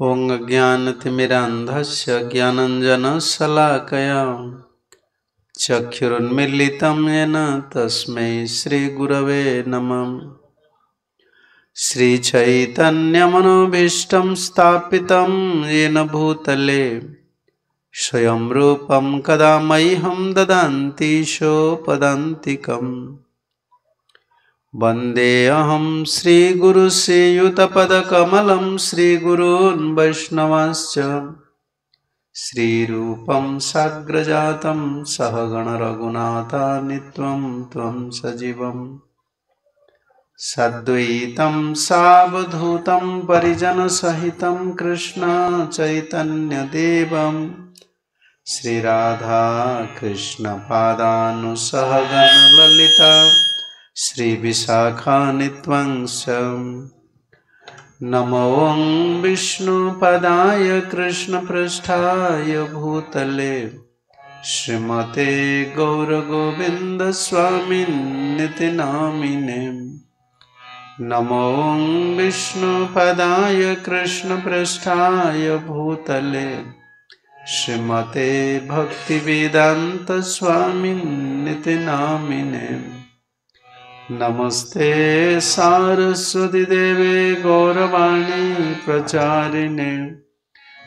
ॐ अज्ञानतिमिरान्धस्य ज्ञानञ्जनशलाकया चक्षुरुन्मीलितं येन तस्मै श्रीगुरवे नमः। श्रीचैतन्यमनोभीष्टं स्थापितं येन भूतले स्वयं रूपं कदा मह्यं ददान्ति शोपदान्तिकम्। वन्देऽहं श्रीगुरुश्रीयुतपदकमलं श्रीगुरून् वैष्णवांश्च श्रीरूपं साग्रजातं सहगणरघुनाथान्वितं त्वं सजीवम् सद्वैतं सावधूतं परिजनसहितं कृष्ण चैतन्यदेवं श्रीराधा कृष्णपादानुसहगणललिता श्रीविशाखान्वित्वंश। नमो ॐ विष्णुपदाय कृष्णपृष्ठाय भूतले श्रीमते गौरगोविन्दस्वामिनिति नामिने। नमो ॐ विष्णुपदाय कृष्णपृष्ठाय भूतले श्रीमते भक्तिवेदान्तस्वामिनिति नामिने। नमस्ते सारस्वती देवे गौरवाणी प्रचारिणे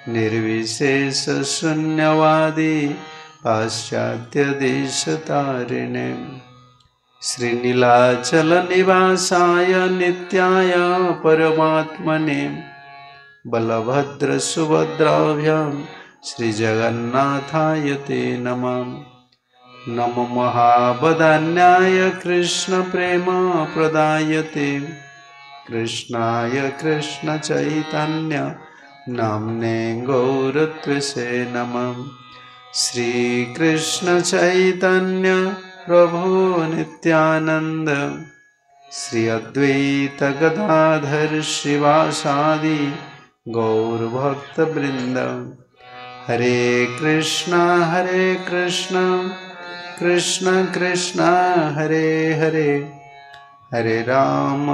निर्विशेष शून्यवादी पाश्चात्य देशतारिणे। श्रीनीलाचल निवासाय नित्याय परमात्मने बलभद्र सुभद्राभ्यां श्रीजगन्नाथाय ते नमः। नमो महावदान्याय कृष्ण प्रेम प्रदायते कृष्णाय कृष्ण चैतन्य नाम्ने गौरत्वेषे नमः। श्री कृष्ण चैतन्य प्रभु नित्यानंद श्री अद्वैत गदाधर शिवासादि गौरभक्तवृंद। हरे कृष्ण कृष्ण कृष्ण हरे हरे, हरे राम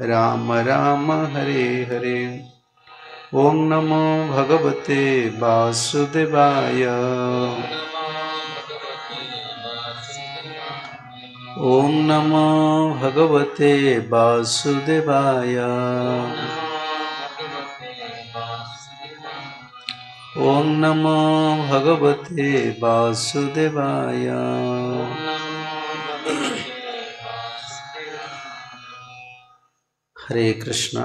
राम राम हरे हरे। ओम नमो भगवते वासुदेवाय। ओम नमो भगवते वासुदेवाय। ओम नमो भगवते वासुदेवाय। हरे कृष्ण।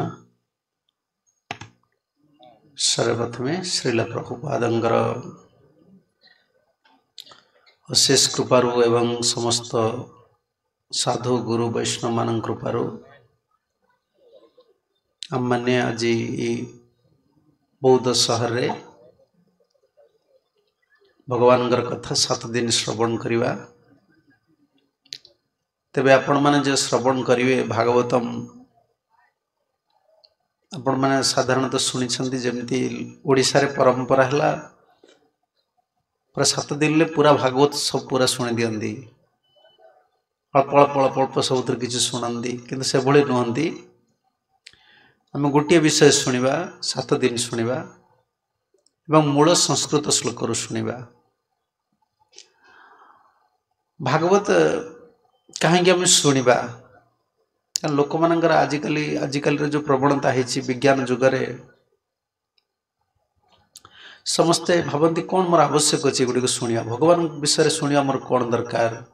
सर्वप्रथमे श्रील प्रभुपादंकर अशेष कृपारु एवं समस्त साधु गुरु वैष्णव मान कृपारु आमने आज बौद्ध सहर रे भगवान कथा 7 दिन श्रवण करवा। तेबे आपण माने जे श्रवण करिवे भागवतम आपण माने साधारणतः शुणिछन्ति, जेमिति ओडिशा रे परंपरा हला पूरा 7 दिन ले पूरा भागवत सब पूरा शुणी दियंती, अल्प अल्प अल्प अल्प सबुथुरु किछि शुणंती, किन्तु सेभଳି नुहंती। आमे गोटिए विषय शुणिबा, 7 दिन शुणिबा एवं मूल संस्कृत श्लोकरू शुणिबा। भागवत कहीं आम शुणिबा? लोकमानଙ୍କର आजिकालिर जो प्रवणता होइछि विज्ञान जुगरे समस्ते भाबंती कौन मोर आवश्यक अछि एगुड़िक शुणिबा, भगवान विषय शुणिबा मोर कौन दरकार,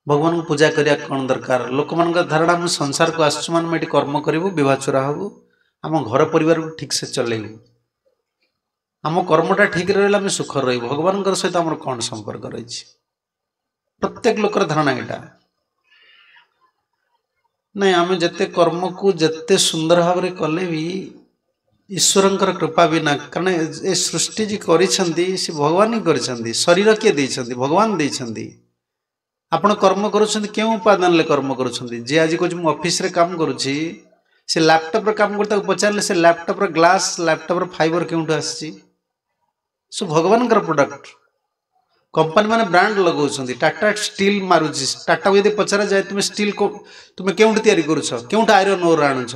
भगवान को पूजा करिया कौन दरकार। लोकमानଙ୍କ धारणा हम संसार को आसछु माने एठी कर्म करिबु, विवाह चोरा हबु, आम घर परिवार को ठीक से चलेबु, आम कर्मटा ठीक रहिले आम सुख रहिबु, भगवानଙ୍କର सहित आमर कौन संपर्क रहिछि। प्रत्येक लोकर धारणा एटा नहीं। आम जेते कर्म को जेते सुंदर भाव रे कले भी ईश्वरंकर कृपा बिना, कारण ए सृष्टि जी करिसंती से भगवान ही करिसंती, शरीर किए देइछन्ति भगवान देइछन्ति। आपण कर्म करुछन्ति केउ उपादान ले कर्म करुछन्ति? जे आज कहु मु ऑफिस रे काम करुछि, से लैपटॉप रे काम करता पचारले से लैपटॉप रे ग्लास लैपटॉप रे फाइबर केउठु आसीछि? सो भगवानकर प्रोडक्ट। कंपनी माने ब्रांड लगाउछन्ति, टाटा स्टील मारुछि, टाटा को यदि पचरा जाए तुम स्टील को तुम केउठु तयारी करुछ, केउठु आयरन ओर आणुछ,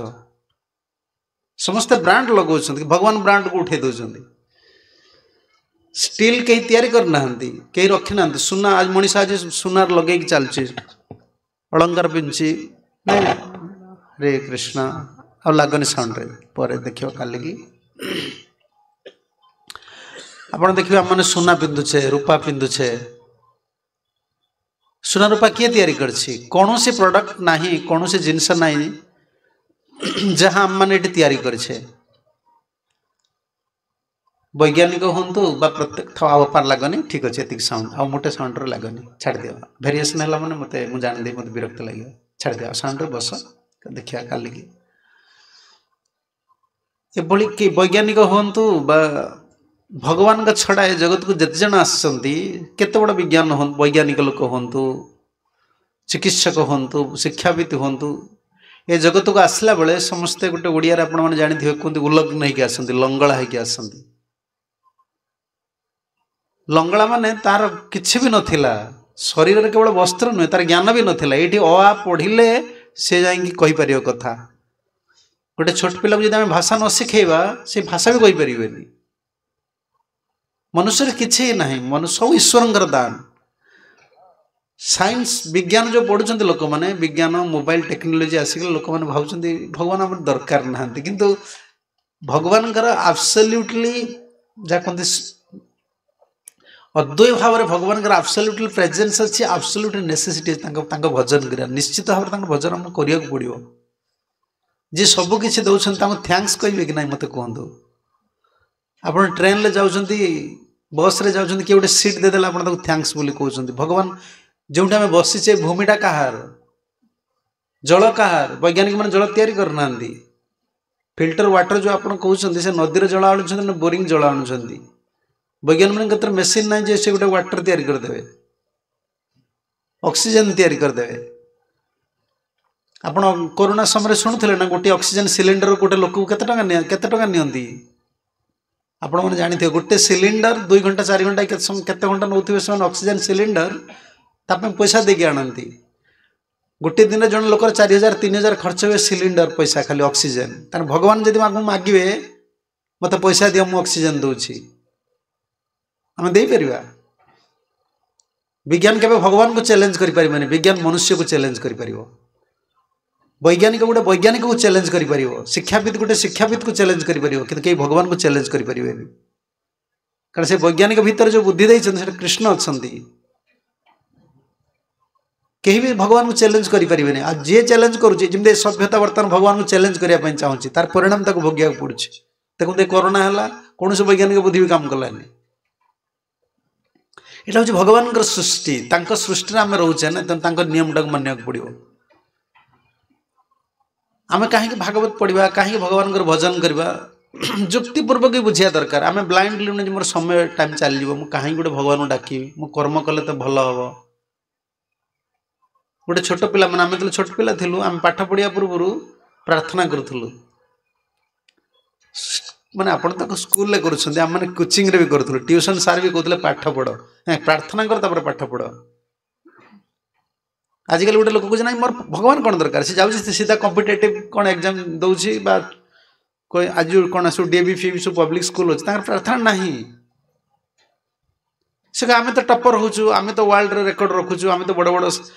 ସମସ୍ତେ ବ୍ରାଣ୍ଡ ଲଗାଉଛନ୍ତି, ଭଗବାନ ବ୍ରାଣ୍ଡକୁ ଉଠେଇ ଦେଉଛନ୍ତି। ଷ୍ଟିଲ୍ କେହି ତିଆରି କରିନାହାନ୍ତି, କେହି ରଖିନାହାନ୍ତି। ସୁନା ଆଜି ମଣିଷ ଆଜି ସୁନାର ଲଗେଇକି ଚାଲୁଛି, ଅଳଙ୍କାର ପିନ୍ଧୁଛି। ନାଇଁ ହରେ କୃଷ୍ଣ, ଆଉ ଲାଗନି ସାଉଣ୍ଡରେ, ପରେ ଦେଖିବ କାଲିକି। ଆପଣ ଦେଖିବେ ଆମମାନେ ସୁନା ପିନ୍ଧୁଛେ, ରୂପା ପିନ୍ଧୁଛେ। ସୁନା ରୂପା କିଏ ତିଆରି କରିଛି? କୌଣସି ପ୍ରଡକ୍ଟ ନାହିଁ, କୌଣସି ଜିନିଷ ନାହିଁ ଯାହା ଆମମାନେ ଏଠି ତିଆରି କରିଛେ। ବୈଜ୍ଞାନିକ ହୁଅନ୍ତୁ ବା ପ୍ରତ୍ୟେକ, ଆଉ ଅପାର ଲାଗନି, ଠିକ୍ ଅଛି ଏତିକି ସାଉଣ୍ଡ, ଆଉ ମୋଟେ ସାଉଣ୍ଡରେ ଲାଗନି, ଛାଡ଼ିଦିଅ। ଭେରିଏସନ୍ ହେଲା ମାନେ ମୋତେ, ମୁଁ ଜାଣିଦେବି, ମୋତେ ବିରକ୍ତ ଲାଗିବ, ଛାଡ଼ିଦିଅ। ଆଉ ସାଉଣ୍ଡରେ ବସ, ଦେଖିବା କାଲିକି। ଏଭଳି କି ବୈଜ୍ଞାନିକ ହୁଅନ୍ତୁ ବା ଭଗବାନଙ୍କ ଛଡ଼ା ଏ ଜଗତକୁ ଯେତେ ଜଣ ଆସିଛନ୍ତି, କେତେ ବଡ଼ ବିଜ୍ଞାନ ହୁଅନ୍ତୁ, ବୈଜ୍ଞାନିକ ଲୋକ ହୁଅନ୍ତୁ, ଚିକିତ୍ସକ ହୁଅନ୍ତୁ, ଶିକ୍ଷାବିତ୍ ହୁଅନ୍ତୁ, ଏ ଜଗତକୁ ଆସିଲା ବେଳେ ସମସ୍ତେ ଗୋଟେ ଓଡ଼ିଆରେ ଆପଣମାନେ ଜାଣିଥିବେ କୁହନ୍ତି ଉଲଗ୍ନ ହେଇକି ଆସନ୍ତି, ଲଙ୍ଗଳା ହେଇକି ଆସନ୍ତି। ଲଙ୍ଗଳା ମାନେ ତାର କିଛି ବି ନଥିଲା, ଶରୀରରେ କେବଳ ବସ୍ତ୍ର ନୁହେଁ, ତାର ଜ୍ଞାନ ବି ନଥିଲା। ଏଇଠି ଅ ଆ ପଢ଼ିଲେ ସେ ଯାଇକି କହିପାରିବ କଥା। ଗୋଟେ ଛୋଟ ପିଲାକୁ ଯଦି ଆମେ ଭାଷା ନ ଶିଖେଇବା, ସେ ଭାଷା ବି କହିପାରିବେନି। ମନୁଷ୍ୟରେ କିଛି ନାହିଁ, ମନୁଷ୍ୟ ସବୁ ଈଶ୍ୱରଙ୍କର ଦାନ। ସାଇନ୍ସ ବିଜ୍ଞାନ ଯେଉଁ ପଢ଼ୁଛନ୍ତି ଲୋକମାନେ, ବିଜ୍ଞାନ ମୋବାଇଲ ଟେକ୍ନୋଲୋଜି ଆସିଗଲେ ଲୋକମାନେ ଭାବୁଛନ୍ତି ଭଗବାନ ଆମର ଦରକାର ନାହାନ୍ତି। କିନ୍ତୁ ଭଗବାନଙ୍କର ଆବସଲ୍ୟୁଟଲି, ଯାହା କୁହନ୍ତି ଅଦ୍ୱୈତ ଭାବରେ ଭଗବାନଙ୍କର ଆବସଲ୍ୟୁଟଲି ପ୍ରେଜେନ୍ସ ଅଛି, ଆବସଲ୍ୟୁଟଲି ନେସେସିଟି ଅଛି ତାଙ୍କ ଭଜନ କରିବା। ନିଶ୍ଚିତ ଭାବରେ ତାଙ୍କ ଭଜନ ଆମକୁ କରିବାକୁ ପଡ଼ିବ। ଯିଏ ସବୁ କିଛି ଦେଉଛନ୍ତି ତାଙ୍କୁ thanks କହିବେ କି ନାହିଁ ମୋତେ କୁହନ୍ତୁ? ଆପଣ ଟ୍ରେନରେ ଯାଉଛନ୍ତି, ବସ୍ରେ ଯାଉଛନ୍ତି, କିଏ ଗୋଟେ ସିଟ୍ ଦେଇଦେଲେ ଆପଣ ତାକୁ thanks ବୋଲି କହୁଛନ୍ତି। ଭଗବାନ ଯେଉଁଠି ଆମେ ବସିଛେ, ଭୂମିଟା କାହାର, ଜଳ କାହାର? ବୈଜ୍ଞାନିକମାନେ ଜଳ ତିଆରି କରୁନାହାନ୍ତି। ଫିଲ୍ଟର ୱାଟର ଯେଉଁ ଆପଣ କହୁଛନ୍ତି, ସେ ନଦୀର ଜଳ ଆଣୁଛନ୍ତି ନା ବୋରିଂ ଜଳ ଆଣୁଛନ୍ତି? ବୈଜ୍ଞାନିକମାନଙ୍କ କତିରେ ମେସିନ୍ ନାହିଁ ଯେ ସେ ଗୋଟେ ୱାଟର ତିଆରି କରିଦେବେ, ଅକ୍ସିଜେନ୍ ତିଆରି କରିଦେବେ। ଆପଣ କରୋନା ସମୟରେ ଶୁଣୁଥିଲେ ନା ଗୋଟିଏ ଅକ୍ସିଜେନ୍ ସିଲିଣ୍ଡର ଗୋଟେ ଲୋକକୁ କେତେ ଟଙ୍କା ନିଅ, କେତେ ଟଙ୍କା ନିଅନ୍ତି? ଆପଣମାନେ ଜାଣିଥିବେ, ଗୋଟେ ସିଲିଣ୍ଡର 2 ଘଣ୍ଟା 4 ଘଣ୍ଟା କେତେ ସମୟ କେତେ ଘଣ୍ଟା ନେଉଥିବେ ସେମାନେ ଅକ୍ସିଜେନ୍ ସିଲିଣ୍ଡର, ତା ପାଇଁ ପଇସା ଦେଇକି ଆଣନ୍ତି। ଗୋଟିଏ ଦିନରେ ଜଣେ ଲୋକର 4000 3000 ଖର୍ଚ୍ଚ ହୁଏ ସିଲିଣ୍ଡର ପଇସା, ଖାଲି ଅକ୍ସିଜେନ୍। ତାହେଲେ ଭଗବାନ ଯଦି ଆମକୁ ମାଗିବେ ମୋତେ ପଇସା ଦିଅ ମୁଁ ଅକ୍ସିଜେନ୍ ଦେଉଛି, ଆମେ ଦେଇପାରିବା? ବିଜ୍ଞାନ କେବେ ଭଗବାନଙ୍କୁ ଚ୍ୟାଲେଞ୍ଜ କରିପାରିବନି, ବିଜ୍ଞାନ ମନୁଷ୍ୟକୁ ଚ୍ୟାଲେଞ୍ଜ କରିପାରିବ। ବୈଜ୍ଞାନିକ ଗୋଟେ ବୈଜ୍ଞାନିକକୁ ଚ୍ୟାଲେଞ୍ଜ କରିପାରିବ, ଶିକ୍ଷାବିତ୍ ଗୋଟେ ଶିକ୍ଷାବିତ୍କୁ ଚ୍ୟାଲେଞ୍ଜ କରିପାରିବ, କିନ୍ତୁ କେହି ଭଗବାନଙ୍କୁ ଚ୍ୟାଲେଞ୍ଜ କରିପାରିବେନି। କାରଣ ସେ ବୈଜ୍ଞାନିକ ଭିତରେ ଯେଉଁ ବୁଦ୍ଧି ଦେଇଛନ୍ତି ସେଟା କୃଷ୍ଣ ଅଛନ୍ତି। କେହି ବି ଭଗବାନଙ୍କୁ ଚ୍ୟାଲେଞ୍ଜ କରିପାରିବେନି। ଆଉ ଯିଏ ଚ୍ୟାଲେଞ୍ଜ କରୁଛି, ଯେମିତି ସଭ୍ୟତା ବର୍ତ୍ତମାନ ଭଗବାନଙ୍କୁ ଚ୍ୟାଲେଞ୍ଜ କରିବା ପାଇଁ ଚାହୁଁଛି, ତାର ପରିଣାମ ତାକୁ ଭୋଗିବାକୁ ପଡ଼ୁଛି। ଦେଖନ୍ତୁ ଏ କରୋନା ହେଲା, କୌଣସି ବୈଜ୍ଞାନିକ ବୁଦ୍ଧି ବି କାମ କଲାନି। ଏଇଟା ହେଉଛି ଭଗବାନଙ୍କର ସୃଷ୍ଟି, ତାଙ୍କ ସୃଷ୍ଟିରେ ଆମେ ରହୁଛେ ନା, ତେଣୁ ତାଙ୍କ ନିୟମଟାକୁ ମାନିବାକୁ ପଡ଼ିବ। ଆମେ କାହିଁକି ଭାଗବତ ପଢ଼ିବା, କାହିଁକି ଭଗବାନଙ୍କର ଭଜନ କରିବା, ଯୁକ୍ତିପୂର୍ବକ ବୁଝିବା ଦରକାର। ଆମେ ବ୍ଲାଇଣ୍ଡଲି ନୁହେଁ ଯେ ମୋର ସମୟ ଟାଇମ୍ ଚାଲିଯିବ, ମୁଁ କାହିଁକି ଗୋଟେ ଭଗବାନଙ୍କୁ ଡାକିବି, ମୁଁ କର୍ମ କଲେ ତ ଭଲ ହେବ। ଗୋଟେ ଛୋଟ ପିଲାମାନେ, ଆମେ ଯେତେବେଳେ ଛୋଟ ପିଲା ଥିଲୁ, ଆମେ ପାଠ ପଢ଼ିବା ପୂର୍ବରୁ ପ୍ରାର୍ଥନା କରୁଥିଲୁ। ମାନେ ଆପଣ ତାକୁ ସ୍କୁଲରେ କରୁଛନ୍ତି, ଆମେମାନେ କୋଚିଂରେ ବି କରୁଥିଲୁ। ଟ୍ୟୁସନ୍ ସାର୍ ବି କହୁଥିଲେ ପାଠ ପଢ଼, ପ୍ରାର୍ଥନା କର ତାପରେ ପାଠ ପଢ଼। ଆଜିକାଲି ଗୋଟେ ଲୋକ କହୁଛି ନାଇଁ ମୋର ଭଗବାନ କ'ଣ ଦରକାର, ସେ ଯାଉଛି ସିଧା କମ୍ପିଟେଟିଭ୍ କ'ଣ ଏକ୍ଜାମ୍ ଦେଉଛି ବା ଆଜି କ'ଣ ସବୁ ଡିଏଭି ଫିଏଭି ସବୁ ପବ୍ଲିକ୍ ସ୍କୁଲ ଅଛି, ତାଙ୍କର ପ୍ରାର୍ଥନା ନାହିଁ। ସେ ଆମେ ତ ଟପର ହେଉଛୁ, ଆମେ ତ ୱାର୍ଲଡରେ ରେକର୍ଡ ରଖୁଛୁ, ଆମେ ତ ବଡ଼ ବଡ଼,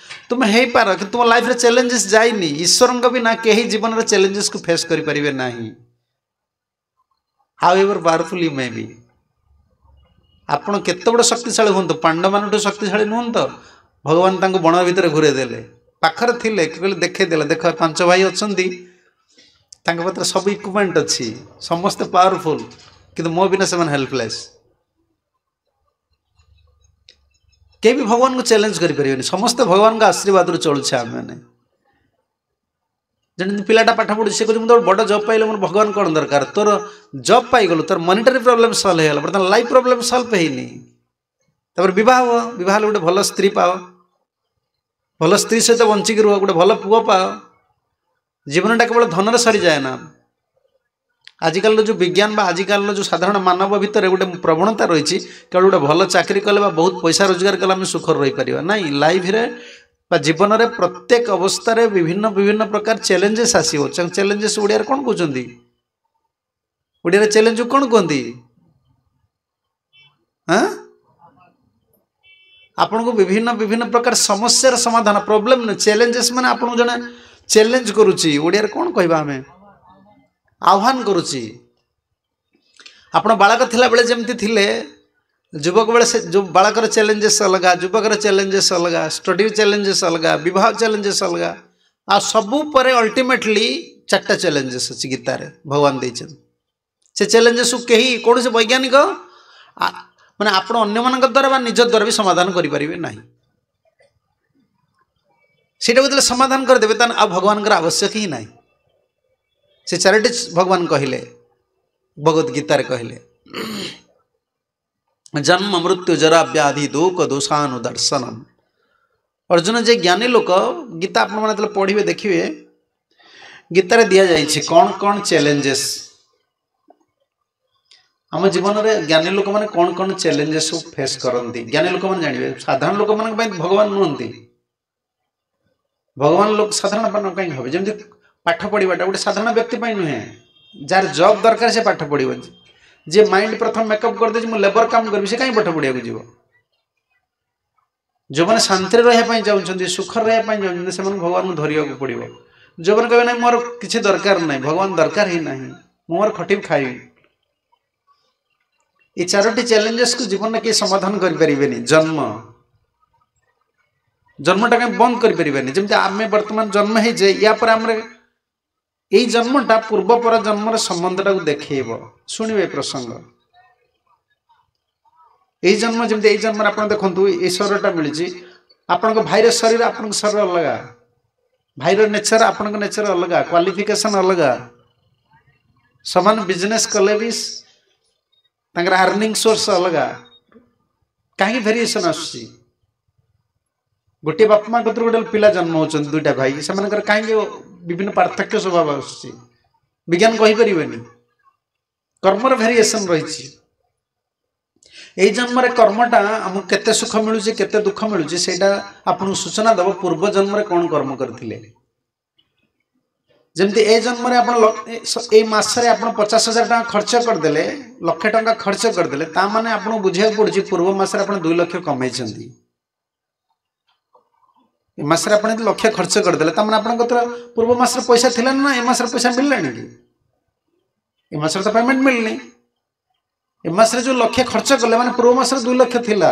ତୁମେ ହେଇପାର, କିନ୍ତୁ ତୁମ ଲାଇଫରେ ଚ୍ୟାଲେଞ୍ଜେସ୍ ଯାଇନି। ଈଶ୍ୱରଙ୍କ ବିନା କେହି ଜୀବନରେ ଚ୍ୟାଲେଞ୍ଜେସ୍କୁ ଫେସ୍ କରିପାରିବେ ନାହିଁ। However powerful you may be, ଆପଣ କେତେ ବଡ଼ ଶକ୍ତିଶାଳୀ ହୁଅନ୍ତୁ, ପାଣ୍ଡବମାନଠୁ ଶକ୍ତିଶାଳୀ ନୁହନ୍ତି ତ, ଭଗବାନ ତାଙ୍କୁ ବଣ ଭିତରେ ଘୁରେଇ ଦେଲେ, ପାଖରେ ଥିଲେ, କହିଲେ ଦେଖେଇ ଦେଲେ, ଦେଖ 5 ଭାଇ ଅଛନ୍ତି, ତାଙ୍କ ପାଖରେ ସବୁ ଇକ୍ୱିପମେଣ୍ଟ ଅଛି, ସମସ୍ତେ ପାୱାରଫୁଲ୍, କିନ୍ତୁ ମୋ ବିନା ସେମାନେ ହେଲ୍ପଲେସ୍। କେହି ବି ଭଗବାନଙ୍କୁ ଚ୍ୟାଲେଞ୍ଜ କରିପାରିବେନି, ସମସ୍ତେ ଭଗବାନଙ୍କ ଆଶୀର୍ବାଦରୁ ଚଳୁଛେ ଆମେମାନେ। ଯେମିତି ପିଲାଟା ପାଠ ପଢ଼ୁଛି, ସେ କହୁଛି ମୁଁ ତ ବଡ଼ ଜବ୍ ପାଇଲେ ମୋର ଭଗବାନ କ'ଣ ଦରକାର। ତୋର ଜବ୍ ପାଇଗଲୁ, ତୋର ମନିଟାରୀ ପ୍ରୋବ୍ଲେମ୍ ସଲ୍ଭ ହେଇଗଲା, ବର୍ତ୍ତମାନ ଲାଇଫ୍ ପ୍ରୋବ୍ଲେମ୍ ସଲ୍ଭ ହେଇନି। ତାପରେ ବିବାହ ହୁଅ, ବିବାହ ହେଲେ ଗୋଟେ ଭଲ ସ୍ତ୍ରୀ ପାଅ, ଭଲ ସ୍ତ୍ରୀ ସହିତ ବଞ୍ଚିକି ରୁହ, ଗୋଟେ ଭଲ ପୁଅ ପାଅ। ଜୀବନଟା କେବଳ ଧନରେ ସରିଯାଏ ନା। ଆଜିକାଲିର ଯେଉଁ ବିଜ୍ଞାନ ବା ଆଜିକାଲିର ଯେଉଁ ସାଧାରଣ ମାନବ ଭିତରେ ଗୋଟେ ପ୍ରବଣତା ରହିଛି, କେବଳ ଗୋଟେ ଭଲ ଚାକିରି କଲେ ବା ବହୁତ ପଇସା ରୋଜଗାର କଲେ ଆମେ ସୁଖରେ ରହିପାରିବା। ନାଇଁ, ଲାଇଫରେ ବା ଜୀବନରେ ପ୍ରତ୍ୟେକ ଅବସ୍ଥାରେ ବିଭିନ୍ନ ବିଭିନ୍ନ ପ୍ରକାର ଚ୍ୟାଲେଞ୍ଜେସ୍ ଆସିବ। ଚ୍ୟାଲେଞ୍ଜେସ୍ ଓଡ଼ିଆରେ କ'ଣ କହୁଛନ୍ତି? ଓଡ଼ିଆରେ ଚ୍ୟାଲେଞ୍ଜକୁ କ'ଣ କୁହନ୍ତି? ହଁ, ଆପଣଙ୍କୁ ବିଭିନ୍ନ ବିଭିନ୍ନ ପ୍ରକାର ସମସ୍ୟାର ସମାଧାନ, ପ୍ରୋବ୍ଲେମ୍ ନୁହେଁ, ଚ୍ୟାଲେଞ୍ଜେସ୍ ମାନେ ଆପଣଙ୍କୁ ଜଣେ ଚ୍ୟାଲେଞ୍ଜ କରୁଛି। ଓଡ଼ିଆରେ କ'ଣ କହିବା ଆମେ? ଆହ୍ୱାନ କରୁଛି। ଆପଣ ବାଳକ ଥିଲାବେଳେ ଯେମିତି ଥିଲେ, ଯୁବକ ବେଳେ ସେ ଯେଉଁ ବାଳକର ଚ୍ୟାଲେଞ୍ଜେସ୍ ଅଲଗା, ଯୁବକର ଚ୍ୟାଲେଞ୍ଜେସ୍ ଅଲଗା, ଷ୍ଟଡି ଚ୍ୟାଲେଞ୍ଜେସ୍ ଅଲଗା, ବିବାହ ଚ୍ୟାଲେଞ୍ଜେସ୍ ଅଲଗା। ଆଉ ସବୁ ପରେ ଅଲ୍ଟିମେଟଲି 4ଟା ଚ୍ୟାଲେଞ୍ଜେସ୍ ଅଛି ଗୀତାରେ ଭଗବାନ ଦେଇଛନ୍ତି। ସେ ଚ୍ୟାଲେଞ୍ଜେସ୍କୁ କେହି କୌଣସି ବୈଜ୍ଞାନିକ ମାନେ ଆପଣ ଅନ୍ୟମାନଙ୍କ ଦ୍ୱାରା ବା ନିଜ ଦ୍ୱାରା ବି ସମାଧାନ କରିପାରିବେ ନାହିଁ। ସେଇଟାକୁ ଯେତେବେଳେ ସମାଧାନ କରିଦେବେ, ତାହେଲେ ଆଉ ଭଗବାନଙ୍କର ଆବଶ୍ୟକ ହିଁ ନାହିଁ। ସେ 4ଟି ଭଗବାନ କହିଲେ, ଭଗବତ ଗୀତାରେ କହିଲେ, ଜନ୍ମ ମୃତ୍ୟୁ ଜରା ବ୍ୟାଧି ଦୋକ ଦୋଷାନୁଦର୍ଶନମ। ଅର୍ଜୁନ ଯେ ଜ୍ଞାନୀ ଲୋକ, ଗୀତା ଆପଣମାନେ ଯେତେବେଳେ ପଢ଼ିବେ ଦେଖିବେ ଗୀତାରେ ଦିଆଯାଇଛି କ'ଣ କ'ଣ ଚ୍ୟାଲେଞ୍ଜେସ୍ ଆମ ଜୀବନରେ। ଜ୍ଞାନୀ ଲୋକମାନେ କ'ଣ କ'ଣ ଚ୍ୟାଲେଞ୍ଜେସ୍ ସବୁ ଫେସ୍ କରନ୍ତି ଜ୍ଞାନୀ ଲୋକମାନେ ଜାଣିବେ। ସାଧାରଣ ଲୋକମାନଙ୍କ ପାଇଁ ଭଗବାନ ନୁହନ୍ତି। ଭଗବାନ ଲୋକ ସାଧାରଣ କାହିଁକି ହେବେ? ଯେମିତି ପାଠ ପଢ଼ିବାଟା ଗୋଟେ ସାଧାରଣ ବ୍ୟକ୍ତି ପାଇଁ ନୁହେଁ। ଯାହାର ଜବ୍ ଦରକାର ସେ ପାଠ ପଢ଼ିବ। ଯିଏ ମାଇଣ୍ଡ ପ୍ରଥମ ମେକଅପ୍ କରିଦେଇଛି ମୁଁ ଲେବର କାମ କରିବି, ସେ କାହିଁ ପାଠ ପଢ଼ିବାକୁ ଯିବ? ଯେଉଁମାନେ ଶାନ୍ତିରେ ରହିବା ପାଇଁ ଚାହୁଁଛନ୍ତି, ସୁଖରେ ରହିବା ପାଇଁ ଚାହୁଁଛନ୍ତି, ସେମାନଙ୍କୁ ଭଗବାନଙ୍କୁ ଧରିବାକୁ ପଡ଼ିବ। ଯେଉଁମାନେ କହିବେ ନାହିଁ ମୋର କିଛି ଦରକାର ନାହିଁ, ଭଗବାନ ଦରକାର ହିଁ ନାହିଁ, ମୁଁ ମୋର ଖଟିବି ଖାଇବି, ଏ 4ଟି ଚ୍ୟାଲେଞ୍ଜେସକୁ ଜୀବନରେ କେହି ସମାଧାନ କରିପାରିବେନି। ଜନ୍ମଟା କାହିଁ ବନ୍ଦ କରିପାରିବେନି। ଯେମିତି ଆମେ ବର୍ତ୍ତମାନ ଜନ୍ମ ହେଇଛେ, ୟା ପରେ ଆମର ଏଇ ଜନ୍ମଟା ପୂର୍ବ ପର ଜନ୍ମର ସମ୍ବନ୍ଧଟାକୁ ଦେଖେଇବ। ଶୁଣିବେ ପ୍ରସଙ୍ଗ। ଏଇ ଜନ୍ମ ଯେମିତି ଏଇ ଜନ୍ମରେ ଆପଣ ଦେଖନ୍ତୁ ଏଇ ଶରୀରଟା ମିଳିଛି, ଆପଣଙ୍କ ଭାଇର ଶରୀର ଆପଣଙ୍କ ଶରୀର ଅଲଗା, ଭାଇର ନେଚର ଆପଣଙ୍କ ନେଚର ଅଲଗା, କ୍ୱାଲିଫିକେସନ ଅଲଗା। ସମାନ ବିଜନେସ୍ କଲେ ବି ତାଙ୍କର ଆର୍ନିଂ ସୋର୍ସ ଅଲଗା। କାହିଁକି ଭେରିଏସନ୍ ଆସୁଛି? ଗୋଟିଏ ବାପା ମା କତିରୁ ଗୋଟେ ପିଲା ଜନ୍ମ ହେଉଛନ୍ତି, 2ଟା ଭାଇ, ସେମାନଙ୍କର କାହିଁକି ବିଭିନ୍ନ ପାର୍ଥକ୍ୟ ସ୍ୱଭାବ ଆସୁଛି? ବିଜ୍ଞାନ କହିପାରିବେନି। କର୍ମର ଭେରିଏସନ୍ ରହିଛି। ଏଇ ଜନ୍ମରେ କର୍ମଟା ଆମକୁ କେତେ ସୁଖ ମିଳୁଛି, କେତେ ଦୁଃଖ ମିଳୁଛି, ସେଇଟା ଆପଣଙ୍କୁ ସୂଚନା ଦେବ ପୂର୍ବ ଜନ୍ମରେ କ'ଣ କର୍ମ କରିଥିଲେ। ଯେମିତି ଏ ଜନ୍ମରେ ଆପଣ ଏଇ ମାସରେ ଆପଣ 50,000 ଟଙ୍କା ଖର୍ଚ୍ଚ କରିଦେଲେ, 1,00,000 ଟଙ୍କା ଖର୍ଚ୍ଚ କରିଦେଲେ, ତା ମାନେ ଆପଣଙ୍କୁ ବୁଝିବାକୁ ପଡୁଛି ପୂର୍ବ ମାସରେ ଆପଣ 2 ଲକ୍ଷ କମେଇଛନ୍ତି। ଏ ମାସରେ ଆପଣ ଯଦି 1,00,000 ଖର୍ଚ୍ଚ କରିଦେଲେ, ତା ମାନେ ଆପଣଙ୍କ ପୂର୍ବ ମାସରେ ପଇସା ଥିଲା ନା ଏ ମାସରେ ପଇସା ମିଳିଲାଣି କି? ଏ ମାସରେ ତ ପେମେଣ୍ଟ ମିଳିନି। ଏ ମାସରେ ଯେଉଁ 1,00,000 ଖର୍ଚ୍ଚ କଲେ ମାନେ ପୂର୍ବ ମାସରେ 2 ଲକ୍ଷ ଥିଲା।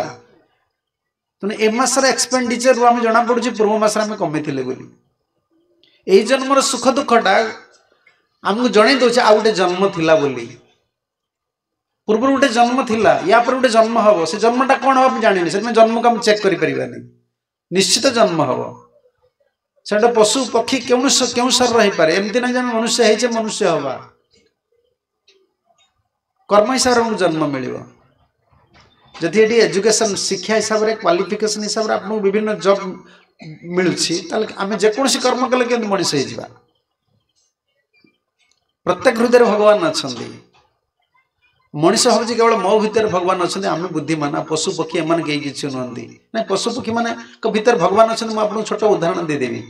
ତେଣୁ ଏ ମାସର ଏକ୍ସପେଣ୍ଡିଚରରୁ ଆମେ ଜଣାପଡ଼ୁଛି ପୂର୍ବ ମାସରେ ଆମେ କମେଇଥିଲେ ବୋଲି। ଏଇ ଜନ୍ମର ସୁଖ ଦୁଃଖଟା ଆମକୁ ଜଣେଇ ଦେଉଛି ଆଉ ଗୋଟେ ଜନ୍ମ ଥିଲା ବୋଲି। ପୂର୍ବରୁ ଗୋଟେ ଜନ୍ମ ଥିଲା, ୟା ପରେ ଗୋଟେ ଜନ୍ମ ହବ। ସେ ଜନ୍ମଟା କ'ଣ ହବ ଆମେ ଜାଣିନି, ସେଥିପାଇଁ ଜନ୍ମକୁ ଆମେ ଚେକ୍ କରିପାରିବାନି। ନିଶ୍ଚିତ ଜନ୍ମ ହବ। ସେଟା ପଶୁ ପକ୍ଷୀ କେଉଁ କେଉଁ ଶରୀର ହେଇପାରେ। ଏମିତି ନାହିଁ ଯେ ଆମେ ମନୁଷ୍ୟ ହେଇଛେ ମନୁଷ୍ୟ ହବା। କର୍ମ ହିସାବରେ ଆମକୁ ଜନ୍ମ ମିଳିବ। ଯଦି ଏଠି ଏଜୁକେସନ୍ ଶିକ୍ଷା ହିସାବରେ କ୍ୱାଲିଫିକେସନ୍ ହିସାବରେ ଆପଣଙ୍କୁ ବିଭିନ୍ନ ଜବ୍ ମିଳୁଛି, ତାହେଲେ ଆମେ ଯେକୌଣସି କର୍ମ କଲେ କେମିତି ମଣିଷ ହେଇଯିବା? ପ୍ରତ୍ୟେକ ହୃଦୟରେ ଭଗବାନ ଅଛନ୍ତି। ମଣିଷ ଭାବୁଛି କେବଳ ମୋ ଭିତରେ ଭଗବାନ ଅଛନ୍ତି, ଆମେ ବୁଦ୍ଧିମାନ, ପଶୁ ପକ୍ଷୀ ଏମାନେ କେହି କିଛି ନୁହନ୍ତି। ନାଇଁ, ପଶୁ ପକ୍ଷୀ ମାନଙ୍କ ଭିତରେ ଭଗବାନ ଅଛନ୍ତି। ମୁଁ ଆପଣଙ୍କୁ ଛୋଟ ଉଦାହରଣ ଦେଇଦେବି।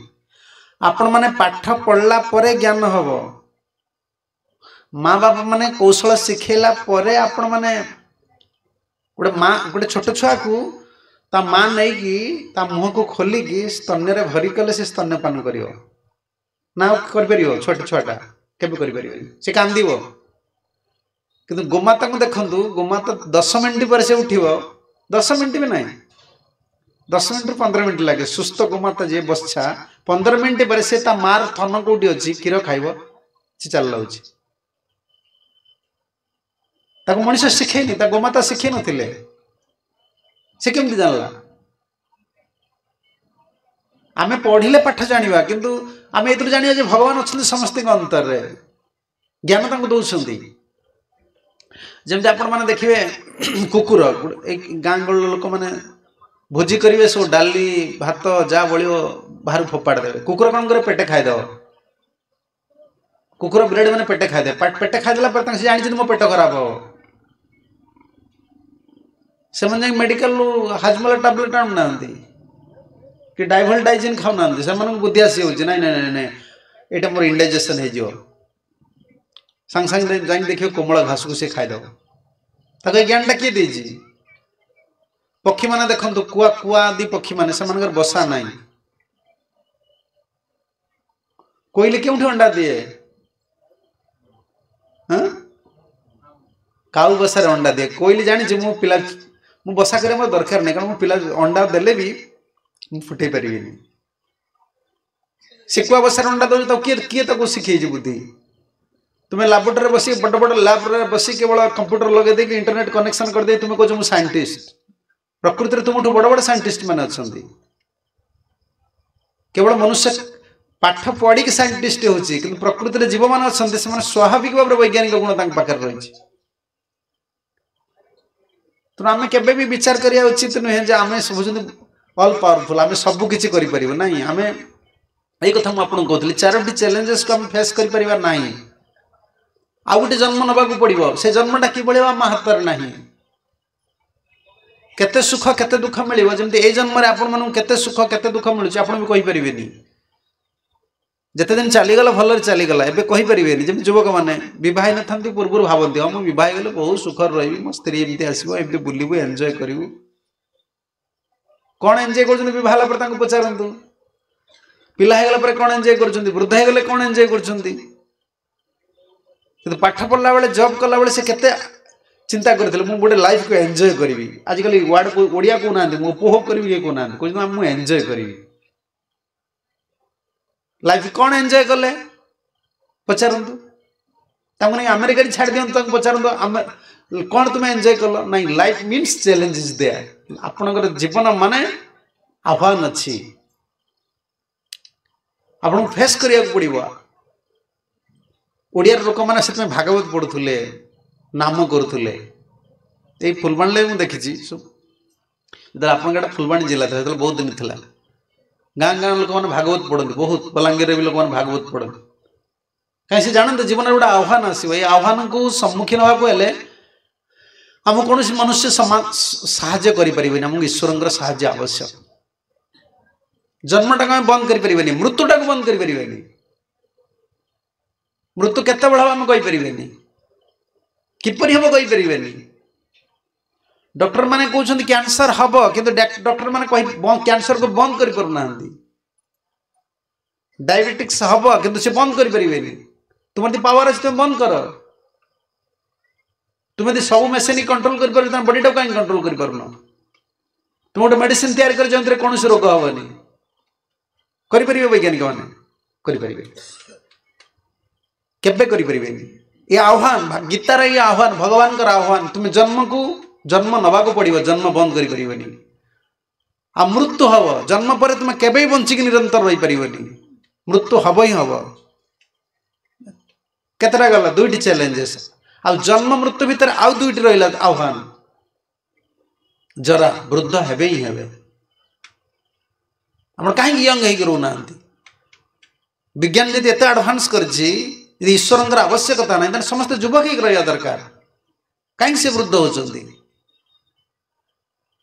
ଆପଣମାନେ ପାଠ ପଢ଼ିଲା ପରେ ଜ୍ଞାନ ହବ। ମା ବାପା ମାନେ କୌଶଳ ଶିଖେଇଲା ପରେ ଆପଣମାନେ ଗୋଟେ ମା ଗୋଟେ ଛୋଟ ଛୁଆକୁ ତା ମା ନେଇକି ତା ମୁହଁକୁ ଖୋଲିକି ସ୍ତନ୍ୟରେ ଭରି କଲେ ସେ ସ୍ତନ୍ୟପାନ କରିବ ନା ଆଉ କରିପାରିବ? ଛୋଟ ଛୁଆଟା କେବେ କରିପାରିବନି, ସେ କାନ୍ଦିବ। କିନ୍ତୁ ଗୋମାତାଙ୍କୁ ଦେଖନ୍ତୁ, ଗୋମାତା 10 ମିନିଟ୍ ପରେ ସେ ଉଠିବ। 10 ମିନିଟ୍ ବି ନାହିଁ, 10 ମିନିଟ୍ରୁ 15 ମିନିଟ୍ ଲାଗେ। ସୁସ୍ଥ ଗୋମାତା ଯିଏ ବତ୍ସା, 15 ମିନିଟ୍ ପରେ ସେ ତା ମାର ଥନ କୋଉଠି ଅଛି କ୍ଷୀର ଖାଇବ, ସେ ଚାଲିଲାଉଛି। ତାକୁ ମଣିଷ ଶିଖେଇନି, ତା ଗୋମାତା ଶିଖେଇ ନଥିଲେ, ସେ କେମିତି ଜାଣିଲା? ଆମେ ପଢିଲେ ପାଠ ଜାଣିବା, କିନ୍ତୁ ଆମେ ଏଥିରୁ ଜାଣିବା ଯେ ଭଗବାନ ଅଛନ୍ତି ସମସ୍ତଙ୍କ ଅନ୍ତରରେ, ଜ୍ଞାନ ତାଙ୍କୁ ଦଉଛନ୍ତି। ଯେମିତି ଆପଣମାନେ ଦେଖିବେ କୁକୁର, ଏଇ ଗାଁ ଗହଳିର ଲୋକମାନେ ଭୋଜି କରିବେ, ସବୁ ଡାଲି ଭାତ ଯାହା ବଳିବ ବାହାରୁ ଫୋପାଡ଼ି ଦେବେ। କୁକୁର କ'ଣ କରିବ? ପେଟେ ଖାଇଦେବ। କୁକୁର ବ୍ରେଡ୍ ମାନେ ପେଟେ ଖାଇଦେବେ। ପେଟେ ଖାଇଦେଲା ପରେ ତାଙ୍କ ସେ ଜାଣିଛନ୍ତି ମୋ ପେଟ ଖରାପ ହବ। ସେମାନେ ଯାଇକି ମେଡିକାଲରୁ ହାଜମୋଲା ଟାବଲେଟ୍ ଆଣୁନାହାନ୍ତି କି ଡାଇଭଲ ଡାଇଜିନ୍ ଖାଉନାହାନ୍ତି। ସେମାନଙ୍କୁ ବୁଦ୍ଧି ଆସିଯାଉଛି, ନାଇଁ ନାଇଁ ନାଇଁ ନାଇଁ, ଏଇଟା ମୋର ଇଣ୍ଡାଇଜେସନ୍ ହେଇଯିବ। ସାଙ୍ଗେ ସାଙ୍ଗେ ଯାଇକି ଦେଖିବ କୋମଳ ଘାସକୁ ସେ ଖାଇଦେବ। ତାକୁ ଏ ଜ୍ଞାନଟା କିଏ ଦେଇଛି? ପକ୍ଷୀମାନେ ଦେଖନ୍ତୁ, କୁଆ କୁଆ ଆଦି ପକ୍ଷୀମାନେ, ସେମାନଙ୍କର ବସା ନାହିଁ। କୋଇଲି କେଉଁଠି ଅଣ୍ଡା ଦିଏ? ହଁ, କାଉ ବସାରେ ଅଣ୍ଡା ଦିଏ। କୋଇଲି ଜାଣିଛି ମୁଁ ପିଲା, ମୁଁ ବସା କରିବା ମୋର ଦରକାର ନାହିଁ, କାରଣ ମୁଁ ପିଲା ଅଣ୍ଡା ଦେଲେ ବି ମୁଁ ଫୁଟେଇ ପାରିବିନି। ସେ କୁଆ ବସାରେ ଅଣ୍ଡା ଦେଉଛି, ତାକୁ କିଏ କିଏ ତାକୁ ଶିଖେଇଛି ବୁଦ୍ଧି? ତୁମେ ଲାବୋରେଟୋରୀରେ ବସି, ବଡ଼ ବଡ଼ ଲ୍ୟାବ୍ରେ ବସି କେବଳ କମ୍ପ୍ୟୁଟର ଲଗେଇ ଦେଇକି ଇଣ୍ଟରନେଟ୍ କନେକ୍ସନ୍ କରିଦେଇ ତୁମେ କହୁଛ ମୁଁ ସାଇଣ୍ଟିଷ୍ଟ। ପ୍ରକୃତିରେ ତୁମଠୁ ବଡ଼ ବଡ଼ ସାଇଣ୍ଟିଷ୍ଟ ମାନେ ଅଛନ୍ତି। କେବଳ ମନୁଷ୍ୟ ପାଠ ପଢ଼ିକି ସାଇଣ୍ଟିଷ୍ଟ ହେଉଛି, କିନ୍ତୁ ପ୍ରକୃତିରେ ଜୀବମାନେ ଅଛନ୍ତି, ସେମାନେ ସ୍ୱାଭାବିକ ଭାବରେ ବୈଜ୍ଞାନିକ ଗୁଣ ତାଙ୍କ ପାଖରେ ରହିଛି। ତେଣୁ ଆମେ କେବେ ବି ବିଚାର କରିବା ଉଚିତ ନୁହେଁ ଯେ ଆମେ ହେଉଛନ୍ତି ଅଲ୍ ପାୱାରଫୁଲ୍, ଆମେ ସବୁ କିଛି କରିପାରିବୁ। ନାହିଁ, ଆମେ ଏଇ କଥା ମୁଁ ଆପଣଙ୍କୁ କହୁଥିଲି, ଚାରୋଟି ଚ୍ୟାଲେଞ୍ଜେସକୁ ଆମେ ଫେସ୍ କରିପାରିବା ନାହିଁ। ଆଉ ଗୋଟେ ଜନ୍ମ ନେବାକୁ ପଡ଼ିବ, ସେ ଜନ୍ମଟା କିଭଳି ହେବ ଆମ ହାତରେ ନାହିଁ। କେତେ ସୁଖ କେତେ ଦୁଃଖ ମିଳିବ, ଯେମିତି ଏଇ ଜନ୍ମରେ ଆପଣମାନଙ୍କୁ କେତେ ସୁଖ କେତେ ଦୁଃଖ ମିଳୁଛି ଆପଣ ବି କହିପାରିବେନି। ଯେତେ ଦିନ ଚାଲିଗଲା ଭଲରେ ଚାଲିଗଲା, ଏବେ କହିପାରିବେନି। ଯେମିତି ଯୁବକମାନେ ବିବାହ ହେଇନଥାନ୍ତି, ପୂର୍ବରୁ ଭାବନ୍ତି ହଁ ମୁଁ ବିବାହ ହେଇଗଲେ ବହୁତ ସୁଖରେ ରହିବି, ମୋ ସ୍ତ୍ରୀ ଏମିତି ଆସିବ, ଏମିତି ବୁଲିବୁ, ଏନ୍ଜୟ କରିବୁ। କ'ଣ ଏନ୍ଜୟ କରୁଛନ୍ତି ବିବାହ ହେଲା ପରେ ତାଙ୍କୁ ପଚାରନ୍ତୁ। ପିଲା ହେଇଗଲା ପରେ କ'ଣ ଏନ୍ଜୟ କରୁଛନ୍ତି, ବୃଦ୍ଧ ହେଇଗଲେ କ'ଣ ଏନ୍ଜୟ କରୁଛନ୍ତି। କିନ୍ତୁ ପାଠ ପଢ଼ିଲା ବେଳେ, ଜବ୍ କଲାବେଳେ ସେ କେତେ ଚିନ୍ତା କରିଥିଲେ, ମୁଁ ଗୋଟେ ଲାଇଫକୁ ଏନ୍ଜୟ କରିବି। ଆଜିକାଲି ୱାର୍ଡ଼ ଓଡ଼ିଆ କହୁନାହାନ୍ତି, ମୁଁ ଉପଭୋଗ କରିବି କିଏ କହୁନାହାନ୍ତି, କହୁଛନ୍ତି ମୁଁ ଏନ୍ଜୟ କରିବି। ଲାଇଫ୍ କ'ଣ ଏନ୍ଜୟ କଲେ ପଚାରନ୍ତୁ ତାଙ୍କୁ। ନେଇ ଆମେରିକାରେ ଛାଡ଼ି ଦିଅନ୍ତୁ, ତାଙ୍କୁ ପଚାରନ୍ତୁ ଆମେ କ'ଣ ତୁମେ ଏନ୍ଜୟ କଲ। ନାଇଁ, life means challenge is there. ଆପଣଙ୍କର ଜୀବନ ମାନେ ଆହ୍ୱାନ ଅଛି, ଆପଣଙ୍କୁ ଫେସ୍ କରିବାକୁ ପଡ଼ିବ। ଓଡ଼ିଆର ଲୋକମାନେ ସେଥିପାଇଁ ଭାଗବତ ପଢ଼ୁଥିଲେ, ନାମ କରୁଥିଲେ। ଏଇ ଫୁଲବାଣୀରେ ମୁଁ ଦେଖିଛି ସବୁ, ଯେତେବେଳେ ଆପଣଙ୍କ ଏଇଟା ଫୁଲବାଣୀ ଜିଲ୍ଲା ଥିଲା ସେତେବେଳେ ବହୁତ ଦିନ ଥିଲା, ଗାଁ ଗାଁ ଲୋକମାନେ ଭାଗବତ ପଢ଼ନ୍ତି ବହୁତ। ବଲାଙ୍ଗୀରରେ ବି ଲୋକମାନେ ଭାଗବତ ପଢ଼ନ୍ତି। କାହିଁ ସେ ଜାଣନ୍ତି ଜୀବନରେ ଗୋଟେ ଆହ୍ୱାନ ଆସିବ। ଏଇ ଆହ୍ୱାନକୁ ସମ୍ମୁଖୀନ ହେବାକୁ ହେଲେ ଆମକୁ କୌଣସି ମନୁଷ୍ୟ ସାହାଯ୍ୟ କରିପାରିବେନି, ଆମକୁ ଈଶ୍ୱରଙ୍କର ସାହାଯ୍ୟ ଆବଶ୍ୟକ। ଜନ୍ମଟାକୁ ଆମେ ବନ୍ଦ କରିପାରିବାନି, ମୃତ୍ୟୁଟାକୁ ବନ୍ଦ କରିପାରିବାନି। ମୃତ୍ୟୁ କେତେବେଳେ ହେବ ଆମେ କହିପାରିବାନି, କିପରି ହେବ କହିପାରିବାନି। ଡକ୍ଟର ମାନେ କହୁଛନ୍ତି କ୍ୟାନ୍ସର ହବ, କିନ୍ତୁ ଡକ୍ଟର ମାନେ କହି କ୍ୟାନ୍ସରକୁ ବନ୍ଦ କରିପାରୁନାହାନ୍ତି। ଡାଇବେଟିକ୍ସ ହବ, କିନ୍ତୁ ସେ ବନ୍ଦ କରିପାରିବେନି। ତୁମର ଯଦି ପାୱାର ଅଛି ତୁମେ ବନ୍ଦ କର। ତୁମେ ଯଦି ସବୁ ମେସିନ୍ କଣ୍ଟ୍ରୋଲ କରିପାରୁଛ, ତମ ବଡିଟାକୁ କାହିଁକି କଣ୍ଟ୍ରୋଲ କରିପାରୁନ? ତୁମେ ଗୋଟେ ମେଡିସିନ ତିଆରି କରି ଯେଉଁଥିରେ କୌଣସି ରୋଗ ହବନି, କରିପାରିବେ ବୈଜ୍ଞାନିକ ମାନେ? କରିପାରିବେ? କେବେ କରିପାରିବେନି। ଏ ଆହ୍ୱାନ, ଗୀତାର ଏଇ ଆହ୍ୱାନ, ଭଗବାନଙ୍କର ଆହ୍ୱାନ, ତୁମେ ଜନ୍ମକୁ ଜନ୍ମ ନେବାକୁ ପଡ଼ିବ, ଜନ୍ମ ବନ୍ଦ କରିପାରିବନି। ଆଉ ମୃତ୍ୟୁ ହବ, ଜନ୍ମ ପରେ ତୁମେ କେବେ ବି ବଞ୍ଚିକି ନିରନ୍ତର ରହିପାରିବନି, ମୃତ୍ୟୁ ହବ ହିଁ ହବ। କେତେଟା ଗଲା? ଦୁଇଟି ଚ୍ୟାଲେଞ୍ଜେସ୍। ଆଉ ଜନ୍ମ ମୃତ୍ୟୁ ଭିତରେ ଆଉ ଦୁଇଟି ରହିଲା ଆହ୍ୱାନ। ଜରା, ବୃଦ୍ଧ ହେବେ ହିଁ ହେବେ। ଆପଣ କାହିଁକି ୟଙ୍ଗ ହେଇକି ରହୁନାହାନ୍ତି? ବିଜ୍ଞାନ ଯଦି ଏତେ ଆଡଭାନ୍ସ କରିଛି, ଯଦି ଈଶ୍ୱରଙ୍କର ଆବଶ୍ୟକତା ନାହିଁ, ତାହେଲେ ସମସ୍ତେ ଯୁବକ ହେଇକି ରହିବା ଦରକାର। କାହିଁକି ସେ ବୃଦ୍ଧ ହେଉଛନ୍ତି?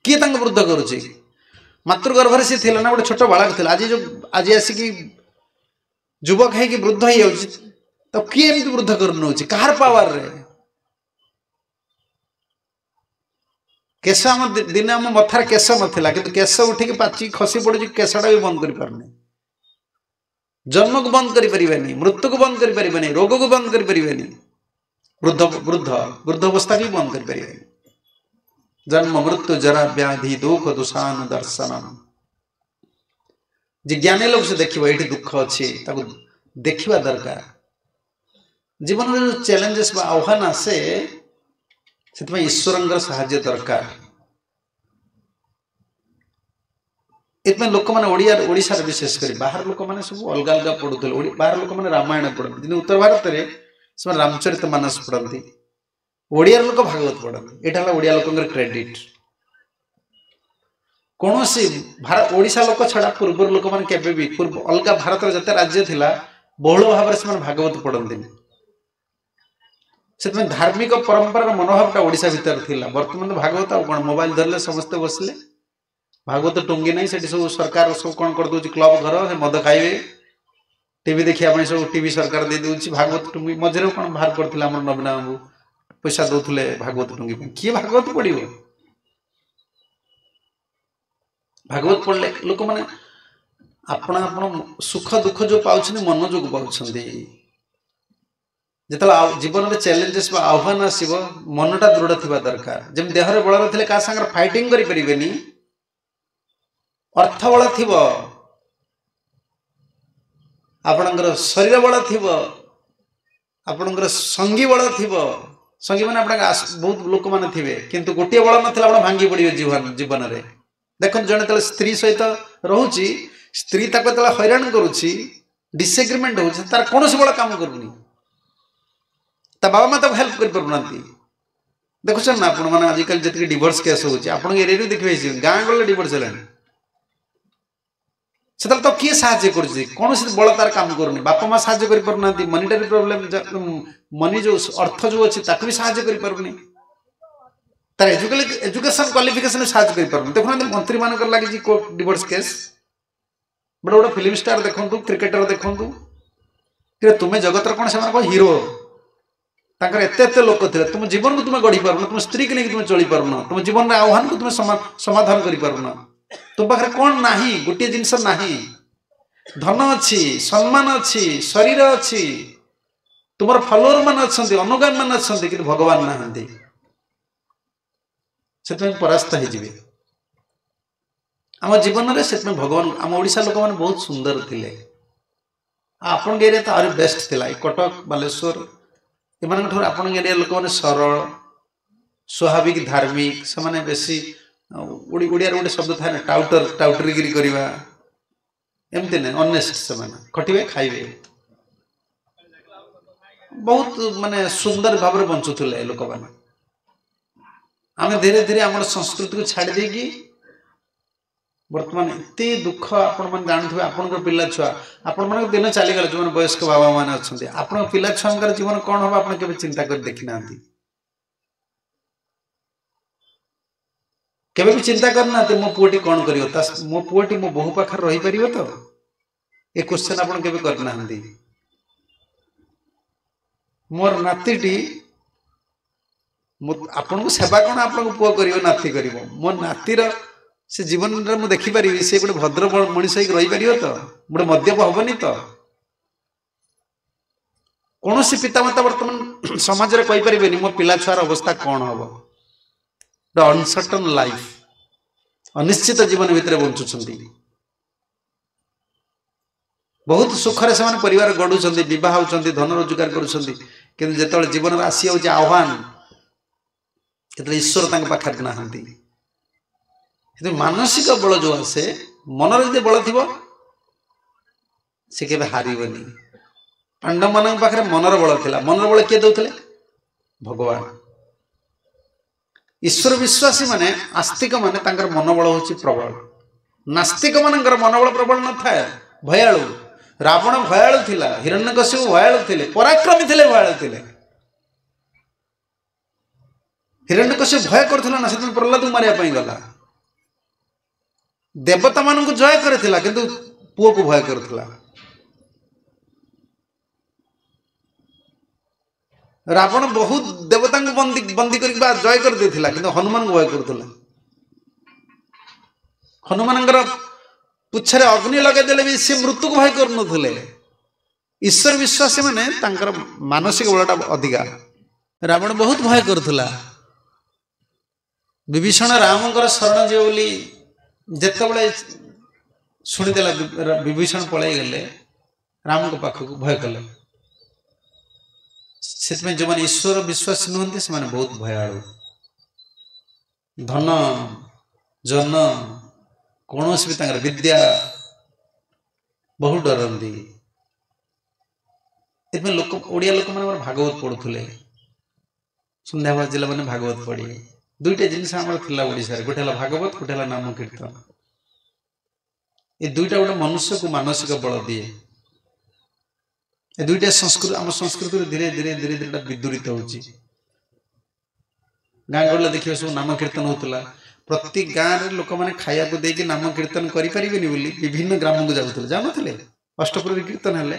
କିଏ ତାଙ୍କୁ ବୃଦ୍ଧ କରୁଛି? ମାତୃଗର୍ଭରେ ସେ ଥିଲା ନା ଗୋଟେ ଛୋଟ ବାଳକ ଥିଲା, ଆଜି ଯୋଉ ଆଜି ଆସିକି ଯୁବକ ହେଇକି ବୃଦ୍ଧ ହେଇଯାଉଛି, ତ କିଏ ଏମିତି ବୃଦ୍ଧ କରିନେଉଛି? କାହାର ପାୱାରରେ? କେଶ ଆମ ଦିନେ ଆମ ମଥାରେ କେଶ ନଥିଲା, କିନ୍ତୁ କେଶ ଉଠିକି ପାଚିକି ଖସି ପଡୁଛି, କେଶଟା ବି ବନ୍ଦ କରିପାରୁନି। ଜନ୍ମକୁ ବନ୍ଦ କରିପାରିବେନି, ମୃତ୍ୟୁକୁ ବନ୍ଦ କରିପାରିବେନି, ରୋଗକୁ ବନ୍ଦ କରିପାରିବେନି, ବୃଦ୍ଧ ବୃଦ୍ଧ ବୃଦ୍ଧ ଅବସ୍ଥାକୁ ବି ବନ୍ଦ କରିପାରିବେନି। ଜନ୍ମ ମୃତ୍ୟୁ ଜରା ବ୍ୟାଧି ଦୁଃଖ ଦୋଷାନୁ ଦର୍ଶନ। ଯେ ଜ୍ଞାନୀ ଲୋକ ସେ ଦେଖିବ ଏଇଠି ଦୁଃଖ ଅଛି, ତାକୁ ଦେଖିବା ଦରକାର। ଜୀବନରେ ଯୋଉ ଚ୍ୟାଲେଞ୍ଜେସ୍ ବା ଆହ୍ୱାନ ଆସେ, ସେଥିପାଇଁ ଈଶ୍ୱରଙ୍କର ସାହାଯ୍ୟ ଦରକାର। ଏଥିପାଇଁ ଲୋକମାନେ ଓଡ଼ିଶାରେ ବିଶେଷ କରି ବାହାର ଲୋକମାନେ ସବୁ ଅଲଗା ଅଲଗା ପଢ଼ୁଥିଲେ। ବାହାର ଲୋକମାନେ ରାମାୟଣ ପଢ଼ନ୍ତି, କିନ୍ତୁ ଉତ୍ତର ଭାରତରେ ସେମାନେ ରାମଚରିତ ମାନସ ପଢ଼ନ୍ତି। ଓଡ଼ିଆର ଲୋକ ଭାଗବତ ପଢ଼ନ୍ତି। ଏଇଟା ହେଲା ଓଡ଼ିଆ ଲୋକଙ୍କର କ୍ରେଡିଟ୍। କୌଣସି ଓଡ଼ିଶା ଲୋକ ଛଡ଼ା ପୂର୍ବରୁ ଲୋକମାନେ କେବେ ବି ପୂର୍ବ ଅଲଗା ଭାରତର ଯେତେ ରାଜ୍ୟ ଥିଲା, ବହୁଳ ଭାବରେ ସେମାନେ ଭାଗବତ ପଢ଼ନ୍ତିନି। ସେଥିପାଇଁ ଧାର୍ମିକ ପରମ୍ପରାର ମନୋଭାବଟା ଓଡ଼ିଶା ଭିତରେ ଥିଲା। ବର୍ତ୍ତମାନ ଭାଗବତ ଆଉ କ'ଣ, ମୋବାଇଲ ଧରିଲେ ସମସ୍ତେ ବସିଲେ, ଭାଗବତ ଟୁଙ୍ଗି ନାହିଁ। ସେଠି ସବୁ ସରକାର ସବୁ କ'ଣ କରିଦେଉଛି, କ୍ଲବ ଘର, ସେ ମଦ ଖାଇବେ, ଟିଭି ଦେଖିବା ପାଇଁ ସବୁ ଟିଭି ସରକାର ଦେଇ ଦେଉଛି। ଭାଗବତ ଟୁଙ୍ଗି ମଝିରେ କ'ଣ ବାହାର କରିଥିଲେ ଆମର ନବୀନ ବାବୁ, ପଇସା ଦଉଥିଲେ ଭାଗବତ ଟୁଙ୍ଗି ପାଇଁ। କିଏ ଭାଗବତ ପଢିବ? ଭାଗବତ ପଢିଲେ ଲୋକମାନେ ଆପଣ ଆପଣ ସୁଖ ଦୁଃଖ ଯୋଉ ପାଉଛନ୍ତି ମନ ଯୋଗୁଁ ପାଉଛନ୍ତି। ଯେତେବେଳେ ଜୀବନରେ ଚ୍ୟାଲେଞ୍ଜେସ୍ ବା ଆହ୍ୱାନ ଆସିବ, ମନଟା ଦୃଢ଼ ଥିବା ଦରକାର। ଯେମିତି ଦେହରେ ବଳ ନଥିଲେ କାହା ସାଙ୍ଗରେ ଫାଇଟିଂ କରିପାରିବେନି, ଅର୍ଥ ବଳ ଥିବ, ଆପଣଙ୍କର ଶରୀର ବଳ ଥିବ, ଆପଣଙ୍କର ସଙ୍ଗୀ ବଳ ଥିବ, ସଙ୍ଗୀ ମାନେ ଆପଣଙ୍କ ବହୁତ ଲୋକମାନେ ଥିବେ, କିନ୍ତୁ ଗୋଟିଏ ବଳ ନଥିଲେ ଆପଣ ଭାଙ୍ଗି ପଡ଼ିବେ ଜୀବନରେ। ଦେଖନ୍ତୁ, ଜଣେ ଯେତେବେଳେ ସ୍ତ୍ରୀ ସହିତ ରହୁଛି, ସ୍ତ୍ରୀ ତାକୁ ଯେତେବେଳେ ହଇରାଣ କରୁଛି, ଡିସଏଗ୍ରିମେଣ୍ଟ ହେଉଛି, ତାର କୌଣସି ବଳ କାମ କରୁନି, ତା ବାବା ମା ତାକୁ ହେଲ୍ପ କରିପାରୁନାହାନ୍ତି। ଦେଖୁଛନ୍ତି ନା ଆପଣମାନେ ଆଜିକାଲି ଯେତିକି ଡିଭୋର୍ସ କେସ୍ ହେଉଛି, ଆପଣଙ୍କ ଏରିଆରେ ବି ଦେଖିବେ, ଗାଁ ଗହଳିରେ ଡିଭୋର୍ସ ହେଲାଣି। ସେତେବେଳେ ତ କିଏ ସାହାଯ୍ୟ କରୁଛି? କୌଣସି ବଳ ତାର କାମ କରୁନି। ବାପା ମା ସାହାଯ୍ୟ କରିପାରୁନାହାନ୍ତି, ମନିଟାରୀ ପ୍ରୋବ୍ଲେମ, ମନି ଯୋଉ ଅର୍ଥ ଯୋଉ ଅଛି ତାକୁ ବି ସାହାଯ୍ୟ କରିପାରୁନି, ତାର ଏଜୁକେସନ କ୍ୱାଲିଫିକେସନ ସାହାଯ୍ୟ କରିପାରୁନି। ଦେଖୁନାହାନ୍ତି ମନ୍ତ୍ରୀମାନଙ୍କର ଲାଗିଛି ଡିଭୋର୍ସ କେସ୍, ବଡ଼ ବଡ଼ ଫିଲ୍ମ ଷ୍ଟାର ଦେଖନ୍ତୁ, କ୍ରିକେଟର ଦେଖନ୍ତୁ। ତୁମେ ଜଗତର କ'ଣ? ସେମାନେ କ'ଣ ହିରୋ? ତାଙ୍କର ଏତେ ଏତେ ଲୋକ ଥିଲେ, ତୁମ ଜୀବନକୁ ତୁମେ ଗଢ଼ି ପାରୁନ, ତୁମ ସ୍ତ୍ରୀକୁ ନେଇକି ତୁମେ ଚଳିପାରୁନ, ତୁମ ଜୀବନରେ ଆହ୍ୱାନକୁ ତୁମେ ସମାଧାନ କରିପାରୁନ। ତୁମ ପାଖରେ କ'ଣ ନାହିଁ? ଗୋଟିଏ ଜିନିଷ ନାହିଁ। ଧନ ଅଛି, ସମ୍ମାନ ଅଛି, ଶରୀର ଅଛି, ତୁମର ଫଲୋଅର ମାନେ ଅଛନ୍ତି, ଅନୁଗାମୀ ମାନେ ଅଛନ୍ତି, କିନ୍ତୁ ଭଗବାନ ନାହାନ୍ତି। ସେଥିପାଇଁ ପରାସ୍ତ ହେଇଯିବେ ଆମ ଜୀବନରେ। ସେଥିପାଇଁ ଭଗବାନ, ଆମ ଓଡ଼ିଶା ଲୋକମାନେ ବହୁତ ସୁନ୍ଦର ଥିଲେ। ଆଉ ଆପଣଙ୍କ ଏରିଆ ତ ଆହୁରି ବେଷ୍ଟ ଥିଲା। ଏ କଟକ, ବାଲେଶ୍ୱର ଏମାନଙ୍କ ଠାରୁ ଆପଣଙ୍କ ଏରିଆ ଲୋକମାନେ ସରଳ, ସ୍ୱାଭାବିକ, ଧାର୍ମିକ। ସେମାନେ ବେଶୀ, ଓଡ଼ିଆରେ ଗୋଟେ ଶବ୍ଦ ଥାଏ ନା, ଟାଉଟର, ଟାଉଟରିଗିରି କରିବା ଏମିତି ନାହିଁ, ଅନେଷ୍ଟ। ସେମାନେ ଖଟିବେ, ଖାଇବେ, ବହୁତ ମାନେ ସୁନ୍ଦର ଭାବରେ ବଞ୍ଚୁଥିଲେ ଲୋକମାନେ। ଆମେ ଧୀରେ ଧୀରେ ଆମର ସଂସ୍କୃତିକୁ ଛାଡ଼ି ଦେଇକି ବର୍ତ୍ତମାନ ଏତେ ଦୁଃଖ। ଆପଣମାନେ ଜାଣୁଥିବେ, ଆପଣଙ୍କର ପିଲା ଛୁଆ, ଆପଣମାନଙ୍କ ଦିନ ଚାଲିଗଲେ, ଯେଉଁମାନେ ବୟସ୍କ ବାବା ମାନେ ଅଛନ୍ତି, ଆପଣଙ୍କ ପିଲା ଛୁଆଙ୍କର ଜୀବନ କ'ଣ ହବ ଆପଣ କେବେ ଚିନ୍ତା କରି ଦେଖିନାହାନ୍ତି। କେବେ ବି ଚିନ୍ତା କରିନାହାନ୍ତି ମୋ ପୁଅଟି କ'ଣ କରିବ, ତା ମୋ ପୁଅଟି ମୋ ବୋହୂ ପାଖରେ ରହିପାରିବ ତ? ଏ କ୍ୱେଶ୍ଚନ ଆପଣ କେବେ କରିନାହାନ୍ତି। ମୋର ନାତିଟି ଆପଣଙ୍କୁ ସେବା କ'ଣ ଆପଣଙ୍କ ପୁଅ କରିବ, ନାତି କରିବ? ମୋ ନାତିର ସେ ଜୀବନରେ ମୁଁ ଦେଖିପାରିବି ସେ ଗୋଟେ ଭଦ୍ର ମଣିଷ ହେଇକି ରହିପାରିବ ତ? ଗୋଟେ ମଦ୍ୟପ ହବନି ତ? କୌଣସି ପିତାମାତା ବର୍ତ୍ତମାନ ସମାଜରେ କହିପାରିବେନି ମୋ ପିଲା ଛୁଆର ଅବସ୍ଥା କ'ଣ ହବ। ଗୋଟେ ଅନସର୍ଟନ ଲାଇଫ, ଅନିଶ୍ଚିତ ଜୀବନ ଭିତରେ ବଞ୍ଚୁଛନ୍ତି। ବହୁତ ସୁଖରେ ସେମାନେ ପରିବାର ଗଢୁଛନ୍ତି, ବିବାହ ହେଉଛନ୍ତି, ଧନ ରୋଜଗାର କରୁଛନ୍ତି, କିନ୍ତୁ ଯେତେବେଳେ ଜୀବନରେ ଆସିଯାଉଛି ଆହ୍ୱାନ, ସେତେବେଳେ ଈଶ୍ୱର ତାଙ୍କ ପାଖରେ ନାହାନ୍ତି। କିନ୍ତୁ ମାନସିକ ବଳ ଯୋଉ ଆସେ, ମନରେ ଯଦି ବଳ ଥିବ ସେ କେବେ ହାରିବନି। ପାଣ୍ଡବମାନଙ୍କ ପାଖରେ ମନର ବଳ ଥିଲା। ମନର ବଳ କିଏ ଦଉଥିଲେ? ଭଗବାନ। ଈଶ୍ୱର ବିଶ୍ୱାସୀ ମାନେ, ଆସ୍ତିକ ମାନେ, ତାଙ୍କର ମନୋବଳ ହେଉଛି ପ୍ରବଳ। ନାସ୍ତିକ ମାନଙ୍କର ମନୋବଳ ପ୍ରବଳ ନଥାଏ, ଭୟାଳୁ। ରାବଣ ଭୟାଳୁ ଥିଲା, ହିରଣ୍ୟକଶିପୁ ଭୟାଳୁ ଥିଲେ, ପରାକ୍ରମୀ ଥିଲେ, ଭୟାଳୁ ଥିଲେ। ହିରଣ୍ୟକଶିପୁ ଭୟ କରୁଥିଲା ନା, ସେଥିପାଇଁ ପ୍ରହ୍ଲାଦକୁ ମାରିବା ପାଇଁ ଗଲା। ଦେବତା ମାନଙ୍କୁ ଜୟ କରିଥିଲା, କିନ୍ତୁ ପୁଅକୁ ଭୟ କରୁଥିଲା। ରାବଣ ବହୁତ ଦେବତାଙ୍କୁ ବନ୍ଦୀ କରିକି ବା ଜୟ କରିଦେଇଥିଲା, କିନ୍ତୁ ହନୁମାନଙ୍କୁ ଭୟ କରୁଥିଲା। ହନୁମାନଙ୍କର ପୁଚ୍ଛରେ ଅଗ୍ନି ଲଗେଇଦେଲେ ବି ସେ ମୃତ୍ୟୁକୁ ଭୟ କରୁନଥିଲେ। ଈଶ୍ୱର ବିଶ୍ୱାସୀ ମାନେ ତାଙ୍କର ମାନସିକ ବଳଟା ଅଧିକା। ରାବଣ ବହୁତ ଭୟ କରୁଥିଲା। ବିଭୀଷଣ ରାମଙ୍କର ଶରଣ ଯିବ ବୋଲି ଯେତେବେଳେ ଶୁଣିଦେଲା, ବିଭୀଷଣ ପଳେଇଗଲେ ରାମଙ୍କ ପାଖକୁ, ଭୟ କଲେ। ସେଥିପାଇଁ ଯେଉଁମାନେ ଈଶ୍ୱର ବିଶ୍ୱାସୀ ନୁହନ୍ତି ସେମାନେ ବହୁତ ଭୟାଳୁ। ଧନ ଜନ କୌଣସି ବି ତାଙ୍କର ବିଦ୍ୟା ବହୁତ ଡରନ୍ତି। ଏଥିପାଇଁ ଲୋକ, ଓଡ଼ିଆ ଲୋକମାନେ ଆମର ଭାଗବତ ପଢ଼ୁଥିଲେ। ସନ୍ଧ୍ୟା ବାଜିଲା ମାନେ ଭାଗବତ ପଢ଼ିବେ। ଦୁଇଟା ଜିନିଷ ଆମର ଥିଲା ଓଡ଼ିଶାରେ, ଗୋଟେ ହେଲା ଭାଗବତ, ଗୋଟେ ହେଲା ନାମ କୀର୍ତ୍ତନ। ଏ ଦୁଇଟା ଗୋଟେ ମନୁଷ୍ୟକୁ ମାନସିକ ବଳ ଦିଏ। ଏ ଦୁଇଟା ସଂସ୍କୃତି ଆମ ସଂସ୍କୃତିରେ ଧୀରେ ଧୀରେ ଧୀରେ ଧୀରେ ବିଦୂରିତ ହେଉଛି। ଗାଁ ଗହଳିରେ ଦେଖିବେ ସବୁ ନାମ କୀର୍ତ୍ତନ ହେଉଥିଲା। ପ୍ରତି ଗାଁରେ ଲୋକମାନେ ଖାଇବାକୁ ଦେଇକି ନାମ କୀର୍ତ୍ତନ କରିପାରିବେନି ବୋଲି ବିଭିନ୍ନ ଗ୍ରାମକୁ ଯାଉଥିଲେ, ଯାଉନଥିଲେ? ଅଷ୍ଟପ୍ରହରୀ କୀର୍ତ୍ତନ ହେଲେ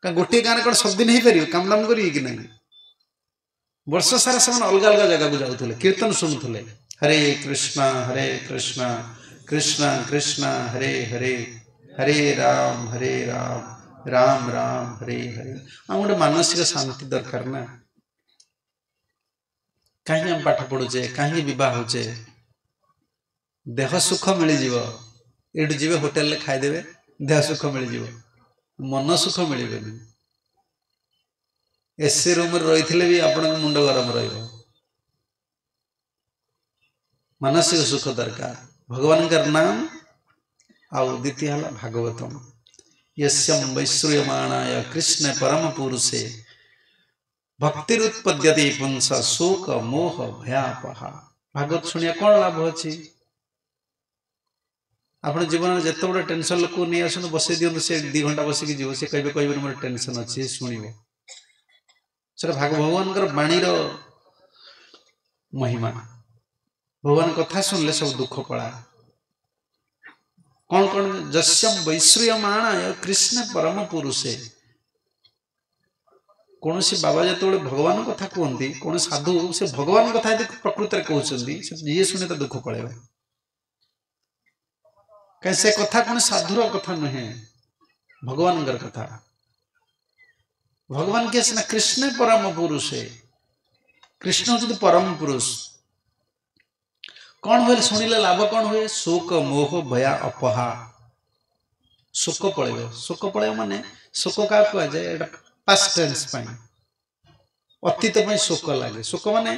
କାରଣ ଗୋଟିଏ ଗାଁରେ କ'ଣ ସବୁଦିନ ହେଇପାରିବ? କାମ ଦାମ କରିବେ କି ନାହିଁ? ବର୍ଷ ସାରା ସେମାନେ ଅଲଗା ଅଲଗା ଜାଗାକୁ ଯାଉଥିଲେ, କୀର୍ତ୍ତନ ଶୁଣୁଥିଲେ। ହରେ କୃଷ୍ଣ ହରେ କୃଷ୍ଣ କୃଷ୍ଣ କୃଷ୍ଣ ହରେ ହରେ, ହରେ ରାମ ହରେ ରାମ ରାମ ରାମ ହରେ ହରେ। ଆମ ଗୋଟେ ମାନସିକ ଶାନ୍ତି ଦରକାର ନା। କାହିଁକି ଆମେ ପାଠ ପଢୁଛେ, କାହିଁକି ବିବାହ ହଉଛେ? ଦେହ ସୁଖ ମିଳିଯିବ, ଏଇଠୁ ଯିବେ ହୋଟେଲରେ ଖାଇଦେବେ, ଦେହ ସୁଖ ମିଳିଯିବ, ମନ ସୁଖ ମିଳିବନି। ଏସି ରୁମରେ ରହିଥିଲେ ବି ଆପଣଙ୍କ ମୁଣ୍ଡ ଗରମ ରହିବ। ମାନସିକ ସୁଖ ଦରକାର, ଭଗବାନଙ୍କର ନାମ। ଆଉ ଦ୍ୱିତୀୟ ହେଲା ଭାଗବତମ। ୟସ୍ୟಂ ବୈଶ୍ରୁୟମାଣାୟ କୃଷ୍ଣ ପରମ ପୁରୁଷେ ଭକ୍ତିରୁତ୍ପଦ୍ୟତେ ପୁଂସ ଶୋକ ମୋହ ଭୟାପହା। ଭାଗବତ ଶୁଣିବା କ'ଣ ଲାଭ ଅଛି? ଆପଣ ଜୀବନରେ ଯେତେ ବଡ଼ ଟେନସନ୍ ଲୋକକୁ ନେଇ ଆସନ୍ତୁ, ବସେଇ ଦିଅନ୍ତୁ, ସେ 2 ଘଣ୍ଟା ବସିକି ଯିବ, ସେ କହିବେ କହିବେନି ମୋର ଟେନସନ୍ ଅଛି, ଶୁଣିବ। ସେଟା ଭଗବାନଙ୍କର ବାଣୀର ମହିମା। ଭଗବାନ କଥା ଶୁଣିଲେ ସବୁ ଦୁଃଖ ପଳାଏ। କ'ଣ କ'ଣ? ଯସ୍ୟಂ ବୈଶ୍ରୁୟମାଣାୟ କୃଷ୍ଣ ପରମ ପୁରୁଷେ। କୌଣସି ବାବା ଯେତେବେଳେ ଭଗବାନ କଥା କୁହନ୍ତି, କୌଣସି ସାଧୁ ସେ ଭଗବାନ କଥା ଯଦି ପ୍ରକୃତରେ କହୁଛନ୍ତି, ସେ ଯିଏ ଶୁଣେ ତା ଦୁଃଖ ପଳେଇବ। କାହିଁ ସେ କଥା କୌଣସି ସାଧୁର କଥା ନୁହେଁ, ଭଗବାନଙ୍କର କଥା। ଭଗବାନ କିଏ ସିନା? କୃଷ୍ଣ ପରମ ପୁରୁଷେ। କୃଷ୍ଣ ହଉଛନ୍ତି ପରମ ପୁରୁଷ। କ'ଣ ହୁଏ ଶୁଣିଲେ ଲାଭ କ'ଣ ହୁଏ? ଶୋକ ମୋହ ଭୟା ଅପହା। ଶୋକ ପଳେଇବ। ଶୋକ ପଳେଇବ ମାନେ ଶୋକ କାହାକୁ କୁହାଯାଏ? ଏଇଟା ପାଷ୍ଟ ଟେନ୍ସ ପାଇଁ, ଅତୀତ ପାଇଁ ଶୋକ ଲାଗେ। ଶୋକ ମାନେ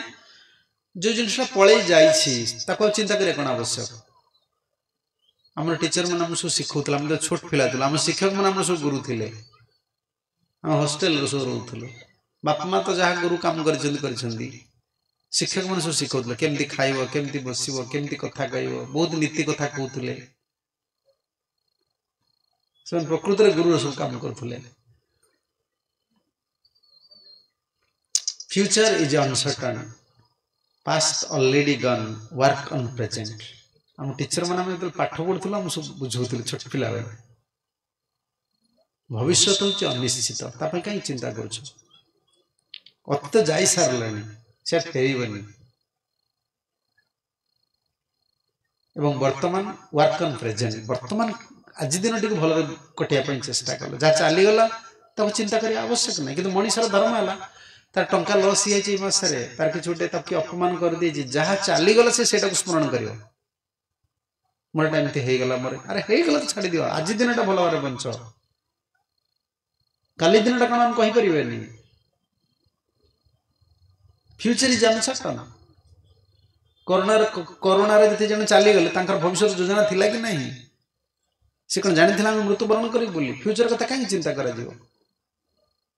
ଯୋଉ ଜିନିଷଟା ପଳେଇ ଯାଇଛି ତାକୁ ଆଉ ଚିନ୍ତା କରିବା କ'ଣ ଆବଶ୍ୟକ? ଆମର ଟିଚର ମାନେ ଆମକୁ ସବୁ ଶିଖଉଥିଲେ, ଆମେ ତ ଛୋଟ ପିଲା ଥିଲୁ, ଆମ ଶିକ୍ଷକ ମାନେ ଆମର ସବୁ ଗୁରୁ ଥିଲେ। ଆମେ ହଷ୍ଟେଲରେ ସବୁ ରହୁଥିଲୁ, ବାପା ମା ତ ଯାହା ଗୁରୁ କାମ କରିଛନ୍ତି କରିଛନ୍ତି, ଶିକ୍ଷକ ମାନେ ସବୁ ଶିଖଉଥିଲେ କେମିତି ଖାଇବ, କେମିତି ବସିବ, କେମିତି କଥା କହିବ, ବହୁତ ନୀତି କଥା କହୁଥିଲେ। ସେମାନେ ପ୍ରକୃତରେ ଗୁରୁର ସବୁ କାମ କରୁଥିଲେ। Future is uncertain, past already gone, work on present. ଆମ ଟିଚର ମାନେ ଆମେ ଯେତେବେଳେ ପାଠ ପଢୁଥିଲୁ ଆମ ସବୁ ବୁଝଉଥିଲେ ଛୋଟ ପିଲାବେଳେ, ଭବିଷ୍ୟତ ହେଉଛି ଅନିଶ୍ଚିତ, ତା ପାଇଁ କାହିଁ ଚିନ୍ତା କରୁଛ? ଅତୀତ ଯାଇ ସାରିଲାଣି, ସେ ଫେରିବନି। ଏବଂ ବର୍ତ୍ତମାନ ୱାର୍କ ଅନ୍ ପ୍ରେଜେଣ୍ଟ, ବର୍ତ୍ତମାନ ଆଜି ଦିନଟିକୁ ଭଲରେ କଟିବା ପାଇଁ ଚେଷ୍ଟା କଲ। ଯାହା ଚାଲିଗଲା ତାକୁ ଚିନ୍ତା କରିବା ଆବଶ୍ୟକ ନାହିଁ। କିନ୍ତୁ ମଣିଷର ଧର୍ମ ହେଲା ତାର ଟଙ୍କା ଲସ୍ ହେଇଯାଇଛି ଏଇ ମାସରେ, ତାର କିଛି ଗୋଟେ ତାକୁ କିଏ ଅପମାନ କରିଦେଇଛି, ଯାହା ଚାଲିଗଲା ସେ ସେଇଟାକୁ ସ୍ମରଣ କରିବ। ମୋର ଏଟା ଏମିତି ହେଇଗଲା, ମୋର ଆରେ ହେଇଗଲା ତ ଛାଡ଼ିଦିଅ, ଆଜି ଦିନଟା ଭଲ ଭାବରେ ବଞ୍ଚ, କାଲି ଦିନଟା କ'ଣ ଆମେ କହିପାରିବେନି। Future is uncertain. କରୋନାରେ ଯେତେ ଜଣ ଚାଲିଗଲେ ତାଙ୍କର ଭବିଷ୍ୟତ ଯୋଜନା ଥିଲା କି ନାହିଁ? ସେ କ'ଣ ଜାଣିଥିଲା ଆମେ ମୃତ୍ୟୁବରଣ କରିବୁ ବୋଲି? ଫ୍ୟୁଚର କଥା କାହିଁକି ଚିନ୍ତା କରାଯିବ?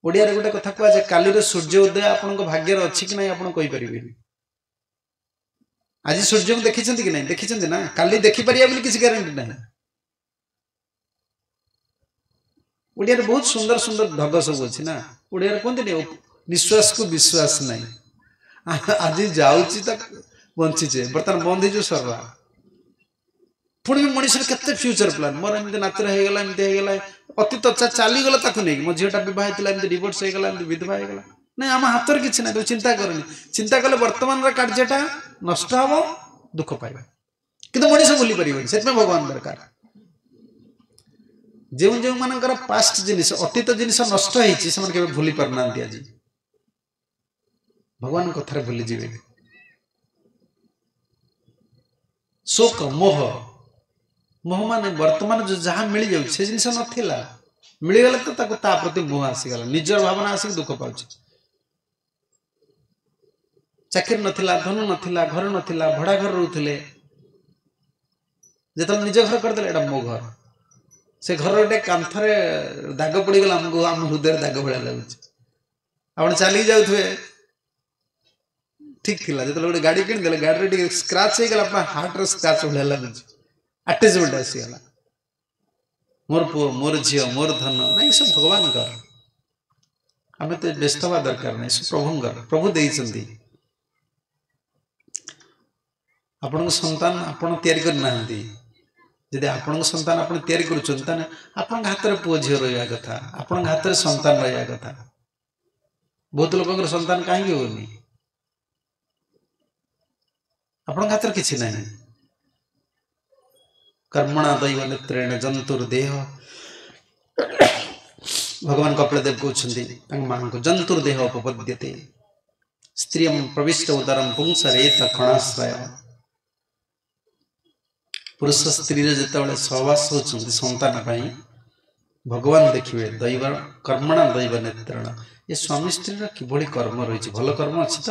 ଓଡ଼ିଆରେ ଗୋଟେ କଥା କୁହାଯାଏ, କାଲିର ସୂର୍ଯ୍ୟ ଉଦୟ ଆପଣଙ୍କ ଭାଗ୍ୟରେ ଅଛି କି ନାହିଁ ଆପଣ କହିପାରିବେନି। ଆଜି ସୂର୍ଯ୍ୟଙ୍କୁ ଦେଖିଛନ୍ତି କି ନାହିଁ? ଦେଖିଛନ୍ତି ନା, କାଲି ଦେଖିପାରିବା ବୋଲି କିଛି ଗ୍ୟାରେଣ୍ଟି ନାହିଁ। ଓଡ଼ିଆରେ ବହୁତ ସୁନ୍ଦର ସୁନ୍ଦର ଢଗ ସବୁ ଅଛି ନା। ଓଡ଼ିଆରେ କୁହନ୍ତିନି ନିଶ୍ୱାସକୁ ବିଶ୍ୱାସ ନାହିଁ। ଆଜି ଯାଉଛି ତ ବଞ୍ଚିଛେ, ବର୍ତ୍ତମାନ ବନ୍ଦ ହେଇଯିବ ସରିଲା। ପୁଣି ବି ମଣିଷର କେତେ ଫ୍ୟୁଚର ପ୍ଲାନ୍, ମୋର ଏମିତି ନାତିର ହେଇଗଲା, ଏମିତି ହେଇଗଲା, ଅତୀତ ଚାଲିଗଲା ତାକୁ ନେଇକି, ମୋ ଝିଅଟା ବିବାହ ହେଇଥିଲା, ଏମିତି ଡିଭୋର୍ସ ହେଇଗଲା, ଏମିତି ବିଧବା ହେଇଗଲା। ନାଇଁ, ଆମ ହାତରେ କିଛି ନାହିଁ, ତୁ ଚିନ୍ତା କରନି। ଚିନ୍ତା କଲେ ବର୍ତ୍ତମାନର କାର୍ଯ୍ୟଟା ନଷ୍ଟ ହବ, ଦୁଃଖ ପାଇବା। କିନ୍ତୁ ମଣିଷ ଭୁଲି ପାରିବନି, ସେଥିପାଇଁ ଭଗବାନ ଦରକାର। ଯେଉଁ ଯେଉଁମାନଙ୍କର ପାଷ୍ଟ ଜିନିଷ, ଅତୀତ ଜିନିଷ ନଷ୍ଟ ହେଇଛି, ସେମାନେ କେବେ ଭୁଲି ପାରୁନାହାନ୍ତି। ଆଜି ଭଗବାନଙ୍କ କଥାରେ ଭୁଲିଯିବେ। ଶୋକ ମୋହ, ମୋହ ମାନେ ବର୍ତ୍ତମାନ ଯାହା ମିଳିଯାଉଛି ସେ ଜିନିଷ ନଥିଲା, ମିଳିଗଲା ତ ତାକୁ ତା ପ୍ରତି ମୋହ ଆସିଗଲା, ନିଜର ଭାବନା ଆସିକି ଦୁଃଖ ପାଉଛି। ଚାକିରି ନଥିଲା, ଧନ ନଥିଲା, ଘର ନଥିଲା, ଭଡ଼ା ଘର ରହୁଥିଲେ, ଯେତେବେଳେ ନିଜ ଘର କରିଦେଲେ ଏଇଟା ମୋ ଘର, ସେ ଘର ଗୋଟେ କାନ୍ଥରେ ଦାଗ ପଡ଼ିଗଲା, ଆମକୁ ଆମ ହୃଦୟରେ ଦାଗ ଭଳିଆ ଲାଗୁଛି। ଆପଣ ଚାଲିକି ଯାଉଥିବେ ଠିକ ଥିଲା, ଯେତେବେଳେ ଗୋଟେ ଗାଡ଼ି କିଣିଦେଲେ ଗାଡ଼ିରେ ଟିକେ ସ୍କ୍ରାଚ୍ ହେଇଗଲା, ଆପଣ ହାର୍ଟର ସ୍କ୍ରାଚ୍ ଭଳିଆ ଲାଗୁଛି, ଆଟାଚମେଣ୍ଟ ଆସିଗଲା। ମୋର ପୁଅ, ମୋର ଝିଅ, ମୋର ଧନ, ନାଇଁ ସବୁ ଭଗବାନଙ୍କର। ଆମେ ତ ବ୍ୟସ୍ତ ହେବା ଦରକାର ନାହିଁ, ସବୁ ପ୍ରଭୁଙ୍କର, ପ୍ରଭୁ ଦେଇଛନ୍ତି। ଆପଣଙ୍କ ସନ୍ତାନ ଆପଣ ତିଆରି କରିନାହାନ୍ତି, ଯଦି ଆପଣଙ୍କ ସନ୍ତାନ ଆପଣ ତିଆରି କରୁଛନ୍ତି, ତାହେଲେ ଆପଣଙ୍କ ହାତରେ ପୁଅ ଝିଅ ରହିବା କଥା, ଆପଣଙ୍କ ହାତରେ ସନ୍ତାନ ରହିବା କଥା। ବହୁତ ଲୋକଙ୍କର ସନ୍ତାନ କାହିଁକି ହଉନି? ଆପଣଙ୍କ ହାତରେ କିଛି ନାହିଁ। କର୍ମଣା ଦୈବ ନେତ୍ରେଣ ଜନ୍ତୁର ଦେହ, ଭଗବାନ କପିଳ ଦେବ କହୁଛନ୍ତି ତାଙ୍କ ମାଙ୍କୁ, ଜନ୍ତୁର ଦେହ ଉପପଦ୍ୟତେ ସ୍ତ୍ରୀୟಂ ପ୍ରବିଷ୍ଟ ଉଦରಂ ପୁଂସରେତ କଣାଶ୍ରୟ। ପୁରୁଷ ସ୍ତ୍ରୀର ଯେତେବେଳେ ସହବାସ ହେଉଛନ୍ତି ସନ୍ତାନ ପାଇଁ, ଭଗବାନ ଦେଖିବେ ଦୈବ କର୍ମଣା ଦୈବ ନେତ୍ରଣ, ଏ ସ୍ୱାମୀ ସ୍ତ୍ରୀର କିଭଳି କର୍ମ ରହିଛି, ଭଲ କର୍ମ ଅଛି ତ,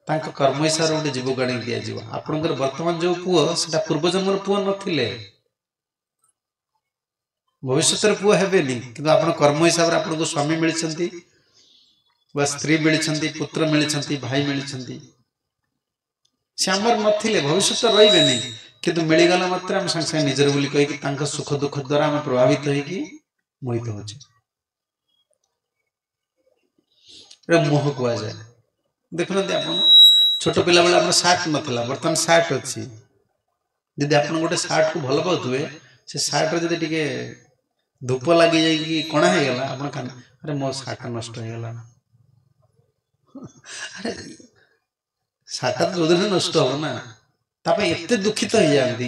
ତାଙ୍କ କର୍ମ ହିସାବରେ ଗୋଟେ ଜୀବକୁ ଆଣିକି ଦିଆଯିବ। ଆପଣଙ୍କର ବର୍ତ୍ତମାନ ଯୋଉ ପୁଅ, ସେଟା ପୂର୍ବଜନ୍ମର ପୁଅ ନଥିଲେ, ଭବିଷ୍ୟତରେ ପୁଅ ହେବେନି, କିନ୍ତୁ ଆପଣ କର୍ମ ହିସାବରେ ଆପଣଙ୍କୁ ସ୍ୱାମୀ ମିଳିଛନ୍ତି ବା ସ୍ତ୍ରୀ ମିଳିଛନ୍ତି, ପୁତ୍ର ମିଳିଛନ୍ତି, ଭାଇ ମିଳିଛନ୍ତି। ସେ ଆମର ନଥିଲେ, ଭବିଷ୍ୟତ ରହିବେନି, କିନ୍ତୁ ମିଳିଗଲା ମାତ୍ରେ ଆମେ ସାଙ୍ଗେ ସାଙ୍ଗେ ନିଜର ବୋଲି କହିକି ତାଙ୍କ ସୁଖ ଦୁଃଖ ଦ୍ୱାରା ଆମେ ପ୍ରଭାବିତ ହେଇକି ମୋହିତ ହଉଛେ। ଏଟା ମୋହ କୁହାଯାଏ। ଦେଖୁନାହାନ୍ତି ଆପଣ, ଛୋଟ ପିଲାବେଳେ ଆମର ସାର୍ଟ ନଥିଲା, ବର୍ତ୍ତମାନ ସାର୍ଟ ଅଛି। ଯଦି ଆପଣ ଗୋଟେ ସାର୍ଟକୁ ଭଲ ପାଉଥିବେ, ସେ ସାର୍ଟରେ ଯଦି ଟିକେ ଧୂପ ଲାଗି ଯାଇକି କଣା ହେଇଗଲା, ଆପଣ କାନ୍ଦ, ଆରେ ମୋ ସାର୍ଟଟା ନଷ୍ଟ ହେଇଗଲା। ଆରେ ସାର୍ଟଟା ତ ଯୋଉଦିନ ନଷ୍ଟ ହବ ନା, ତା ପାଇଁ ଏତେ ଦୁଃଖିତ ହେଇଯାଆନ୍ତି।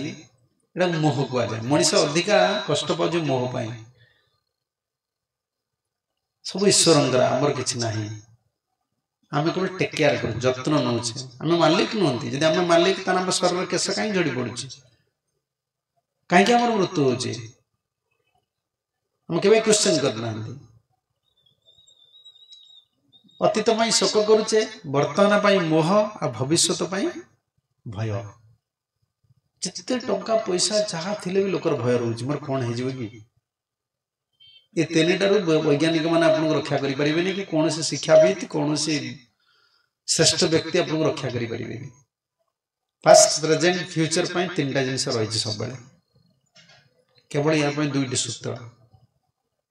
ଏଇଟା ମୋହ କୁହାଯାଏ। ମଣିଷ ଅଧିକା କଷ୍ଟ ପାଉଛି ମୋହ ପାଇଁ। ସବୁ ଈଶ୍ୱରଙ୍କର, ଆମର କିଛି ନାହିଁ। ଆମେ କେବଳ ଟେକ୍ କେୟାର କରୁ, ଯତ୍ନ ନେଉଛେ, ଆମେ ମାଲିକ ନୁହନ୍ତି। ଯଦି ଆମେ ମାଲିକ, ତାହେଲେ ଆମ ଶରୀରରେ କେଶ କାହିଁ ଝଡ଼ି ପଡୁଛି, କାହିଁକି ଆମର ମୃତ୍ୟୁ ହଉଛି? ଆମେ କେବେ କ୍ୱେଶ୍ଚନ କରିନାହାନ୍ତି। ଅତୀତ ପାଇଁ ଶୋକ କରୁଛେ, ବର୍ତ୍ତମାନ ପାଇଁ ମୋହ, ଆଉ ଭବିଷ୍ୟତ ପାଇଁ ଭୟ। ଯେତେ ଟଙ୍କା ପଇସା ଯାହା ଥିଲେ ବି ଲୋକର ଭୟ ରହୁଛି, ମୋର କଣ ହେଇଯିବ କି? ଏ ତିନିଟାରୁ ବୈଜ୍ଞାନିକ ମାନେ ଆପଣଙ୍କୁ ରକ୍ଷା କରିପାରିବେନି, କି କୌଣସି ଶିକ୍ଷାବିତ୍, କୌଣସି ଶ୍ରେଷ୍ଠ ବ୍ୟକ୍ତି ଆପଣଙ୍କୁ ରକ୍ଷା କରିପାରିବେନି। ପାଷ୍ଟ, ପ୍ରେଜେଣ୍ଟ, ଫ୍ୟୁଚର ପାଇଁ ତିନିଟା ଜିନିଷ ରହିଛି ସବୁବେଳେ। କେବଳ ୟା ପାଇଁ ଦୁଇଟି ସୂତ୍ର,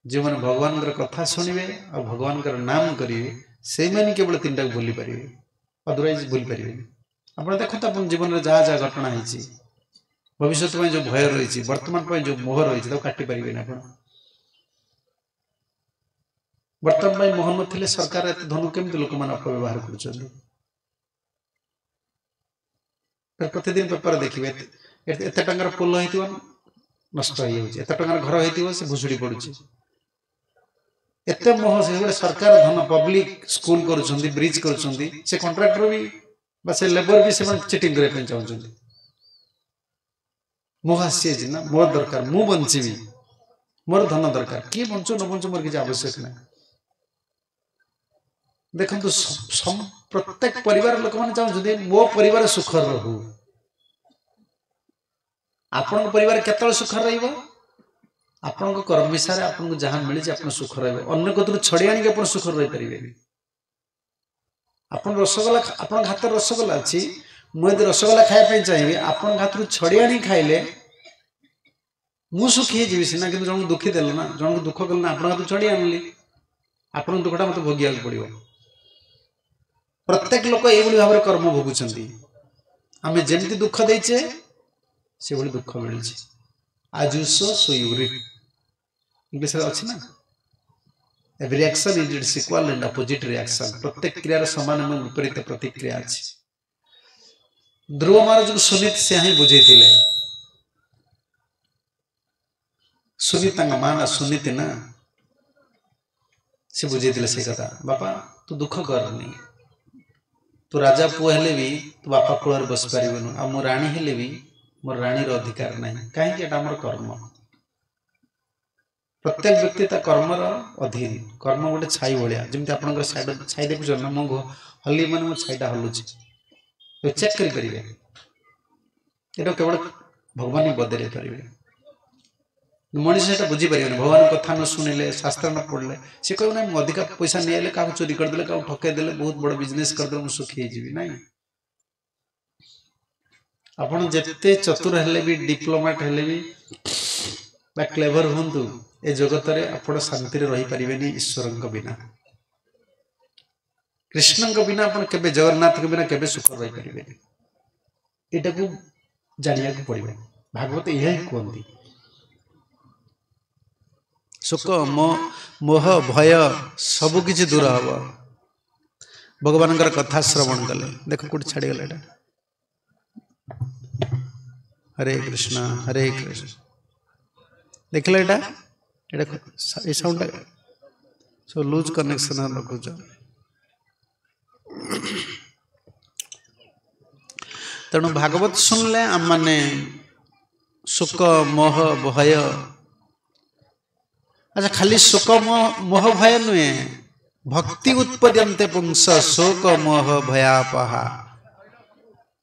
ଯେଉଁମାନେ ଭଗବାନଙ୍କର କଥା ଶୁଣିବେ ଆଉ ଭଗବାନଙ୍କର ନାମ କରିବେ, ସେଇମାନେ କେବଳ ତିନିଟାକୁ ଭୁଲି ପାରିବେ, ଅଦରୱାଇଜ ଭୁଲି ପାରିବେନି। ଆପଣ ଦେଖନ୍ତୁ ଆପଣ ଜୀବନରେ ଯାହା ଯାହା ଘଟଣା ହେଇଛି, ଭବିଷ୍ୟତ ପାଇଁ ଯେଉଁ ଭୟ ରହିଛି, ବର୍ତ୍ତମାନ ପାଇଁ ଯେଉଁ ମୋହ ରହିଛି, ତାକୁ କାଟି ପାରିବେନି ଆପଣ। ବର୍ତ୍ତମାନ ପାଇଁ ମୋହ ନଥିଲେ ସରକାର ଏତେ ଧନ କେମିତି ଲୋକମାନେ ଅପବ୍ୟବହାର କରୁଛନ୍ତି? ପ୍ରତିଦିନ ପେପର ଦେଖିବେ, ଏତେ ଟଙ୍କାର ପୋଲ ହେଇଥିବ ନଷ୍ଟ ହେଇଯାଉଛି, ଏତେ ଟଙ୍କାର ଘର ହେଇଥିବ ସେ ଭୁଷୁଡ଼ି ପଡୁଛି। ଏତେ ମୋହ। ସେ ଗୋଟେ ସରକାର ଧନ, ପବ୍ଲିକ ସ୍କୁଲ କରୁଛନ୍ତି, ବ୍ରିଜ କରୁଛନ୍ତି, ସେ କଣ୍ଟ୍ରାକ୍ଟର ବି ବା ସେ ଲେବର ବି ସେମାନେ ଚିଟିଂ କରିବା ପାଇଁ ଚାହୁଁଛନ୍ତି। ମୋହ ଆସିଯାଇଛି ନା, ମୋର ଦରକାର, ମୁଁ ବଞ୍ଚିବି, ମୋର ଧନ ଦରକାର, କିଏ ବଞ୍ଚୁ ନ ବଞ୍ଚୁ ମୋର କିଛି ଆବଶ୍ୟକ ନାହିଁ। ଦେଖନ୍ତୁ, ପ୍ରତ୍ୟେକ ପରିବାର ଲୋକମାନେ ଚାହୁଁଛନ୍ତି ମୋ ପରିବାର ସୁଖରେ ରହୁ। ଆପଣଙ୍କ ପରିବାର କେତେବେଳେ ସୁଖରେ ରହିବ? ଆପଣଙ୍କ କର୍ମ ହିସାବରେ ଆପଣଙ୍କୁ ଯାହା ମିଳିଛି ଆପଣ ସୁଖ ରହିବ। ଅନ୍ୟ କତରୁ ଛଡେଇ ଆଣିକି ଆପଣ ସୁଖରେ ରହିପାରିବେନି। ଆପଣ ରସଗୋଲା, ଆପଣଙ୍କ ହାତରେ ରସଗୋଲା ଅଛି, ମୁଁ ଯଦି ରସଗୋଲା ଖାଇବା ପାଇଁ ଚାହିଁବି, ଆପଣଙ୍କ ହାତରୁ ଛଡେଇ ଆଣିକି ଖାଇଲେ ମୁଁ ସୁଖୀ ହେଇଯିବି ସିନା, କିନ୍ତୁ ଜଣକୁ ଦୁଃଖୀ ଦେଲ ନା, ଜଣକୁ ଦୁଃଖ କଲେ ନା, ଆପଣଙ୍କ ହାତରୁ ଛଡେଇ ଆଣିଲି, ଆପଣଙ୍କ ଦୁଃଖଟା ମୋତେ ଭୋଗିବାକୁ ପଡିବ। ପ୍ରତ୍ୟେକ ଲୋକ ଏଇଭଳି ଭାବରେ କର୍ମ ଭୋଗୁଛନ୍ତି। ଆମେ ଯେମିତି ଦୁଃଖ ଦେଇଛେ ସେଭଳି ଦୁଃଖ ମିଳୁଛି। As you sow so you reap, ଇଂଲିଶରେ ଅଛି ନା, every action is its equal and opposite reaction. ପ୍ରତ୍ୟେକ କ୍ରିୟାର ସମାନ ଏବଂ ବିପରୀତ ପ୍ରତିକ୍ରିୟା ଅଛି। ଧ୍ରୁବ ମହାରାଜକୁ ସୁନୀତ ସେ ହିଁ ବୁଝେଇଥିଲେ। ସୁନୀତ ତାଙ୍କ ମା ନା ସୁନୀତି ନା, ସେ ବୁଝେଇଥିଲେ ସେଇ କଥା, ବାପା ତୁ ଦୁଃଖ କରନି, ତୁ ରାଜା ପୁଅ ହେଲେ ବି ତୁ ବାପା କୋଳରେ ବସିପାରିବୁନୁ, ଆଉ ମୁଁ ରାଣୀ ହେଲେ ବି ମୋର ରାଣୀର ଅଧିକାର ନାହିଁ। କାହିଁକି? ଏଟା ଆମର କର୍ମ। ପ୍ରତ୍ୟେକ ବ୍ୟକ୍ତି ତା କର୍ମର ଅଧୀନ। କର୍ମ ଗୋଟେ ଛାଇ ଭଳିଆ, ଯେମିତି ଆପଣଙ୍କର ଛାଇ ଦେଖୁଛନ୍ତି ନା, ମୁଁ ହଲି ମାନେ ମୋ ଛାଇଟା ହଲୁଛି, ଚେକ୍ କରିପାରିବେ। ଏଇଟା କେବଳ ଭଗବାନ ହିଁ ବଦଳେଇ ପାରିବେ। ମଣିଷ ସେଇଟା ବୁଝିପାରିବେନି। ଭଗବାନଙ୍କ କଥା ନ ଶୁଣିଲେ, ଶାସ୍ତ୍ର ନ ପଢ଼ିଲେ, ସେ କହିବ ନାଇଁ ମୁଁ ଅଧିକା ପଇସା ନେଇଆଇଲେ, କାହାକୁ ଚୋରି କରିଦେଲେ, କାହାକୁ ଠକେଇ ଦେଲେ, ବହୁତ ବଡ଼ ବିଜନେସ୍ କରିଦେଲେ ମୁଁ ସୁଖୀ ହେଇଯିବି। ନାଇଁ, ଆପଣ ଯେତେ ଚତୁର ହେଲେ ବି, ଡିପ୍ଲୋମାଟ ହେଲେ ବି ବା କ୍ଲେଭର ହୁଅନ୍ତୁ, ଏ ଜଗତରେ ଆପଣ ଶାନ୍ତିରେ ରହିପାରିବେନି ଈଶ୍ୱରଙ୍କ ବିନା। କୃଷ୍ଣଙ୍କ ବିନା ଆପଣ କେବେ, ଜଗନ୍ନାଥଙ୍କ ବିନା କେବେ ସୁଖ ରହିପାରିବେନି। ଏଇଟାକୁ ଜାଣିବାକୁ ପଡ଼ିବ। ଭାଗବତ ଏହା ହିଁ କୁହନ୍ତି। ଶୋକ, ମୋହ, ଭୟ ସବୁ କିଛି ଦୂର ହବ ଭଗବାନଙ୍କର କଥା ଶ୍ରବଣ କଲେ। ଦେଖ କୋଉଠି ଛାଡ଼ିଗଲା ଏଇଟା। ହରେ କୃଷ୍ଣ ହରେ କୃଷ୍ଣ। ଦେଖିଲ ଏଇଟା, ଏଇଟା ଏଇ ସାଉଣ୍ଡଟା ସବୁ ଲୁଜ୍ କନେକ୍ସନ ରଖୁଛ। ତେଣୁ ଭାଗବତ ଶୁଣିଲେ ଆମମାନେ ଶୋକ, ମୋହ, ଭୟ, ଆଚ୍ଛା ଖାଲି ଶୋକ ମୋହ ଭୟ ନୁହେଁ, ଭକ୍ତି ଉତ୍ପଦ୍ୟନ୍ତେ ପୁଂସ ଶୋକ ମୋହ ଭୟାପହା।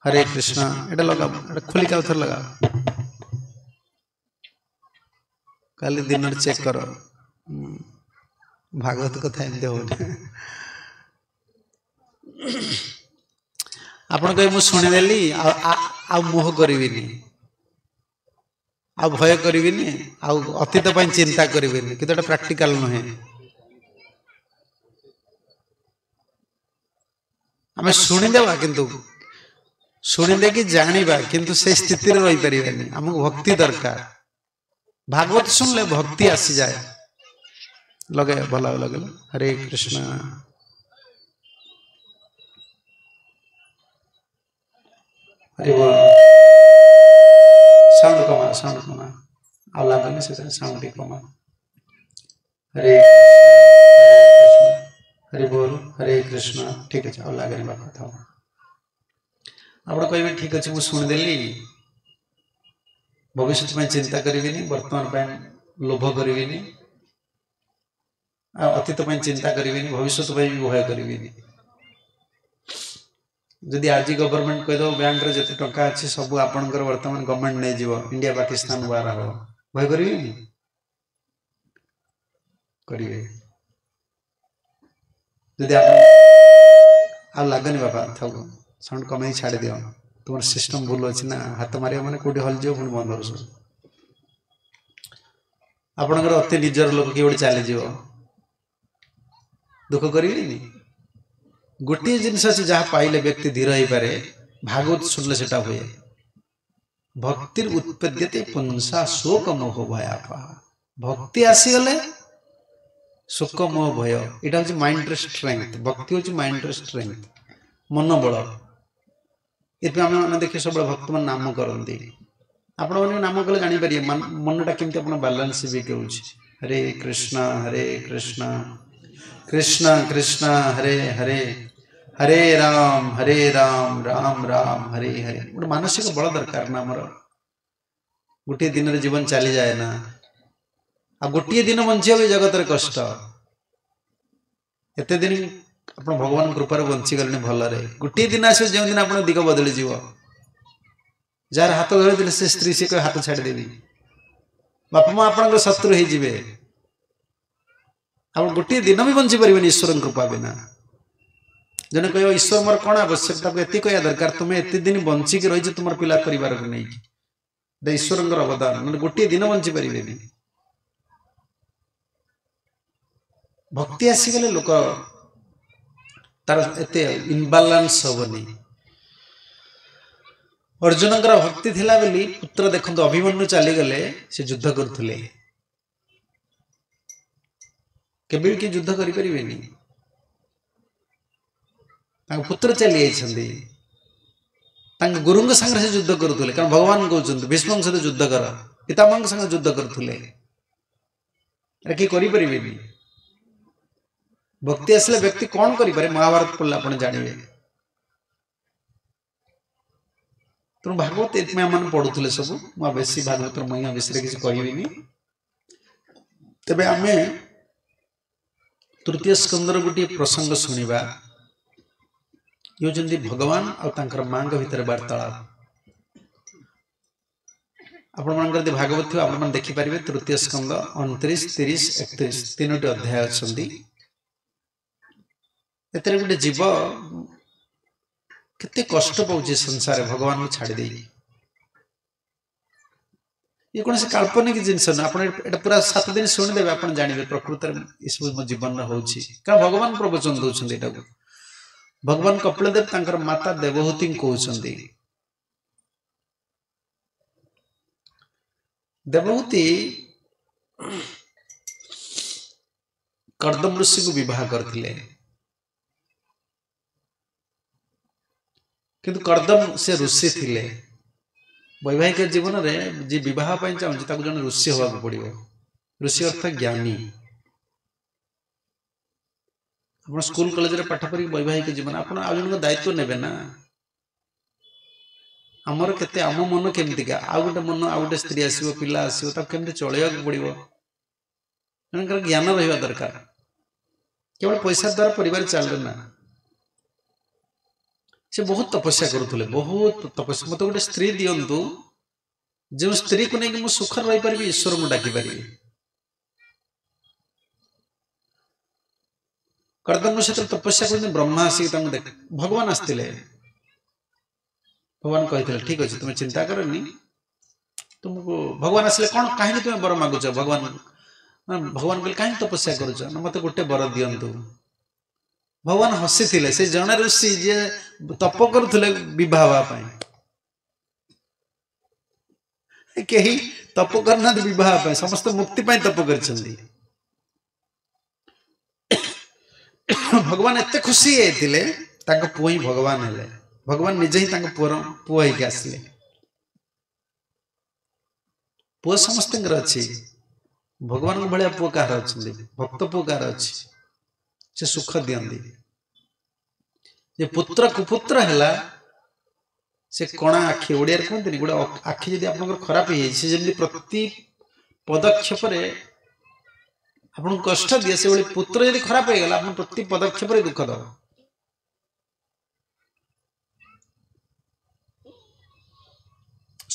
ହରେ କୃଷ୍ଣ। ଏଇଟା ଲଗାଅ, ଏଇଟା ଖୋଲିକି ଆଉ ଥରେ ଲଗାଅ। କାଲି ଦିନରେ ଚେକ୍ କର। ଭାଗବତ କଥା ଏମିତି ହଉନି। ଆପଣ କହିବେ ମୁଁ ଶୁଣିଦେଲି, ଆଉ ମୋହ କରିବିନି, ଆଉ ଭୟ କରିବିନି, ଆଉ ଅତୀତ ପାଇଁ ଚିନ୍ତା କରିବିନି, କିନ୍ତୁ ଏଟା ପ୍ରାକ୍ଟିକାଲ ନୁହେଁ। ଆମେ ଶୁଣିଦେବା, କିନ୍ତୁ ଶୁଣିଦେଇକି ଜାଣିବା, କିନ୍ତୁ ସେ ସ୍ଥିତିରେ ରହିପାରିବାନି। ଆମକୁ ଭକ୍ତି ଦରକାର। ଭାଗବତ ଶୁଣିଲେ ଭକ୍ତି ଆସିଯାଏ। ଲଗାଏ, ଭଲ ଲଗେଇଲ। ହରେ କୃଷ୍ଣ। ହରି ବୋଲ। ସାଉଣ୍ଡ କମା, ସାଉଣ୍ଡ କମା, ଆଉ ଲାଗୁନି ସେଥିରେ, ସାଉଣ୍ଡ ଟିକେ କମା। ହରେ କୃଷ୍ଣ ହରି ବୋଲ, ହରେ କୃଷ୍ଣ। ଠିକ ଅଛି, ଆଉ ଲାଗେନି ବାପା, ଥାଉ। ଆପଣ କହିବେ ଠିକ ଅଛି ମୁଁ ଶୁଣିଦେଲି, ଭବିଷ୍ୟତ ପାଇଁ ଚିନ୍ତା କରିବିନି, ବର୍ତ୍ତମାନ ପାଇଁ ଲୋଭ କରିବିନି, ଆଉ ଅତୀତ ପାଇଁ ଚିନ୍ତା କରିବିନି, ଭବିଷ୍ୟତ ପାଇଁ ବି ଭୟ କରିବିନି। ଯଦି ଆଜି ଗଭର୍ଣ୍ଣମେଣ୍ଟ କହିଦେବ ବ୍ୟାଙ୍କରେ ଯେତେ ଟଙ୍କା ଅଛି ସବୁ ଆପଣଙ୍କର ବର୍ତ୍ତମାନ ଗଭର୍ଣ୍ଣମେଣ୍ଟ ନେଇଯିବ, ଇଣ୍ଡିଆ ପାକିସ୍ତାନ ୱାର ହବ, ଭୟ କରିବେନି? କରିବେ। ଯଦି ଆପଣ ଆଉ ଲାଗନି ବାପା, ଥାଉ, ସାଉଣ୍ଡ କମେଇ ଛାଡ଼ିଦିଅ। ତୁମର ସିଷ୍ଟମ ଭୁଲ ଅଛି ନା, ହାତ ମାରିବ ମାନେ କୋଉଠି ହଲିଯିବ, ପୁଣି ବନ୍ଦ ହବ ସବୁ। ଆପଣଙ୍କର ଅତି ନିଜର ଲୋକ କିଏ ଗୋଟେ ଚାଲିଯିବ, ଦୁଃଖ କରିବେନି? ଗୋଟିଏ ଜିନିଷ ଅଛି ଯାହା ପାଇଲେ ବ୍ୟକ୍ତି ଧୀର ହେଇପାରେ, ଭାଗବତ ଶୁଣିଲେ ସେଟା ହୁଏ। ଭକ୍ତିର ଉତ୍ପଦ୍ୟତେ ପୁଂସା ଶୋକ ମୋହ ଭୟାପହ। ଭକ୍ତି ଆସିଗଲେ ଶୋକ ମୋହ ଭୟ, ଏଇଟା ହଉଛି ମାଇଣ୍ଡର ଷ୍ଟ୍ରେଙ୍ଗଥ। ଭକ୍ତି ହଉଛି ମାଇଣ୍ଡର ଷ୍ଟ୍ରେଙ୍ଗଥ, ମନୋବଳ। ଏଥିପାଇଁ ଆମେ ମାନେ ଦେଖିବେ ସବୁବେଳେ ଭକ୍ତମାନେ ନାମ କରନ୍ତି। ଆପଣମାନେ ନାମ କଲେ ଜାଣିପାରିବେ ମନଟା କେମିତି ଆପଣ ବାଲାନ୍ସ ବି କରୁଛି। ହରେ କୃଷ୍ଣ ହରେ କୃଷ୍ଣ କୃଷ୍ଣ କୃଷ୍ଣ ହରେ ହରେ, ହରେ ରାମ ହରେ ରାମ ରାମ ରାମ ହରେ ହରେ। ଗୋଟେ ମାନସିକ ବଳ ଦରକାର ନା ଆମର। ଗୋଟିଏ ଦିନରେ ଜୀବନ ଚାଲିଯାଏ ନା, ଆଉ ଗୋଟିଏ ଦିନ ବଞ୍ଚିବା ବି ଜଗତରେ କଷ୍ଟ। ଏତେ ଦିନ ଆପଣ ଭଗବାନଙ୍କ କୃପାରେ ବଞ୍ଚିଗଲେଣି ଭଲରେ, ଗୋଟିଏ ଦିନ ଆସିବ ଯେଉଁଦିନ ଆପଣ ଦିଗ ବଦଳିଯିବ। ଯାହାର ହାତ ଧରିଥିଲେ ସେ ସ୍ତ୍ରୀ, ସେ କହିବ ହାତ ଛାଡ଼ିଦେବି। ବାପା ମା ଆପଣଙ୍କର ଶତ୍ରୁ ହେଇଯିବେ। ଆପଣ ଗୋଟିଏ ଦିନ ବି ବଞ୍ଚି ପାରିବେନି ଈଶ୍ୱରଙ୍କ କୃପା ବିନା। ଜଣେ କହିବ ଈଶ୍ୱର ମୋର କ'ଣ ଆବଶ୍ୟକ, ତାକୁ ଏତିକି କହିବା ଦରକାର ତୁମେ ଏତେ ଦିନ ବଞ୍ଚିକି ରହିଛ ତୁମର ପିଲା ପରିବାରକୁ ନେଇକି, ଏଇଟା ଈଶ୍ୱରଙ୍କର ଅବଦାନ, ନହେଲେ ଗୋଟିଏ ଦିନ ବଞ୍ଚି ପାରିବେନି। ଭକ୍ତି ଆସିଗଲେ ଲୋକ ତାର ଏତେ ଇନବାଲାନ୍ସ ହବନି। ଅର୍ଜୁନଙ୍କର ଭକ୍ତି ଥିଲା ବୋଲି ପୁତ୍ର ଦେଖନ୍ତୁ ଅଭିମନ୍ୟୁ ଚାଲିଗଲେ, ସେ ଯୁଦ୍ଧ କରୁଥିଲେ। କେବେ ବି କିଏ ଯୁଦ୍ଧ କରିପାରିବେନି, ତାଙ୍କ ପୁତ୍ର ଚାଲି ଯାଇଛନ୍ତି, ତାଙ୍କ ଗୁରୁଙ୍କ ସାଙ୍ଗରେ ସେ ଯୁଦ୍ଧ କରୁଥିଲେ। କାରଣ ଭଗବାନ କହୁଛନ୍ତି ଭୀଷ୍ମଙ୍କ ସହିତ ଯୁଦ୍ଧ କର, ପିତାମହଙ୍କ ସାଙ୍ଗରେ ଯୁଦ୍ଧ କରୁଥିଲେ। ଏଟା କିଏ କରିପାରିବେନି। ଭକ୍ତି ଆସିଲେ ବ୍ୟକ୍ତି କ'ଣ କରିପାରେ ମହାଭାରତ ପଢ଼ିଲେ ଆପଣ ଜାଣିବେ। ତେଣୁ ଭାଗବତ ଏଥିପାଇଁ ଆମମାନେ ପଢୁଥିଲେ ସବୁ। ମୁଁ ଆଉ ବେଶୀ ଭାଗବତର ମହିମା ବିଷୟରେ କିଛି କହିବିନି। ତେବେ ଆମେ ତୃତୀୟ ସ୍କନ୍ଧର ଗୋଟିଏ ପ୍ରସଙ୍ଗ ଶୁଣିବା। ଇଏ ହେଉଛନ୍ତି ଭଗବାନ ଆଉ ତାଙ୍କର ମାଙ୍କ ଭିତରେ ବାର୍ତ୍ତାଳାପ। ଆପଣମାନଙ୍କର ଯଦି ଭାଗବତ ଥିବ ଆପଣମାନେ ଦେଖିପାରିବେ। ତୃତୀୟ ସ୍କନ୍ଦ 29, 30, 31 ତିନୋଟି ଅଧ୍ୟାୟ ଅଛନ୍ତି। ଏଥିରେ ଗୋଟେ ଜୀବ କେତେ କଷ୍ଟ ପାଉଛି ସଂସାରରେ ଭଗବାନଙ୍କୁ ଛାଡ଼ି ଦେଇକି। ଇଏ କୌଣସି କାଳ୍ପନିକ ଜିନିଷ ନୁହେଁ। ଆପଣ ଏଇଟା ପୁରା 7 ଦିନ ଶୁଣିଦେବେ, ଆପଣ ଜାଣିବେ ପ୍ରକୃତରେ ଏସବୁ ମୋ ଜୀବନରେ ହଉଛି। କାରଣ ଭଗବାନ ପ୍ରବଚନ ଦଉଛନ୍ତି ଏଇଟାକୁ। ଭଗବାନ କପିଳ ଦେବ ତାଙ୍କର ମାତା ଦେବହୂତିଙ୍କୁ କହୁଛନ୍ତି, ଦେବହୂତି କର୍ଦ୍ଦମ ଋଷିଙ୍କୁ ବିବାହ କରିଥିଲେ, କିନ୍ତୁ କର୍ଦ୍ଦମ ସେ ଋଷି ଥିଲେ। ବୈବାହିକ ଜୀବନରେ ଯିଏ ବିବାହ ପାଇଁ ଚାହୁଁଛି ତାକୁ ଜଣେ ଋଷି ହେବାକୁ ପଡ଼ିବ। ଋଷି ଅର୍ଥ ଜ୍ଞାନୀ। ଆପଣ ସ୍କୁଲ କଲେଜରେ ପାଠ ପଢ଼ିକି ବୈବାହିକ ଜୀବନ, ଆପଣ ଆଉ ଜଣଙ୍କ ଦାୟିତ୍ୱ ନେବେ ନା। ଆମର କେତେ, ଆମ ମନ କେମିତିକା, ଆଉ ଗୋଟେ ମନ, ଆଉ ଗୋଟେ ସ୍ତ୍ରୀ ଆସିବ, ପିଲା ଆସିବ, ତାକୁ କେମିତି ଚଳେଇବାକୁ ପଡ଼ିବ, ଜଣଙ୍କର ଜ୍ଞାନ ରହିବା ଦରକାର। କେବଳ ପଇସା ଦ୍ୱାରା ପରିବାର ଚାଲେ ନା। ସେ ବହୁତ ତପସ୍ୟା କରୁଥିଲେ, ବହୁତ ତପସ୍ୟା। ମୋତେ ଗୋଟେ ସ୍ତ୍ରୀ ଦିଅନ୍ତୁ, ଯେଉଁ ସ୍ତ୍ରୀକୁ ନେଇକି ମୁଁ ସୁଖରେ ରହିପାରିବି, ଈଶ୍ୱରଙ୍କୁ ଡାକିପାରିବି। କର୍ଦ୍ଦମ ସେଥିରେ ତପସ୍ୟା କରୁଛନ୍ତି, ବ୍ରହ୍ମା ଆସିକି ତାଙ୍କୁ ଦେଖ, ଭଗବାନ ଆସିଥିଲେ। ଭଗବାନ କହିଥିଲେ ଠିକ ଅଛି, ତୁମେ ଚିନ୍ତା କରନି, ତୁମକୁ ଭଗବାନ ଆସିଲେ କ'ଣ କାହିଁକି ତୁମେ ବର ମାଗୁଛ? ଭଗବାନ ଭଗବାନ କହିଲେ କାହିଁକି ତପସ୍ୟା କରୁଛ? ନା ମୋତେ ଗୋଟେ ବର ଦିଅନ୍ତୁ। ଭଗବାନ ହସିଥିଲେ। ସେ ଜଣେ ଋଷି ଯିଏ ତପ କରୁଥିଲେ ବିବାହ ହେବା ପାଇଁ, କେହି ତପ କରିନାହାନ୍ତି ବିବାହ ପାଇଁ, ସମସ୍ତେ ମୁକ୍ତି ପାଇଁ ତପ କରିଛନ୍ତି। ଭଗବାନ ଏତେ ଖୁସି ହେଇଯାଇଥିଲେ, ତାଙ୍କ ପୁଅ ହିଁ ଭଗବାନ ହେଲେ। ଭଗବାନ ନିଜେ ହିଁ ତାଙ୍କ ପୁଅର ପୁଅ ହେଇକି ଆସିଲେ। ପୁଅ ସମସ୍ତଙ୍କର ଅଛି, ଭଗବାନଙ୍କ ଭଳିଆ ପୁଅ କାହାର ଅଛନ୍ତି? ଭକ୍ତ ପୁଅ କାହାର ଅଛି? ସେ ସୁଖ ଦିଅନ୍ତି। ଯେ ପୁତ୍ର କୁପୁତ୍ର ହେଲା, ସେ କଣା ଆଖି, ଓଡ଼ିଆରେ କୁହନ୍ତିନି, ଗୋଟେ ଆଖି ଯଦି ଆପଣଙ୍କର ଖରାପ ହେଇଯାଇଛି, ସେ ଯେମିତି ପ୍ରତି ପଦକ୍ଷେପରେ ଆପଣଙ୍କୁ କଷ୍ଟ ଦିଏ, ସେଭଳି ପୁତ୍ର ଯଦି ଖରାପ ହେଇଗଲା, ଆପଣ ପ୍ରତି ପଦକ୍ଷେପରେ ଦୁଃଖ ଦେବ।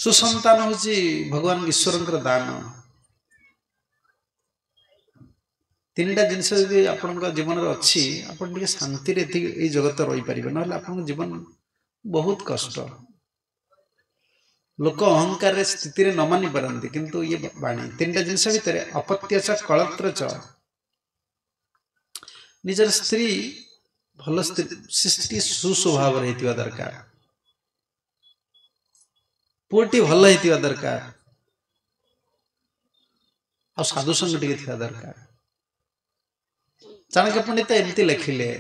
ସୁସନ୍ତାନ ହେଉଛି ଭଗବାନ ଈଶ୍ୱରଙ୍କର ଦାନ। ତିନିଟା ଜିନିଷ ଯଦି ଆପଣଙ୍କ ଜୀବନରେ ଅଛି, ଆପଣ ଟିକେ ଶାନ୍ତିରେ ଏତିକି ଏଇ ଜଗତ ରହିପାରିବେ, ନହେଲେ ଆପଣଙ୍କ ଜୀବନ ବହୁତ କଷ୍ଟ। ଲୋକ ଅହଙ୍କାରରେ ସ୍ଥିତିରେ ନ ମାନି ପାରନ୍ତି, କିନ୍ତୁ ଇଏ ବାଣୀ ତିନିଟା ଜିନିଷ ଭିତରେ ଅପତ୍ୟ ଚ କଳତ୍ର ଚ। ନିଜର ସ୍ତ୍ରୀ ଭଲ ସ୍ତ୍ରୀ, ସେ ସ୍ତ୍ରୀ ସୁସ୍ୱଭାବରେ ହେଇଥିବା ଦରକାର, ପୁଅଟି ଭଲ ହେଇଥିବା ଦରକାର, ଆଉ ସାଧୁସଙ୍ଗ ଟିକେ ଥିବା ଦରକାର। ଚାଣକ୍ୟ ପଣ୍ଡିତ ଏମିତି ଲେଖିଲେ,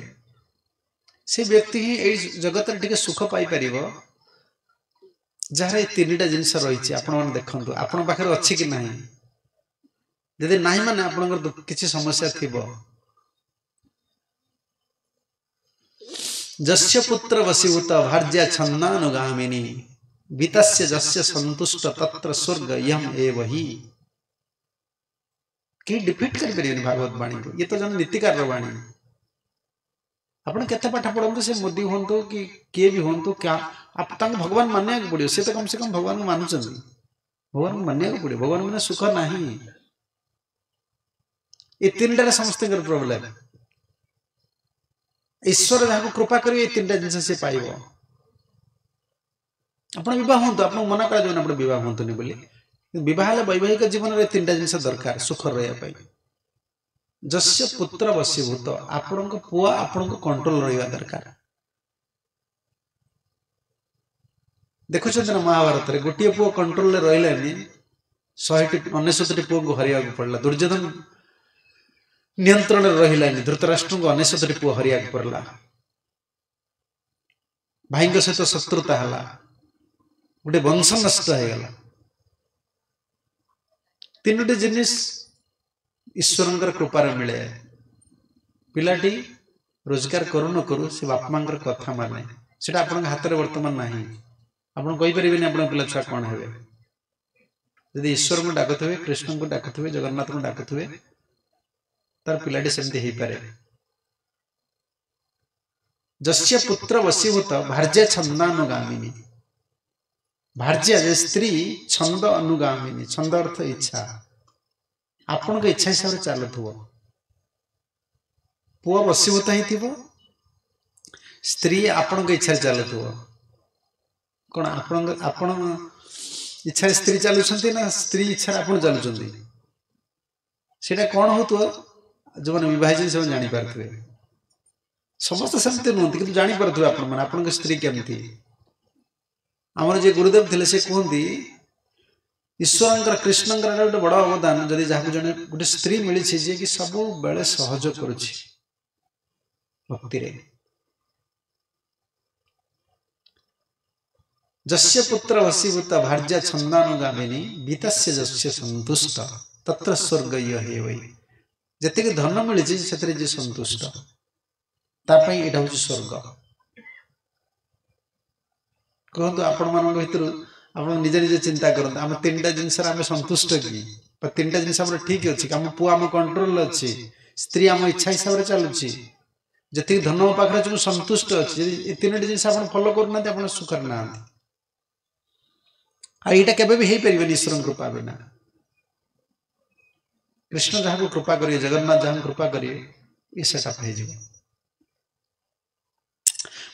ସେ ବ୍ୟକ୍ତି ହିଁ ଏଇ ଜଗତରେ ଟିକେ ସୁଖ ପାଇପାରିବ ଯାହାର ଏ ତିନିଟା ଜିନିଷ ରହିଛି। ଆପଣମାନେ ଦେଖନ୍ତୁ ଆପଣଙ୍କ ପାଖରେ ଅଛି କି ନାହିଁ। ଯଦି ନାହିଁ ମାନେ ଆପଣଙ୍କର କିଛି ସମସ୍ୟା ଥିବ। ଯସ୍ୟ ପୁତ୍ର ବଶୀଭୂତ ଭାର୍ଯ୍ୟା ଛନ୍ଦାନୁଗାମିନୀ ବିତସ୍ୟ ଯସ୍ୟ ସନ୍ତୁଷ୍ଟ ତତ୍ର ସ୍ୱର୍ଗ ୟମ ଏବ ହି। କେହି ଡିଫିଟ୍ କରିପାରିବେନି ଭାଗବତ ବାଣୀକୁ। ଇଏ ତ ଜଣେ ନୀତିକାରର ବାଣୀ। ଆପଣ କେତେ ପାଠ ପଢ଼ନ୍ତୁ, ସେ ମୋଦି ହୁଅନ୍ତୁ କି କିଏ ବି ହୁଅନ୍ତୁ, ତାଙ୍କୁ ଭଗବାନ ମାନିବାକୁ ପଡ଼ିବ। ସେ ତ କମ୍ ସେ କମ୍ ଭଗବାନଙ୍କୁ ମାନୁଛନ୍ତି, ଭଗବାନଙ୍କୁ ମାନିବାକୁ ପଡ଼ିବ। ଭଗବାନ ମାନେ ସୁଖ ନାହିଁ। ଏ ତିନିଟାରେ ସମସ୍ତଙ୍କର ପ୍ରୋବ୍ଲେମ। ଈଶ୍ୱର ଯାହାକୁ କୃପା କରିବେ ଏ ତିନିଟା ଜିନିଷ ସେ ପାଇବ। ଆପଣ ବିବାହ ହୁଅନ୍ତୁ, ଆପଣଙ୍କୁ ମନା କରାଯିବନି ଆପଣ ବିବାହ ହୁଅନ୍ତୁନି ବୋଲି। ବିବାହ ହେଲେ ବୈବାହିକ ଜୀବନରେ ତିନିଟା ଜିନିଷ ଦରକାର ସୁଖ ରହିବା ପାଇଁ। ଯସ୍ୟ ପୁତ୍ର ବଶୀଭୂତ, ଆପଣଙ୍କ ପୁଅ ଆପଣଙ୍କ କଣ୍ଟ୍ରୋଲ ରହିବା ଦରକାର। ଦେଖୁଛନ୍ତି ନା ମହାଭାରତରେ ଗୋଟିଏ ପୁଅ କଣ୍ଟ୍ରୋଲରେ ରହିଲାନି, 199ଟି ପୁଅଙ୍କୁ ହରାଇବାକୁ ପଡ଼ିଲା। ଦୁର୍ଯ୍ୟୋଧନ ନିୟନ୍ତ୍ରଣରେ ରହିଲାନି, ଧୃତରାଷ୍ଟ୍ରଙ୍କୁ 99ଟି ପୁଅ ହରାଇବାକୁ ପଡ଼ିଲା। ଭାଇଙ୍କ ସହିତ ଶତ୍ରୁତା ହେଲା, ଗୋଟେ ବଂଶ ନଷ୍ଟ ହେଇଗଲା। ତିନୋଟି ଜିନିଷ ଈଶ୍ୱରଙ୍କର କୃପାରେ ମିଳେ। ପିଲାଟି ରୋଜଗାର କରୁ ନ କରୁ ସେ ବାପା ମାଙ୍କର କଥା ମାନେ, ସେଇଟା ଆପଣଙ୍କ ହାତରେ ବର୍ତ୍ତମାନ ନାହିଁ। ଆପଣ କହିପାରିବେନି ଆପଣଙ୍କ ପିଲା ଛୁଆ କ'ଣ ହେବେ। ଯଦି ଈଶ୍ୱରଙ୍କୁ ଡାକୁଥିବେ, କୃଷ୍ଣଙ୍କୁ ଡାକୁଥିବେ, ଜଗନ୍ନାଥଙ୍କୁ ଡାକୁଥିବେ, ତାର ପିଲାଟି ସେମିତି ହେଇପାରେ। ଯସ୍ୟ ପୁତ୍ର ବଶୀଭୂତ ଭାର୍ଯ୍ୟା ଛନ୍ଦାନୁଗାମିନୀ। ଭାର୍ଯ୍ୟା ଯେ ସ୍ତ୍ରୀ, ଛନ୍ଦ ଅନୁଗାମିନୀ, ଛନ୍ଦ ଅର୍ଥ ଇଚ୍ଛା, ଆପଣଙ୍କ ଇଚ୍ଛା ହିସାବରେ ଚାଲୁଥିବ। ପୁଅ ବଶୀଭୂତ ହେଇଥିବ, ସ୍ତ୍ରୀ ଆପଣଙ୍କ ଇଚ୍ଛାରେ ଚାଲୁଥିବ। କ'ଣ ଆପଣଙ୍କ ଆପଣ ଇଚ୍ଛାରେ ସ୍ତ୍ରୀ ଚାଲୁଛନ୍ତି ନା ସ୍ତ୍ରୀ ଇଚ୍ଛାରେ ଆପଣ ଚାଲୁଛନ୍ତି? ସେଇଟା କ'ଣ ହେଉଥିବ ଯେଉଁମାନେ ବିବାହ ହେଇଛନ୍ତି ସେମାନେ ଜାଣିପାରୁଥିବେ। ସମସ୍ତେ ସେମିତି ନୁହନ୍ତି, କିନ୍ତୁ ଜାଣିପାରୁଥିବେ ଆପଣମାନେ ଆପଣଙ୍କ ସ୍ତ୍ରୀ କେମିତି। ଆମର ଯିଏ ଗୁରୁଦେବ ଥିଲେ ସେ କୁହନ୍ତି, ଈଶ୍ୱରଙ୍କର କୃଷ୍ଣଙ୍କର ଏଇଟା ଗୋଟେ ବଡ଼ ଅବଦାନ। ଯଦି ଯାହାକୁ ଜଣେ ଗୋଟେ ସ୍ତ୍ରୀ ମିଳିଛି ଯିଏକି ସବୁବେଳେ ସହଯୋଗ କରୁଛି ଭକ୍ତିରେ। ଯସ୍ୟ ପୁତ୍ର ବଶୀଭୂତ ଭାର୍ଯ୍ୟା ଛନ୍ଦାନୁଗାମିନୀ ବିତସ୍ୟ ଯସ୍ୟ ସନ୍ତୁଷ୍ଟ ତତ୍ର ସ୍ୱର୍ଗ ଇୟ ହେ ବୈ। ଯେତିକି ଧନ ମିଳିଛି ସେଥିରେ ଯିଏ ସନ୍ତୁଷ୍ଟ ତା ପାଇଁ ଏଇଟା ହେଉଛି ସ୍ୱର୍ଗ। କୁହନ୍ତୁ ଆପଣମାନଙ୍କ ଭିତରୁ ଆପଣ ନିଜେ ନିଜେ ଚିନ୍ତା କରନ୍ତୁ, ଆମେ ତିନିଟା ଜିନିଷରେ ଆମେ ସନ୍ତୁଷ୍ଟ କି? ବା ତିନିଟା ଜିନିଷ ଆମର ଠିକ୍ ଅଛି କି? ଆମ ପୁଅ ଆମ କଣ୍ଟ୍ରୋଲରେ ଅଛି, ସ୍ତ୍ରୀ ଆମ ଇଚ୍ଛା ହିସାବରେ ଚାଲୁଛି, ଯେତିକି ଧନ ମୋ ପାଖରେ ଅଛି ମୁଁ ସନ୍ତୁଷ୍ଟ ଅଛି। ଯଦି ଏ ତିନୋଟି ଜିନିଷ ଆପଣ ଫଲୋ କରୁନାହାନ୍ତି ଆପଣ ସୁଖରେ ନାହାନ୍ତି। ଆଉ ଏଇଟା କେବେ ବି ହେଇପାରିବନି ଈଶ୍ୱରଙ୍କ କୃପା ବିନା। କୃଷ୍ଣ ଯାହାକୁ କୃପା କରିବେ, ଜଗନ୍ନାଥ ଯାହାକୁ କୃପା କରିବେ, ଏ ସେଟଅପ୍ ହେଇଯିବ।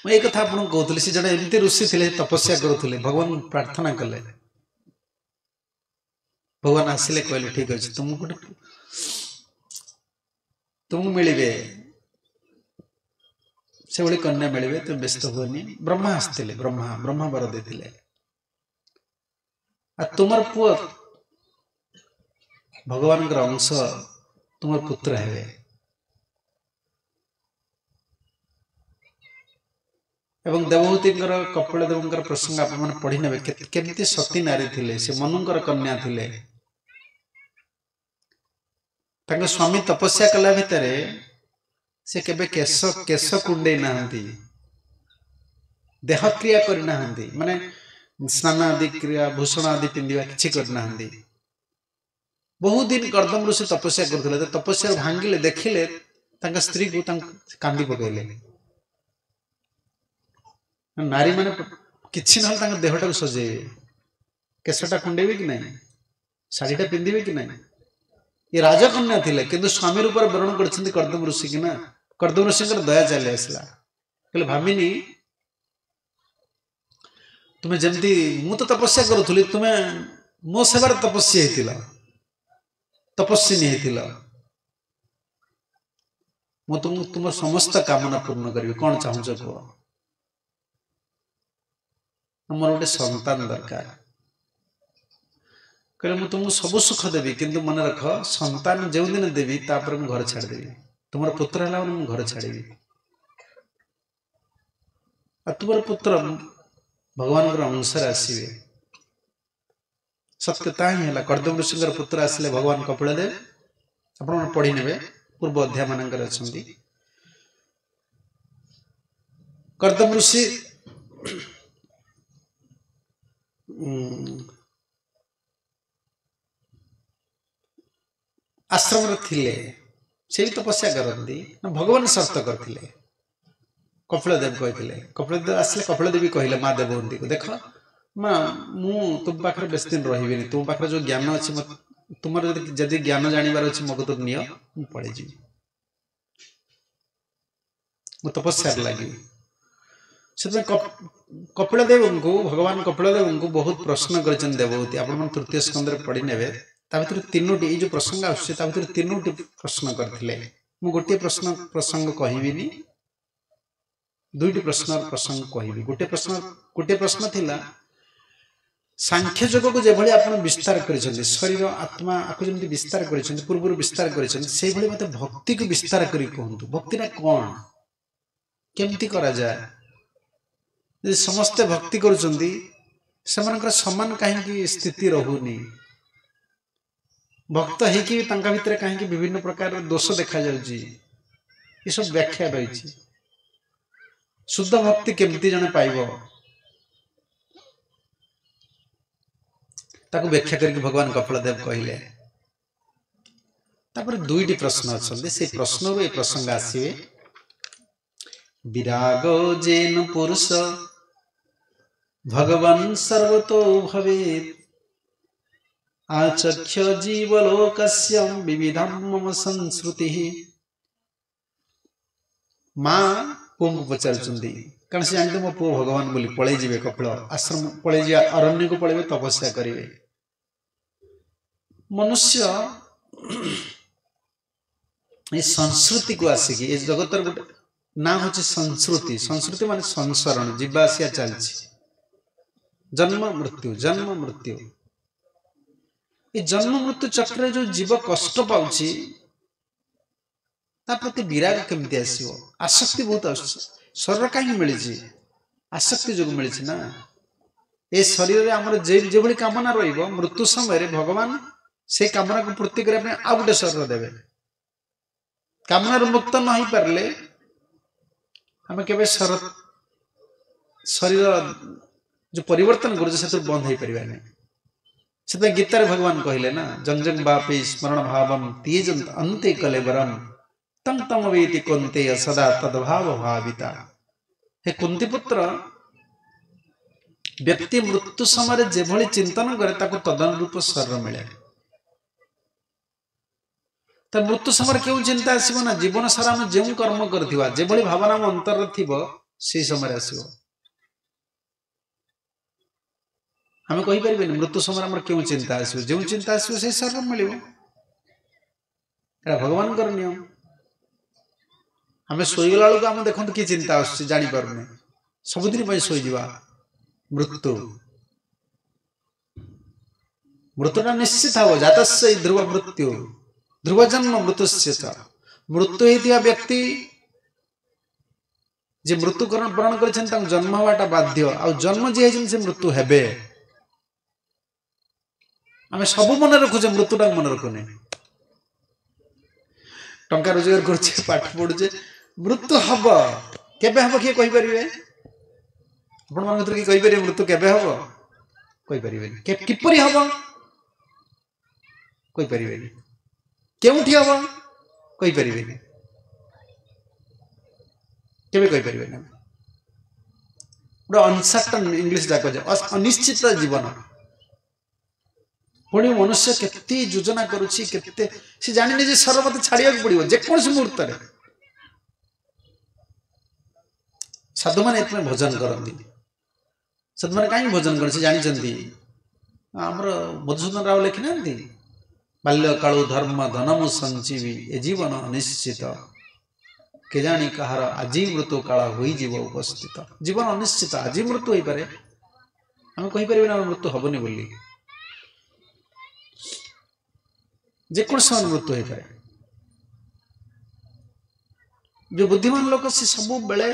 ମୁଁ ଏଇ କଥା ଆପଣଙ୍କୁ କହୁଥିଲି। ସେ ଜଣେ ଏମିତି ଋଷି ଥିଲେ, ତପସ୍ୟା କରୁଥିଲେ, ଭଗବାନ ପ୍ରାର୍ଥନା କଲେ, ଭଗବାନ ଆସିଲେ କହିଲେ ଠିକ ଅଛି ତୁମକୁ ଗୋଟେ ତୁମକୁ ମିଳିବେ ସେଭଳି କନ୍ୟା ମିଳିବେ, ତୁମେ ବ୍ୟସ୍ତ ହୁଅନି। ବ୍ରହ୍ମା ଆସିଥିଲେ, ବ୍ରହ୍ମା ବ୍ରହ୍ମା ବର ଦେଇଥିଲେ, ଆଉ ତୁମର ପୁଅ ଭଗବାନଙ୍କର ଅଂଶ ତୁମର ପୁତ୍ର ହେବେ। ଏବଂ ଦେବହୂତିଙ୍କର କପିଳ ଦେବଙ୍କର ପ୍ରସଙ୍ଗ ଆପଣମାନେ ପଢି ନେବେ, କେମିତି ସତୀ ନାରୀ ଥିଲେ, ସେ ମନୁଙ୍କର କନ୍ୟା ଥିଲେ। ତାଙ୍କ ସ୍ୱାମୀ ତପସ୍ୟା କଲା ଭିତରେ ସେ କେବେ କେଶ କେଶ କୁଣ୍ଡେଇ ନାହାନ୍ତି, ଦେହକ୍ରିୟା କରିନାହାନ୍ତି, ମାନେ ସ୍ନାନ ଆଦି କ୍ରିୟା, ଭୂଷଣ ଆଦି ପିନ୍ଧିବା କିଛି କରିନାହାନ୍ତି। ବହୁତ ଦିନ କର୍ଦ୍ଦମ ଋଷି ତପସ୍ୟା କରୁଥିଲେ। ତପସ୍ୟା ଭାଙ୍ଗିଲେ, ଦେଖିଲେ ତାଙ୍କ ସ୍ତ୍ରୀକୁ, ତାଙ୍କୁ କାନ୍ଦି ପକେଇଲେ। ନାରୀ ମାନେ କିଛି ନହେଲେ ତାଙ୍କ ଦେହଟାକୁ ସଜେଇବେ, କେଶଟା କୁଣ୍ଡେଇବେ କି ନାହିଁ, ଶାଢୀଟା ପିନ୍ଧିବେ କି ନାହିଁ। ଏ ରାଜକନ୍ୟା ଥିଲେ, କିନ୍ତୁ ସ୍ୱାମୀ ରୂପରେ ବରଣ କରିଛନ୍ତି କର୍ଦ୍ଦମ ଋଷି କି ନା। କର୍ଦ୍ଦମ ଋଷିଙ୍କର ଦୟା ଚାଲି ଆସିଲା, କହିଲେ ଭାମିନି ତୁମେ ଯେମିତି ମୁଁ ତ ତପସ୍ୟା କରୁଥିଲି, ତୁମେ ମୋ ସେବାରେ ତପସ୍ୟା ହେଇଥିଲ, ତପସ୍ୱିନୀ ହେଇଥିଲ, ମୁଁ ତୁମକୁ ତୁମ ସମସ୍ତ କାମନା ପୂର୍ଣ୍ଣ କରିବି, କଣ ଚାହୁଁଛ କୁହ? ମୋର ଗୋଟେ ସନ୍ତାନ ଦରକାର। କହିଲେ ମୁଁ ତୁମକୁ ସବୁ ସୁଖ ଦେବି, କିନ୍ତୁ ମନେ ରଖ ସନ୍ତାନ ଯେଉଁଦିନ ଦେବି ତାପରେ ମୁଁ ଘର ଛାଡ଼ିଦେବି। ତୁମର ପୁତ୍ର ହେଲା ମାନେ ମୁଁ ଘର ଛାଡ଼ିବି। ଆଉ ତୁମର ପୁତ୍ର ଭଗବାନଙ୍କର ଅଂଶରେ ଆସିବେ। ସତ୍ୟ ତାହା ହିଁ ହେଲା। କର୍ଦ୍ଦମ ଋଷିଙ୍କର ପୁତ୍ର ଆସିଲେ ଭଗବାନ କପିଳ ଦେବ। ଆପଣମାନେ ପଢି ନେବେ, ପୂର୍ବ ଅଧ୍ୟାୟ ମାନଙ୍କରେ ଅଛନ୍ତି। କର୍ଦ୍ଦମ ଋଷି ଆଶ୍ରମରେ ଥିଲେ, ସେ ବି ତପସ୍ୟା କରନ୍ତି ନା, ଭଗବାନ ସର୍ତ୍ତ କରିଥିଲେ। କପିଳ ଦେବ କହିଥିଲେ, କପିଳ ଦେବ ଆସିଲେ, କପିଳ ଦେବୀ କହିଲେ ମା ଦେବହୂତିକୁ, ଦେଖ ମା ମୁଁ ତୁମ ପାଖରେ ବେଶୀ ଦିନ ରହିବିନି, ତୁମ ପାଖରେ ଯୋଉ ଜ୍ଞାନ ଅଛି ତୁମର ଯଦି ଜ୍ଞାନ ଜାଣିବାର ଅଛି ମୋ କତିରୁ ନିଅ, ମୁଁ ପଳେଇଯିବି, ମୁଁ ତପସ୍ୟାରେ ଲାଗିବି। ସେଥିପାଇଁ କପିଳ ଦେବଙ୍କୁ, ଭଗବାନ କପିଳ ଦେବଙ୍କୁ ବହୁତ ପ୍ରଶ୍ନ କରିଛନ୍ତି ଦେବହୂତି। ଆପଣମାନେ ତୃତୀୟ ସ୍କନ୍ଧରେ ପଢି ନେବେ। ତା ଭିତରୁ ତିନୋଟି ଏଇ ଯୋଉ ପ୍ରସଙ୍ଗ ଆସୁଛି ତା ଭିତରୁ ତିନୋଟି ପ୍ରଶ୍ନ କରିଥିଲେ। ମୁଁ ଗୋଟିଏ ପ୍ରଶ୍ନ ପ୍ରସଙ୍ଗ କହିବିନି, ଦୁଇଟି ପ୍ରଶ୍ନର ପ୍ରସଙ୍ଗ କହିବି। ଗୋଟିଏ ପ୍ରଶ୍ନ ଥିଲା ସାଂଖ୍ୟ ଯୋଗକୁ ଯେଭଳି ଆପଣ ବିସ୍ତାର କରିଛନ୍ତି, ଶରୀର ଆତ୍ମା ଆକୁ ଯେମିତି ବିସ୍ତାର କରିଛନ୍ତି, ପୂର୍ବରୁ ବିସ୍ତାର କରିଛନ୍ତି, ସେଇଭଳି ମୋତେ ଭକ୍ତିକୁ ବିସ୍ତାର କରି କୁହନ୍ତୁ। ଭକ୍ତିଟା କ'ଣ, କେମିତି କରାଯାଏ? ଯଦି ସମସ୍ତେ ଭକ୍ତି କରୁଛନ୍ତି ସେମାନଙ୍କର ସମାନ କାହିଁକି ସ୍ଥିତି ରହୁନି? ଭକ୍ତ ହେଇକି ବି ତାଙ୍କ ଭିତରେ କାହିଁକି ବିଭିନ୍ନ ପ୍ରକାରର ଦୋଷ ଦେଖାଯାଉଛି? ଏସବୁ ବ୍ୟାଖ୍ୟା ରହିଛି। ଶୁଦ୍ଧ ଭକ୍ତି କେମିତି ଜଣେ ପାଇବ ତାକୁ ବ୍ୟାଖ୍ୟା କରିକି ଭଗବାନ କପିଳ ଦେବ କହିଲେ। ତାପରେ ଦୁଇଟି ପ୍ରଶ୍ନ ଅଛନ୍ତି, ସେଇ ପ୍ରଶ୍ନରୁ ଏ ପ୍ରସଙ୍ଗ ଆସିବେ। ବିରାଗ ଯେନ ପୁରୁଷ ଭଗବାନ ସର୍ବତୋ ଭବେତ୍ ଆଚକ୍ଷ ଜୀବଲୋକସ୍ୟ ବିବିଧಂ ମମ ସଂସ୍କୃତିଃ। ମା ପୁଅଙ୍କୁ ପଚାରୁଛନ୍ତି, କାରଣ ସେ ଜାଣିଥିଲେ ମୋ ପୁଅ ଭଗବାନ ବୋଲି, ପଳେଇ ଯିବେ କପିଳ ଆଶ୍ରମ, ପଳେଇ ଯିବେ ଅରଣ୍ୟକୁ, ପଳେଇବେ ତପସ୍ୟା କରିବେ। ମନୁଷ୍ୟ ଏ ସଂସ୍କୃତିକୁ ଆସିକି ଏ ଜଗତର ଗୋଟେ ନାଁ ହଉଛି ସଂସ୍କୃତି। ସଂସ୍କୃତି ମାନେ ସଂସରଣ, ଯିବା ଆସିବା ଚାଲିଛି, ଜନ୍ମ ମୃତ୍ୟୁ, ଜନ୍ମ ମୃତ୍ୟୁ। ଏ ଜନ୍ମ ମୃତ୍ୟୁ ଚକ୍ରରେ ଯୋଉ ଜୀବ କଷ୍ଟ ପାଉଛି, ତା ପ୍ରତି ବିରାଗ କେମିତି ଆସିବ? ଆସକ୍ତି ବହୁତ ଆସୁଛି। ଶରୀର କାହିଁକି ମିଳିଛି? ଆସକ୍ତି ଯୋଗୁଁ ମିଳିଛି ନା। ଏ ଶରୀରରେ ଆମର ଯେଭଳି କାମନା ରହିବ, ମୃତ୍ୟୁ ସମୟରେ ଭଗବାନ ସେ କାମନାକୁ ପୂର୍ତ୍ତି କରିବା ପାଇଁ ଆଉ ଗୋଟେ ଶରୀର ଦେବେ। କାମନାରୁ ମୁକ୍ତ ନ ହେଇପାରିଲେ ଆମେ କେବେ ଶରୀର ଯୋଉ ପରିବର୍ତ୍ତନ କରୁଛେ ସେଥିରୁ ବନ୍ଦ ହେଇପାରିବାନି। ସେଥିପାଇଁ ଗୀତାରେ ଭଗବାନ କହିଲେ ନା, ଜଂ ଜଂ ବାପି ସ୍ମରଣ ଭାବಂ ତିୟଜନ୍ତ ଅନ୍ତେ କଲେବରಂ ତଂ ତମ ବେତି କନ୍ତେୟ ସଦା ତଦ୍ଭାବ ଭାବିତା। ହେ କୁନ୍ତି ପୁତ୍ର, ବ୍ୟକ୍ତି ମୃତ୍ୟୁ ସମୟରେ ଯେଭଳି ଚିନ୍ତନ କରେ ତାକୁ ତଦନୁରୂପ ଶରୀର ମିଳେ। ତ ମୃତ୍ୟୁ ସମୟରେ କେଉଁ ଚିନ୍ତା ଆସିବ ନା, ଜୀବନ ସାରା ଆମେ ଯେଉଁ କର୍ମ କରିଥିବା, ଯେଭଳି ଭାବନା ଆମ ଅନ୍ତରରେ ଥିବ ସେଇ ସମୟରେ ଆସିବ। ଆମେ କହିପାରିବେନି ମୃତ୍ୟୁ ସମୟରେ ଆମର କେଉଁ ଚିନ୍ତା ଆସିବ। ଯେଉଁ ଚିନ୍ତା ଆସିବ ସେଇ ଶରୀର ମିଳିବ। ଏଇଟା ଭଗବାନଙ୍କର ନିୟମ। ଆମେ ଶୋଇଗଲା ବେଳକୁ ଆମେ ଦେଖନ୍ତୁ କି ଚିନ୍ତା ଆସୁଛି ଜାଣିପାରୁନେ, ସବୁଦିନ ପାଇଁ ଶୋଇଯିବା। ମୃତ୍ୟୁ ମୃତ୍ୟୁଟା ନିଶ୍ଚିତ ହବ। ଜାତସ୍ୟ ଧ୍ରୁବ ମୃତ୍ୟୁ ଧ୍ରୁବ ଜନ୍ମ ମୃତ୍ୟୁଶ୍ଚ। ମୃତ୍ୟୁ ହେଇଥିବା ବ୍ୟକ୍ତି ଯେ ମୃତ୍ୟୁ ବରଣ କରିଛନ୍ତି ତାଙ୍କୁ ଜନ୍ମ ହବାଟା ବାଧ୍ୟ, ଆଉ ଜନ୍ମ ଯିଏ ହେଇଛନ୍ତି ସେ ମୃତ୍ୟୁ ହେବେ। ଆମେ ସବୁ ମନେ ରଖୁଛେ, ମୃତ୍ୟୁଟାକୁ ମନେ ରଖୁନେ। ଟଙ୍କା ରୋଜଗାର କରୁଛେ, ପାଠ ପଢୁଛେ, ମୃତ୍ୟୁ ହବ କେବେ ହବ କିଏ କହିପାରିବେ? ଆପଣମାନଙ୍କ ଭିତରୁ କିଏ କହିପାରିବେ ମୃତ୍ୟୁ କେବେ ହବ? କହିପାରିବେନି। କିପରି ହବ କହିପାରିବେନି। କେଉଁଠି ହବ କହିପାରିବେନି। କେବେ କହିପାରିବେନି। ଆମେ ଗୋଟେ ଅନସର୍ଟନ, ଇଂଲିଶ ଯାକ ଅନିଶ୍ଚିତ ଜୀବନ। ପୁଣି ମନୁଷ୍ୟ କେତେ ଯୋଜନା କରୁଛି, କେତେ ସେ ଜାଣିନି ଯେ ଶରୀର ମତେ ଛାଡ଼ିବାକୁ ପଡିବ ଯେକୌଣସି ମୁହୂର୍ତ୍ତରେ। ସାଧୁମାନେ ଏଥିପାଇଁ ଭଜନ କରନ୍ତି। ସାଧୁମାନେ କାହିଁକି ଭଜନ କରନ୍ତି? ସେ ଜାଣିଛନ୍ତି। ଆମର ମଧୁସୂଦନ ରାଓ ଲେଖିନାହାନ୍ତି, ବାଲ୍ୟକାଳୁ ଧର୍ମ ଧନମୁ ସଞ୍ଚିବି ଏ ଜୀବନ ଅନିଶ୍ଚିତ, କେଜାଣି କାହାର ଆଜି ମୃତ୍ୟୁ କାଳ ହୋଇଯିବ ଉପସ୍ଥିତ। ଜୀବନ ଅନିଶ୍ଚିତ, ଆଜି ମୃତ୍ୟୁ ହେଇପାରେ, ଆମେ କହିପାରିବାନି ଆମର ମୃତ୍ୟୁ ହବନି ବୋଲି। ଯେକୌଣସି ସମୟରେ ମୃତ୍ୟୁ ହେଇପାରେ। ଯୋଉ ବୁଦ୍ଧିମାନ ଲୋକ ସେ ସବୁବେଳେ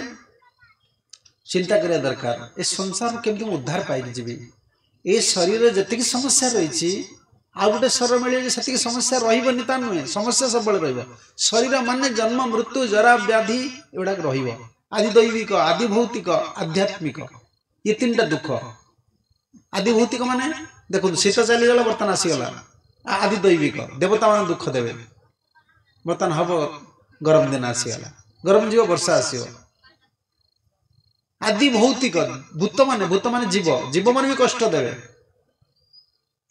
ଚିନ୍ତା କରିବା ଦରକାର, ଏ ସଂସାରରୁ କେମିତି ମୁଁ ଉଦ୍ଧାର ପାଇକି ଯିବି। ଏ ଶରୀରରେ ଯେତିକି ସମସ୍ୟା ରହିଛି, ଆଉ ଗୋଟେ ଶରୀର ମିଳିବ ଯେ ସେତିକି ସମସ୍ୟା ରହିବନି ତା ନୁହେଁ, ସମସ୍ୟା ସବୁବେଳେ ରହିବ। ଶରୀର ମାନେ ଜନ୍ମ ମୃତ୍ୟୁ ଜରା ବ୍ୟାଧି ଏଗୁଡ଼ାକ ରହିବ। ଆଦି ଦୈବିକ, ଆଦି ଭୌତିକ, ଆଧ୍ୟାତ୍ମିକ, ଇଏ ତିନିଟା ଦୁଃଖ। ଆଦି ଭୌତିକ ମାନେ ଦେଖନ୍ତୁ ଶୀତ ଚାଲିଗଲା, ବର୍ତ୍ତମାନ ଆସିଗଲା। ଆଦି ଦୈବିକ, ଦେବତା ମାନେ ଦୁଃଖ ଦେବେ, ବର୍ତ୍ତମାନ ହବ ଗରମ ଦିନ ଆସିଗଲା, ଗରମ ଯିବ ବର୍ଷା ଆସିବ। ଆଦି ଭୌତିକ, ଭୂତମାନେ ଜୀବ, ଜୀବମାନେ ବି କଷ୍ଟ ଦେବେ।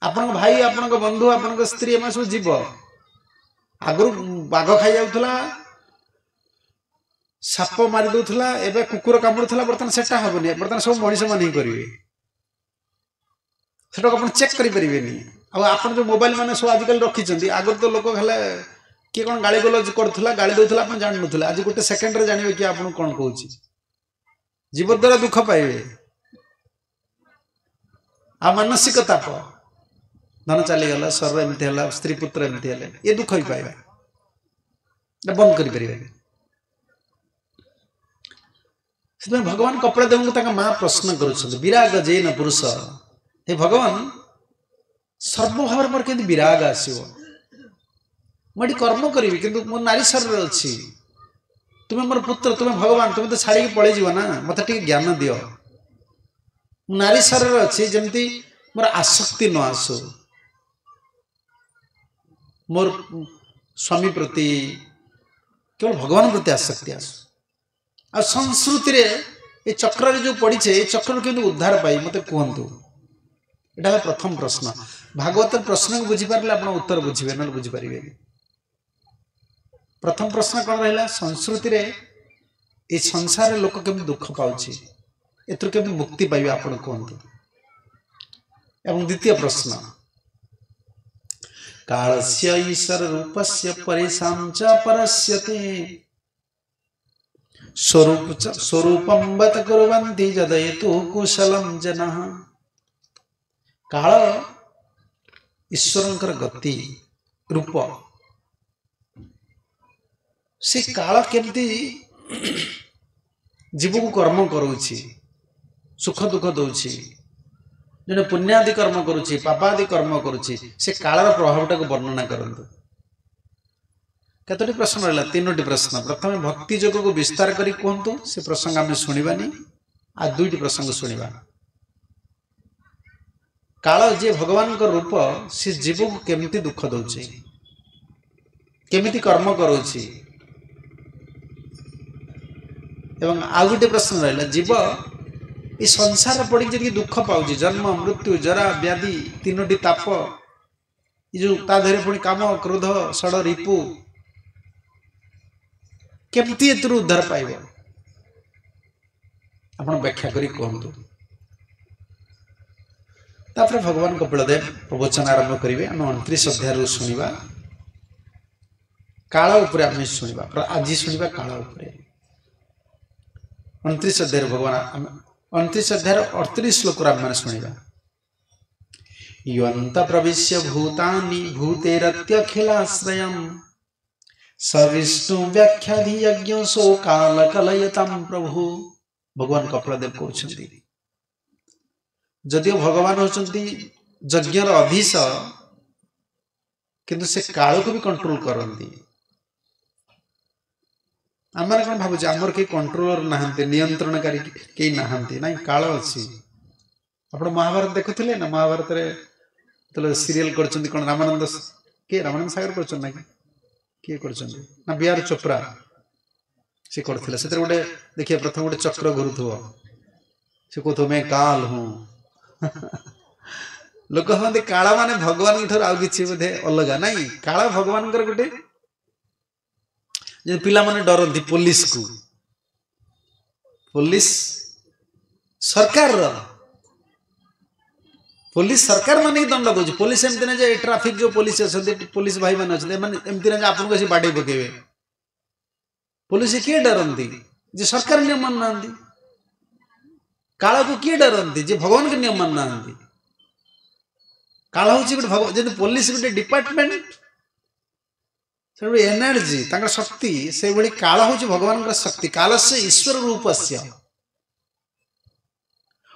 ଆପଣଙ୍କ ଭାଇ, ଆପଣଙ୍କ ବନ୍ଧୁ, ଆପଣଙ୍କ ସ୍ତ୍ରୀ, ଏମାନେ ସବୁ ଜୀବ। ଆଗରୁ ବାଘ ଖାଇଯାଉଥିଲା, ସାପ ମାରି ଦଉଥିଲା, ଏବେ କୁକୁର କାମୁଡୁଥିଲା, ବର୍ତ୍ତମାନ ସେଟା ହବନି। ବର୍ତ୍ତମାନ ସବୁ ମଣିଷ ମାନେ ହିଁ କରିବେ। ସେଟାକୁ ଆପଣ ଚେକ୍ କରିପାରିବେନି। ଆଉ ଆପଣ ଯୋଉ ମୋବାଇଲ ମାନେ ସବୁ ଆଜିକାଲି ରଖିଛନ୍ତି, ଆଗରୁ ତ ଲୋକ ହେଲେ କିଏ କ'ଣ ଗାଳି ଗୁଲଜ କରୁଥିଲା, ଗାଳି ଦଉଥିଲା, ଆପଣ ଜାଣିନଥିଲେ। ଆଜି ଗୋଟେ ସେକେଣ୍ଡରେ ଜାଣିବେ କିଏ ଆପଣଙ୍କୁ କ'ଣ କହୁଛି। ଜୀବ ଦ୍ୱାରା ଦୁଃଖ ପାଇବେ। ଆଉ ମାନସିକ ତାପ, ଧନ ଚାଲିଗଲା, ଶରୀର ଏମିତି ହେଲା, ସ୍ତ୍ରୀ ପୁତ୍ର ଏମିତି ହେଲେ, ଏ ଦୁଃଖ ବି ପାଇବେ, ବନ୍ଦ କରିପାରିବେନି। ସେଥିପାଇଁ ଭଗବାନ କପିଳ ଦେବଙ୍କୁ ତାଙ୍କ ମା ପ୍ରଶ୍ନ କରୁଛନ୍ତି, ବିରାଗ ଜୈନ ପୁରୁଷ, ହେ ଭଗବାନ, ସର୍ବଭାବରେ ମୋର କେମିତି ବିରାଗ ଆସିବ? ମୁଁ ଏଠି କର୍ମ କରିବି, କିନ୍ତୁ ମୋ ନାରୀ ଶରୀରରେ ଅଛି, ତୁମେ ମୋର ପୁତ୍ର, ତୁମେ ଭଗବାନ, ତୁମେ ତ ଛାଡ଼ିକି ପଳେଇଯିବ ନା, ମୋତେ ଟିକେ ଜ୍ଞାନ ଦିଅ। ମୁଁ ନାରୀ ଶରୀରରେ ଅଛି, ଯେମିତି ମୋର ଆସକ୍ତି ନ ଆସୁ ମୋର ସ୍ୱାମୀ ପ୍ରତି, କେବଳ ଭଗବାନ ପ୍ରତି ଆସକ୍ତି ଆସୁ। ଆଉ ସଂସ୍କୃତିରେ ଏ ଚକ୍ରରେ ଯେଉଁ ପଡ଼ିଛେ, ଏ ଚକ୍ରରୁ କେମିତି ଉଦ୍ଧାର ପାଇ ମୋତେ କୁହନ୍ତୁ। ଏଇଟା ହେଲା ପ୍ରଥମ ପ୍ରଶ୍ନ। ଭାଗବତର ପ୍ରଶ୍ନକୁ ବୁଝିପାରିଲେ ଆପଣ ଉତ୍ତର ବୁଝିବେ, ନହେଲେ ବୁଝିପାରିବେନି। ପ୍ରଥମ ପ୍ରଶ୍ନ କ'ଣ ରହିଲା? ସଂସ୍କୃତିରେ ଏ ସଂସାରରେ ଲୋକ କେମିତି ଦୁଃଖ ପାଉଛି, ଏଥିରୁ କେମିତି ମୁକ୍ତି ପାଇବେ ଆପଣ କୁହନ୍ତୁ। ଏବଂ ଦ୍ୱିତୀୟ ପ୍ରଶ୍ନ, କାଳସ୍ୟ ଈଶ୍ୱର ରୂପସ୍ୟ ପରେଷାଂ ଚ ପରସ୍ୟତେ ସ୍ୱରୂପಂ ବତ କୁର୍ବନ୍ତି ଯଦୟତୁ କୁଶଲಂ ଜନଃ। କାଳ ଈଶ୍ୱରଙ୍କର ଗତି ରୂପ, ସେ କାଳ କେମିତି ଜୀବକୁ କର୍ମ କରାଉଛି, ସୁଖ ଦୁଃଖ ଦଉଛି, ଜଣେ ପୁଣ୍ୟାଦି କର୍ମ କରୁଛି, ପାପାଦି କର୍ମ କରୁଛି, ସେ କାଳର ପ୍ରଭାବଟାକୁ ବର୍ଣ୍ଣନା କରନ୍ତୁ। କେତୋଟି ପ୍ରଶ୍ନ ରହିଲା? 3ଟି ପ୍ରଶ୍ନ। ପ୍ରଥମେ ଭକ୍ତି ଯୋଗକୁ ବିସ୍ତାର କରି କୁହନ୍ତୁ, ସେ ପ୍ରସଙ୍ଗ ଆମେ ଶୁଣିବାନି, ଆଉ 2ଟି ପ୍ରସଙ୍ଗ ଶୁଣିବା। କାଳ ଯିଏ ଭଗବାନଙ୍କ ରୂପ, ସେ ଜୀବକୁ କେମିତି ଦୁଃଖ ଦଉଛି, କେମିତି କର୍ମ କରାଉଛି। ଏବଂ ଆଉ ଗୋଟେ ପ୍ରଶ୍ନ ରହିଲା, ଜୀବ ଏ ସଂସାର ପଡ଼ିକି ଯେତିକି ଦୁଃଖ ପାଉଛି, ଜନ୍ମ ମୃତ୍ୟୁ ଜରା ବ୍ୟାଧି 3ଟି ତାପ, ଏ ଯେଉଁ ତା ଦେହରେ ପୁଣି କାମ କ୍ରୋଧ ଷଡ଼ ରିପୁ, କେମିତି ଏଥିରୁ ଉଦ୍ଧାର ପାଇବ ଆପଣ ବ୍ୟାଖ୍ୟା କରି କୁହନ୍ତୁ। ତାପରେ ଭଗବାନ କପିଳଦେବ ପ୍ରବଚନ ଆରମ୍ଭ କରିବେ। ଆମେ 29 ଅଧ୍ୟାୟରୁ ଶୁଣିବା, କାଳ ଉପରେ ଆମେ ଶୁଣିବା, ଆଜି ଶୁଣିବା କାଳ ଉପରେ। 29 ଅଧ୍ୟାୟରେ ଭଗବାନ, ଆମେ 29 ଅଧ୍ୟାୟର 38 ଶ୍ଲୋକରୁ ଆମେମାନେ ଶୁଣିବା। ୟନ୍ତ ପ୍ରବିଶ୍ୟ ଭୂତାନି ଭୂତେରତ୍ୟଖିଳାଶ୍ରୟମ୍ ସ ବିଷ୍ଣୁ ବ୍ୟାଖ୍ୟାଧିୟଜ୍ଞ ସୋ କାଳ କଲୟତାಂ ପ୍ରଭୁ। ଭଗବାନ କପିଳଦେବ କହୁଛନ୍ତି, ଯଦିଓ ଭଗବାନ ହେଉଛନ୍ତି ଯଜ୍ଞର ଅଧୀଶ, କିନ୍ତୁ ସେ କାଳକୁ ବି କଣ୍ଟ୍ରୋଲ କରନ୍ତି। ଆମମାନେ କ'ଣ ଭାବୁଛେ ଆମର କେହି କଣ୍ଟ୍ରୋଲର ନାହାନ୍ତି, ନିୟନ୍ତ୍ରଣକାରୀ କେହି ନାହାନ୍ତି? ନାଇଁ, କାଳ ଅଛି। ଆପଣ ମହାଭାରତ ଦେଖୁଥିଲେ ନା? ମହାଭାରତରେ ଯେତେବେଳେ ସିରିଏଲ କରୁଛନ୍ତି, କ'ଣ ରାମାନନ୍ଦ, କିଏ ରାମାନନ୍ଦ ସାଗର କରୁଛନ୍ତି ନା କିଏ କରୁଛନ୍ତି ନା ବି.ଆର. ଚୋପ୍ରା ସେ କରୁଥିଲେ। ସେଥିରେ ଗୋଟେ ଦେଖିବେ, ପ୍ରଥମେ ଗୋଟେ ଚକ୍ର ଘୁରୁଥିବ, ସେ କହୁଥିବ ମେ କାଲ ହୁଁ। ଲୋକ ଭାବନ୍ତି କାଳ ମାନେ ଭଗବାନଙ୍କ ଠାରୁ ଆଉ କିଛି ବୋଧେ ଅଲଗା। ନାଇଁ, କାଳ ଭଗବାନଙ୍କର ଗୋଟେ, ଯେମିତି ପିଲାମାନେ ଡରନ୍ତି ପୋଲିସକୁ, ପୋଲିସ ସରକାରର, ପୋଲିସ ସରକାର ମାନେ ହିଁ ଦଣ୍ଡ ଦଉଛି। ପୋଲିସ ଏମିତି ନାହିଁ ଯେ ଟ୍ରାଫିକ ଯୋଉ ପୋଲିସ ଅଛନ୍ତି, ପୋଲିସ ଭାଇମାନେ ଅଛନ୍ତି, ଏମାନେ ଏମିତି ନାହିଁ ଯେ ଆପଣଙ୍କୁ ଆସି ବାଡେଇ ପକେଇବେ। ପୋଲିସ କିଏ ଡରନ୍ତି? ଯେ ସରକାର ନିୟମ ମାନୁନାହାନ୍ତି। କାଳକୁ କିଏ ଡରନ୍ତି? ଯେ ଭଗବାନଙ୍କ ନିୟମ ମାନୁନାହାନ୍ତି। କାଳ ହଉଛି ଗୋଟେ ଭଗବାନ, ଯେମିତି ପୋଲିସ ଗୋଟେ ଡିପାର୍ଟମେଣ୍ଟ, ସେଭଳି ଏନର୍ଜି ତାଙ୍କର ଶକ୍ତି, ସେଇଭଳି କାଳ ହଉଛି ଭଗବାନଙ୍କର ଶକ୍ତି। କାଳସ୍ୟ ଈଶ୍ୱର ରୂପସ୍ୟ।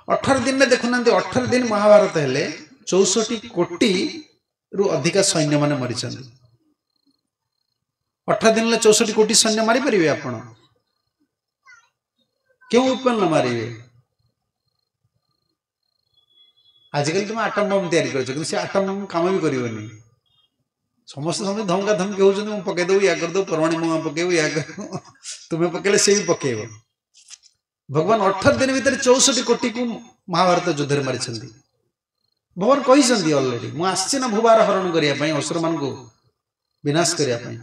18 ଦିନରେ ଦେଖୁନାହାନ୍ତି, 18 ଦିନ ମହାଭାରତ ହେଲେ 64 କୋଟିରୁ ଅଧିକା ସୈନ୍ୟମାନେ ମରିଛନ୍ତି। 18 ଦିନରେ 64 କୋଟି ସୈନ୍ୟ ମାରିପାରିବେ ଆପଣ? କେଉଁ ୱେପନ୍ ମାରିବେ? ଆଜିକାଲି ତୁମେ ଆଟମ ବମ୍ ତିଆରି କରିଛ, କିନ୍ତୁ ସେ ଆଟମ ବମ୍ କାମ ବି କରିବନି। ସମସ୍ତେ ସମସ୍ତେ ଧମକା ଧମକି ହଉଛନ୍ତି, ମୁଁ ପକେଇଦେବୁ, ୟା କରିଦେବୁ, ପରମାଣୁ ବୋମା ପକେଇବୁ, ୟା କରିବୁ, ତୁମେ ପକେଇଲେ ସେ ବି ପକେଇବ। ଭଗବାନ 18 ଦିନ ଭିତରେ 64 କୋଟିକୁ ମହାଭାରତ ଯୁଦ୍ଧରେ ମାରିଛନ୍ତି। ଭଗବାନ କହିଛନ୍ତି ଅଲରେଡି, ମୁଁ ଆସିଛି ନା ଭୂଭାର ହରଣ କରିବା ପାଇଁ, ଅସୁରମାନଙ୍କୁ ବିନାଶ କରିବା ପାଇଁ।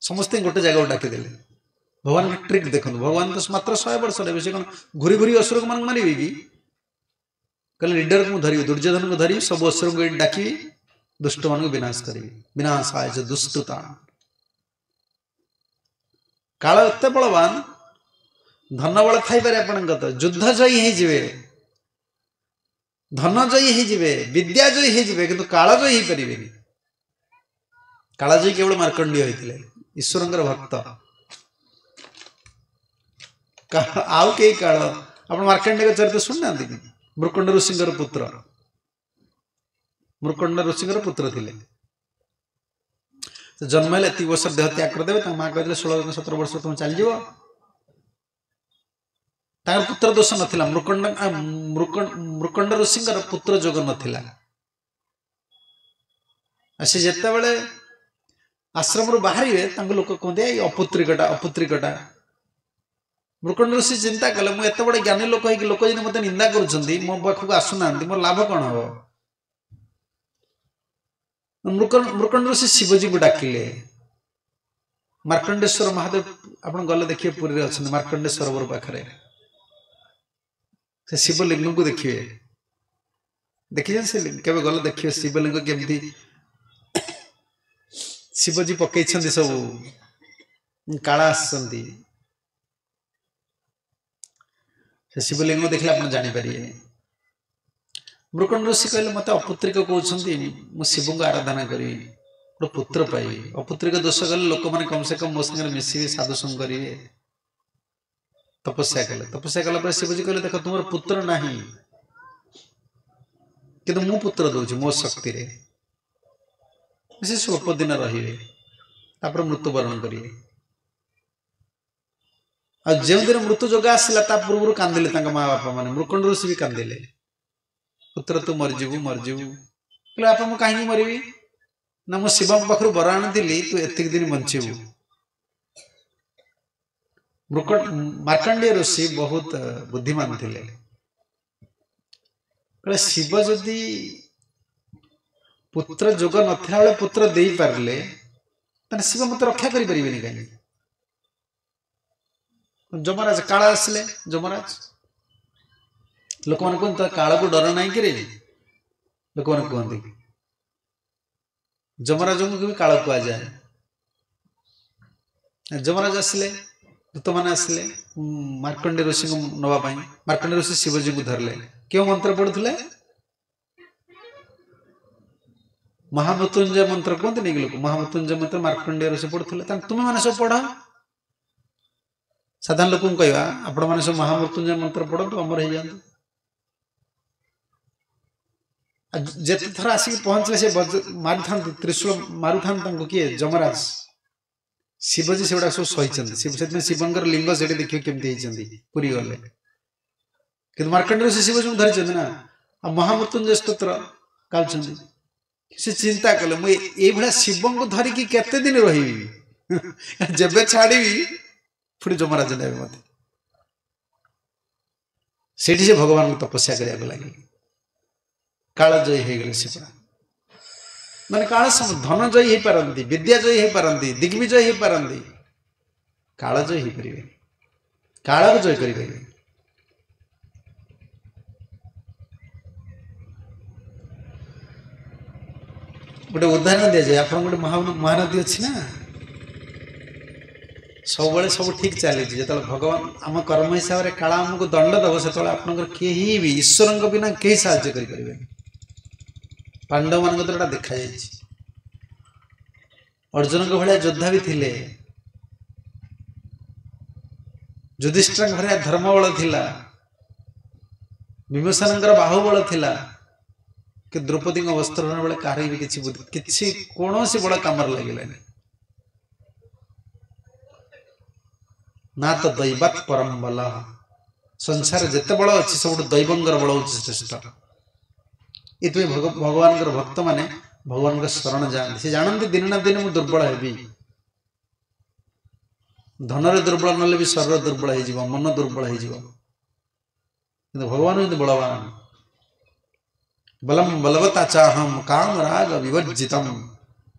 ସମସ୍ତଙ୍କୁ ଗୋଟେ ଜାଗାକୁ ଡାକିଦେଲେ। ଭଗବାନଙ୍କ ଟ୍ରିକ୍ ଦେଖନ୍ତୁ, ଭଗବାନ ତ ମାତ୍ର 100 ବର୍ଷ ରହିବେ, ସେ କ'ଣ ଘୁରି ଘୁରି ଅସୁରମାନଙ୍କୁ ମାରିବେ କି? କହିଲେ ଲିଡରକୁ ମୁଁ ଧରିବି, ଦୁର୍ଯ୍ୟୋଧନକୁ ଧରିବି, ସବୁ ଅସୁରଙ୍କୁ ଏଇଠି ଡାକିବି, ଦୁଷ୍ଟମାନଙ୍କୁ ବିନାଶ କରିବି। ବିନାଶାୟ ଦୁଷ୍ଟତା। କାଳ ଏତେ ବଳବାନ, ଧନ ବଳ ଥାଇପାରେ ଆପଣଙ୍କ, ତ ଯୁଦ୍ଧ ଜୟୀ ହେଇଯିବେ, ଧନ ଜୟୀ ହେଇଯିବେ, ବିଦ୍ୟା ଜୟୀ ହେଇଯିବେ, କିନ୍ତୁ କାଳ ଜୟୀ ହେଇପାରିବେନି। କାଳଜୟୀ କେବଳ ମାର୍କଣ୍ଡୀୟ ହେଇଥିଲେ, ଈଶ୍ୱରଙ୍କର ଭକ୍ତ। ଆଉ କେହି କାଳ, ଆପଣ ମାର୍କଣ୍ଡେୟଙ୍କ ଚରିତ୍ର ଶୁଣିନାହାନ୍ତି କି? ମୃକଣ୍ଡ ଋଷିଙ୍କର ପୁତ୍ର, ମୃକଣ୍ଡ ଋଷିଙ୍କର ପୁତ୍ର ଥିଲେ। ଜନ୍ମ ହେଲେ ଏତିକି ବର୍ଷ ଦେହ ତ୍ୟାଗ କରିଦେବେ। ତାଙ୍କ ମା କହିଥିଲେ 16-17 ବର୍ଷ ତୁମେ ଚାଲିଯିବ। ତାଙ୍କର ପୁତ୍ର ଦୋଷ ନଥିଲା, ମୃକଣ୍ଡ ଋଷିଙ୍କର ପୁତ୍ର ଯୋଗ ନଥିଲା। ଆଉ ସେ ଯେତେବେଳେ ଆଶ୍ରମରୁ ବାହାରିବେ, ତାଙ୍କୁ ଲୋକ କୁହନ୍ତି ଏଇ ଅପୁତ୍ରିକଟା, ଅପୁତ୍ରିକଟା। ମୃକଣ୍ଡ ଋଷି ଚିନ୍ତା କଲେ, ମୁଁ ଏତେ ବଡ଼ ଜ୍ଞାନୀ ଲୋକ ହେଇକି ଲୋକ ଯଦି ମୋତେ ନିନ୍ଦା କରୁଛନ୍ତି, ମୋ ପାଖକୁ ଆସୁନାହାନ୍ତି, ମୋର ଲାଭ କ'ଣ ହବ? ମୃକଣ୍ଡ ଋଷି ଶିବଜୀଙ୍କୁ ଡାକିଲେ। ମାର୍କଣ୍ଡେଶ୍ୱର ମହାଦେବ ଆପଣ ଗଲେ ଦେଖିବେ ପୁରୀରେ ଅଛନ୍ତି, ମାର୍କଣ୍ଡେ ସରୋବର ପାଖରେ ସେ ଶିବଲିଙ୍ଗକୁ ଦେଖିବେ। ଦେଖିଛନ୍ତି ସେ କେବେ ଗଲେ ଦେଖିବେ ଶିବଲିଙ୍ଗ କେମିତି ଶିବଜୀ ପକେଇଛନ୍ତି, ସବୁ କାଳ ଆସିଛନ୍ତି। ସେ ଶିବଲିଙ୍ଗ ଦେଖିଲେ ଆପଣ ଜାଣିପାରିବେ। ମୃକଣ୍ଡ ଋଷି କହିଲେ ମୋତେ ଅପୁତ୍ରିକ କହୁଛନ୍ତି, ମୁଁ ଶିବଙ୍କୁ ଆରାଧନା କରିବି, ଗୋଟେ ପୁତ୍ର ପାଇବି। ଅପୁତ୍ରିକ ଦୋଷ କଲେ ଲୋକମାନେ କମ ସେ କମ ମୋ ସାଙ୍ଗରେ ମିଶିବେ, ସାଧୁସଙ୍ଗ କରିବେ। ତପସ୍ୟା କଲେ। ତପସ୍ୟା କଲା ପରେ ଶିବଜୀ କହିଲେ ଦେଖ ତୁମର ପୁତ୍ର ନାହିଁ, କିନ୍ତୁ ମୁଁ ପୁତ୍ର ଦଉଛି ମୋ ଶକ୍ତିରେ। ସେ ସ୍ୱଳ୍ପ ଦିନ ରହିବେ, ତାପରେ ମୃତ୍ୟୁବରଣ କରିବେ। ଆଉ ଯେଉଁଦିନ ମୃତ୍ୟୁ ଯୋଗ ଆସିଲା ତା ପୂର୍ବରୁ କାନ୍ଦିଲେ ତାଙ୍କ ମା ବାପା ମାନେ, ମୃକଣ୍ଡ ଋଷି ବି କାନ୍ଦିଲେ, ପୁତ୍ର ତୁ ମରିଯିବୁ ମରିଯିବୁ। କହିଲେ ବାପା ମୁଁ କାହିଁକି ମରିବି? ନା ମୁଁ ଶିବଙ୍କ ପାଖରୁ ବର ଆଣିଥିଲି ତୁ ଏତିକି ଦିନ ବଞ୍ଚିବୁ। ମାର୍କଣ୍ଡେୟ ଋଷି ବହୁତ ବୁଦ୍ଧିମାନ ଥିଲେ। କହିଲେ ଶିବ ଯଦି ପୁତ୍ର ଯୋଗ ନଥିଲା ବେଳେ ପୁତ୍ର ଦେଇପାରିଲେ, ତାହେଲେ ଶିବ ମତେ ରକ୍ଷା କରିପାରିବେନି କାହିଁକି? ଯମରାଜ କାଳ ଆସିଲେ, ଯମରାଜ ଲୋକମାନେ କୁହନ୍ତି କାଳକୁ ଡର ନାହିଁ କିରେ, ଲୋକମାନେ କୁହନ୍ତି ଯମରାଜଙ୍କୁ ବି କାଳ କୁହାଯାଏ। ଯମରାଜ ଆସିଲେ, ଦୂତମାନେ ଆସିଲେ ମାର୍କଣ୍ଡେୟ ଋଷିଙ୍କୁ ନେବା ପାଇଁ। ମାର୍କଣ୍ଡେୟ ଋଷି ଶିବଜୀଙ୍କୁ ଧରିଲେ। କେଉଁ ମନ୍ତ୍ର ପଢୁଥିଲେ? ମହାମୃତ୍ୟୁଞ୍ଜୟ ମନ୍ତ୍ର କୁହନ୍ତିନି କି ଲୋକ? ମହାମୃତ୍ୟୁଞ୍ଜୟ ମନ୍ତ୍ର ମାର୍କଣ୍ଡେୟ ଋଷି ପଢୁଥିଲେ। ତାହେଲେ ତୁମେ ମାନେ ସବୁ ପଢ। ସାଧାରଣ ଲୋକଙ୍କୁ କହିବା ଆପଣମାନେ ସବୁ ମହାମୃତ୍ୟୁଞ୍ଜୟ ମନ୍ତ୍ର ପଢନ୍ତୁ, ଅମର ହେଇଯାଆନ୍ତୁ। ଯେତେ ଥର ଆସିକି ପହଞ୍ଚିଲେ ସେ ମାରୁଥାନ୍ତି, ତ୍ରିଶୂଳ ମାରୁଥାନ୍ତି ତାଙ୍କୁ କିଏ? ଯମରାଜ। ଶିବଜୀ ସେଗୁଡା ସବୁ ସହିଛନ୍ତି। ସେଥିପାଇଁ ଶିବଙ୍କର ଲିଙ୍ଗ ସେଠି ଦେଖିବେ କେମିତି ହେଇଛନ୍ତି ପୁରୀ ଗଲେ। କିନ୍ତୁ ମାର୍କଣ୍ଡେୟ ଋଷି ଶିବଜୀଙ୍କୁ ଧରିଛନ୍ତି ନା, ଆଉ ମହାମୃତ୍ୟୁଞ୍ଜୟ ସ୍ତୋତ୍ର ଗାଉଛନ୍ତି। ସେ ଚିନ୍ତା କଲେ ମୁଁ ଏଇଭଳିଆ ଶିବଙ୍କୁ ଧରିକି କେତେ ଦିନ ରହିବି, ଯେବେ ଛାଡ଼ିବି ପୁଣି ଯମରାଜ ନେବେ ମତେ। ସେଇଠି ସେ ଭଗବାନଙ୍କୁ ତପସ୍ୟା କରିବାକୁ ଲାଗିଲେ। କାଳଜୟୀ ହେଇଗଲେ ସେ ପୁରା। ମାନେ କାଳ ଧନ ଜୟୀ ହେଇପାରନ୍ତି, ବିଦ୍ୟା ଜୟୀ ହେଇପାରନ୍ତି, ଦିଗ୍ବିଜୟ ହେଇପାରନ୍ତି, କାଳଜୟୀ ହେଇପାରିବେନି, କାଳକୁ ଜୟ କରିପାରିବେନି। ଗୋଟେ ଉଦାହରଣ ଦିଆଯାଏ। ଆପଣଙ୍କ ଗୋଟେ ମହାନଦୀ ଅଛି ନା, ସବୁବେଳେ ସବୁ ଠିକ ଚାଲିଛି। ଯେତେବେଳେ ଭଗବାନ ଆମ କର୍ମ ହିସାବରେ କାଳ ଆମକୁ ଦଣ୍ଡ ଦେବ, ସେତେବେଳେ ଆପଣଙ୍କର କେହି ବି ଈଶ୍ୱରଙ୍କ ବିନା କେହି ସାହାଯ୍ୟ କରିପାରିବେନି। ପାଣ୍ଡବମାନଙ୍କ ଦ୍ୱାରା ଦେଖାଯାଇଛି। ଅର୍ଜୁନଙ୍କ ଭଳିଆ ଯୋଦ୍ଧା ବି ଥିଲେ, ଯୁଧିଷ୍ଠିରଙ୍କ ଭଳିଆ ଧର୍ମବଳ ଥିଲା, ଭୀମସେନଙ୍କର ବାହୁବଳ ଥିଲା, କିନ୍ତୁ ଦ୍ରୌପଦୀଙ୍କ ବସ୍ତ୍ରହରଣ ବେଳେ କାହାର ବି କିଛି କିଛି କୌଣସି ବଳ କାମରେ ଲାଗିଲାନି। ନା ତ ଦୈବାତ୍ ପରମ ବଲ। ସଂସାର ଯେତେ ବଳ ଅଛି ସବୁଠୁ ଦୈବଙ୍କର ବଳ ହେଉଛି ଶ୍ରେଷ୍ଠ। ଏଥିପାଇଁ ଭଗବାନଙ୍କର ଭକ୍ତମାନେ ଭଗବାନଙ୍କ ଶରଣ ଯାଆନ୍ତି। ସେ ଜାଣନ୍ତି ଦିନେ ନା ଦିନେ ମୁଁ ଦୁର୍ବଳ ହେବି। ଧନରେ ଦୁର୍ବଳ ନହେଲେ ବି ଶରୀର ଦୁର୍ବଳ ହେଇଯିବ, ମନ ଦୁର୍ବଳ ହେଇଯିବ, କିନ୍ତୁ ଭଗବାନ ହେଉଛନ୍ତି ବଳବାନ। ବଲମ ବଲବତା ଚାହମ କାମ ରାଗ ବିବର୍ଜିତମ।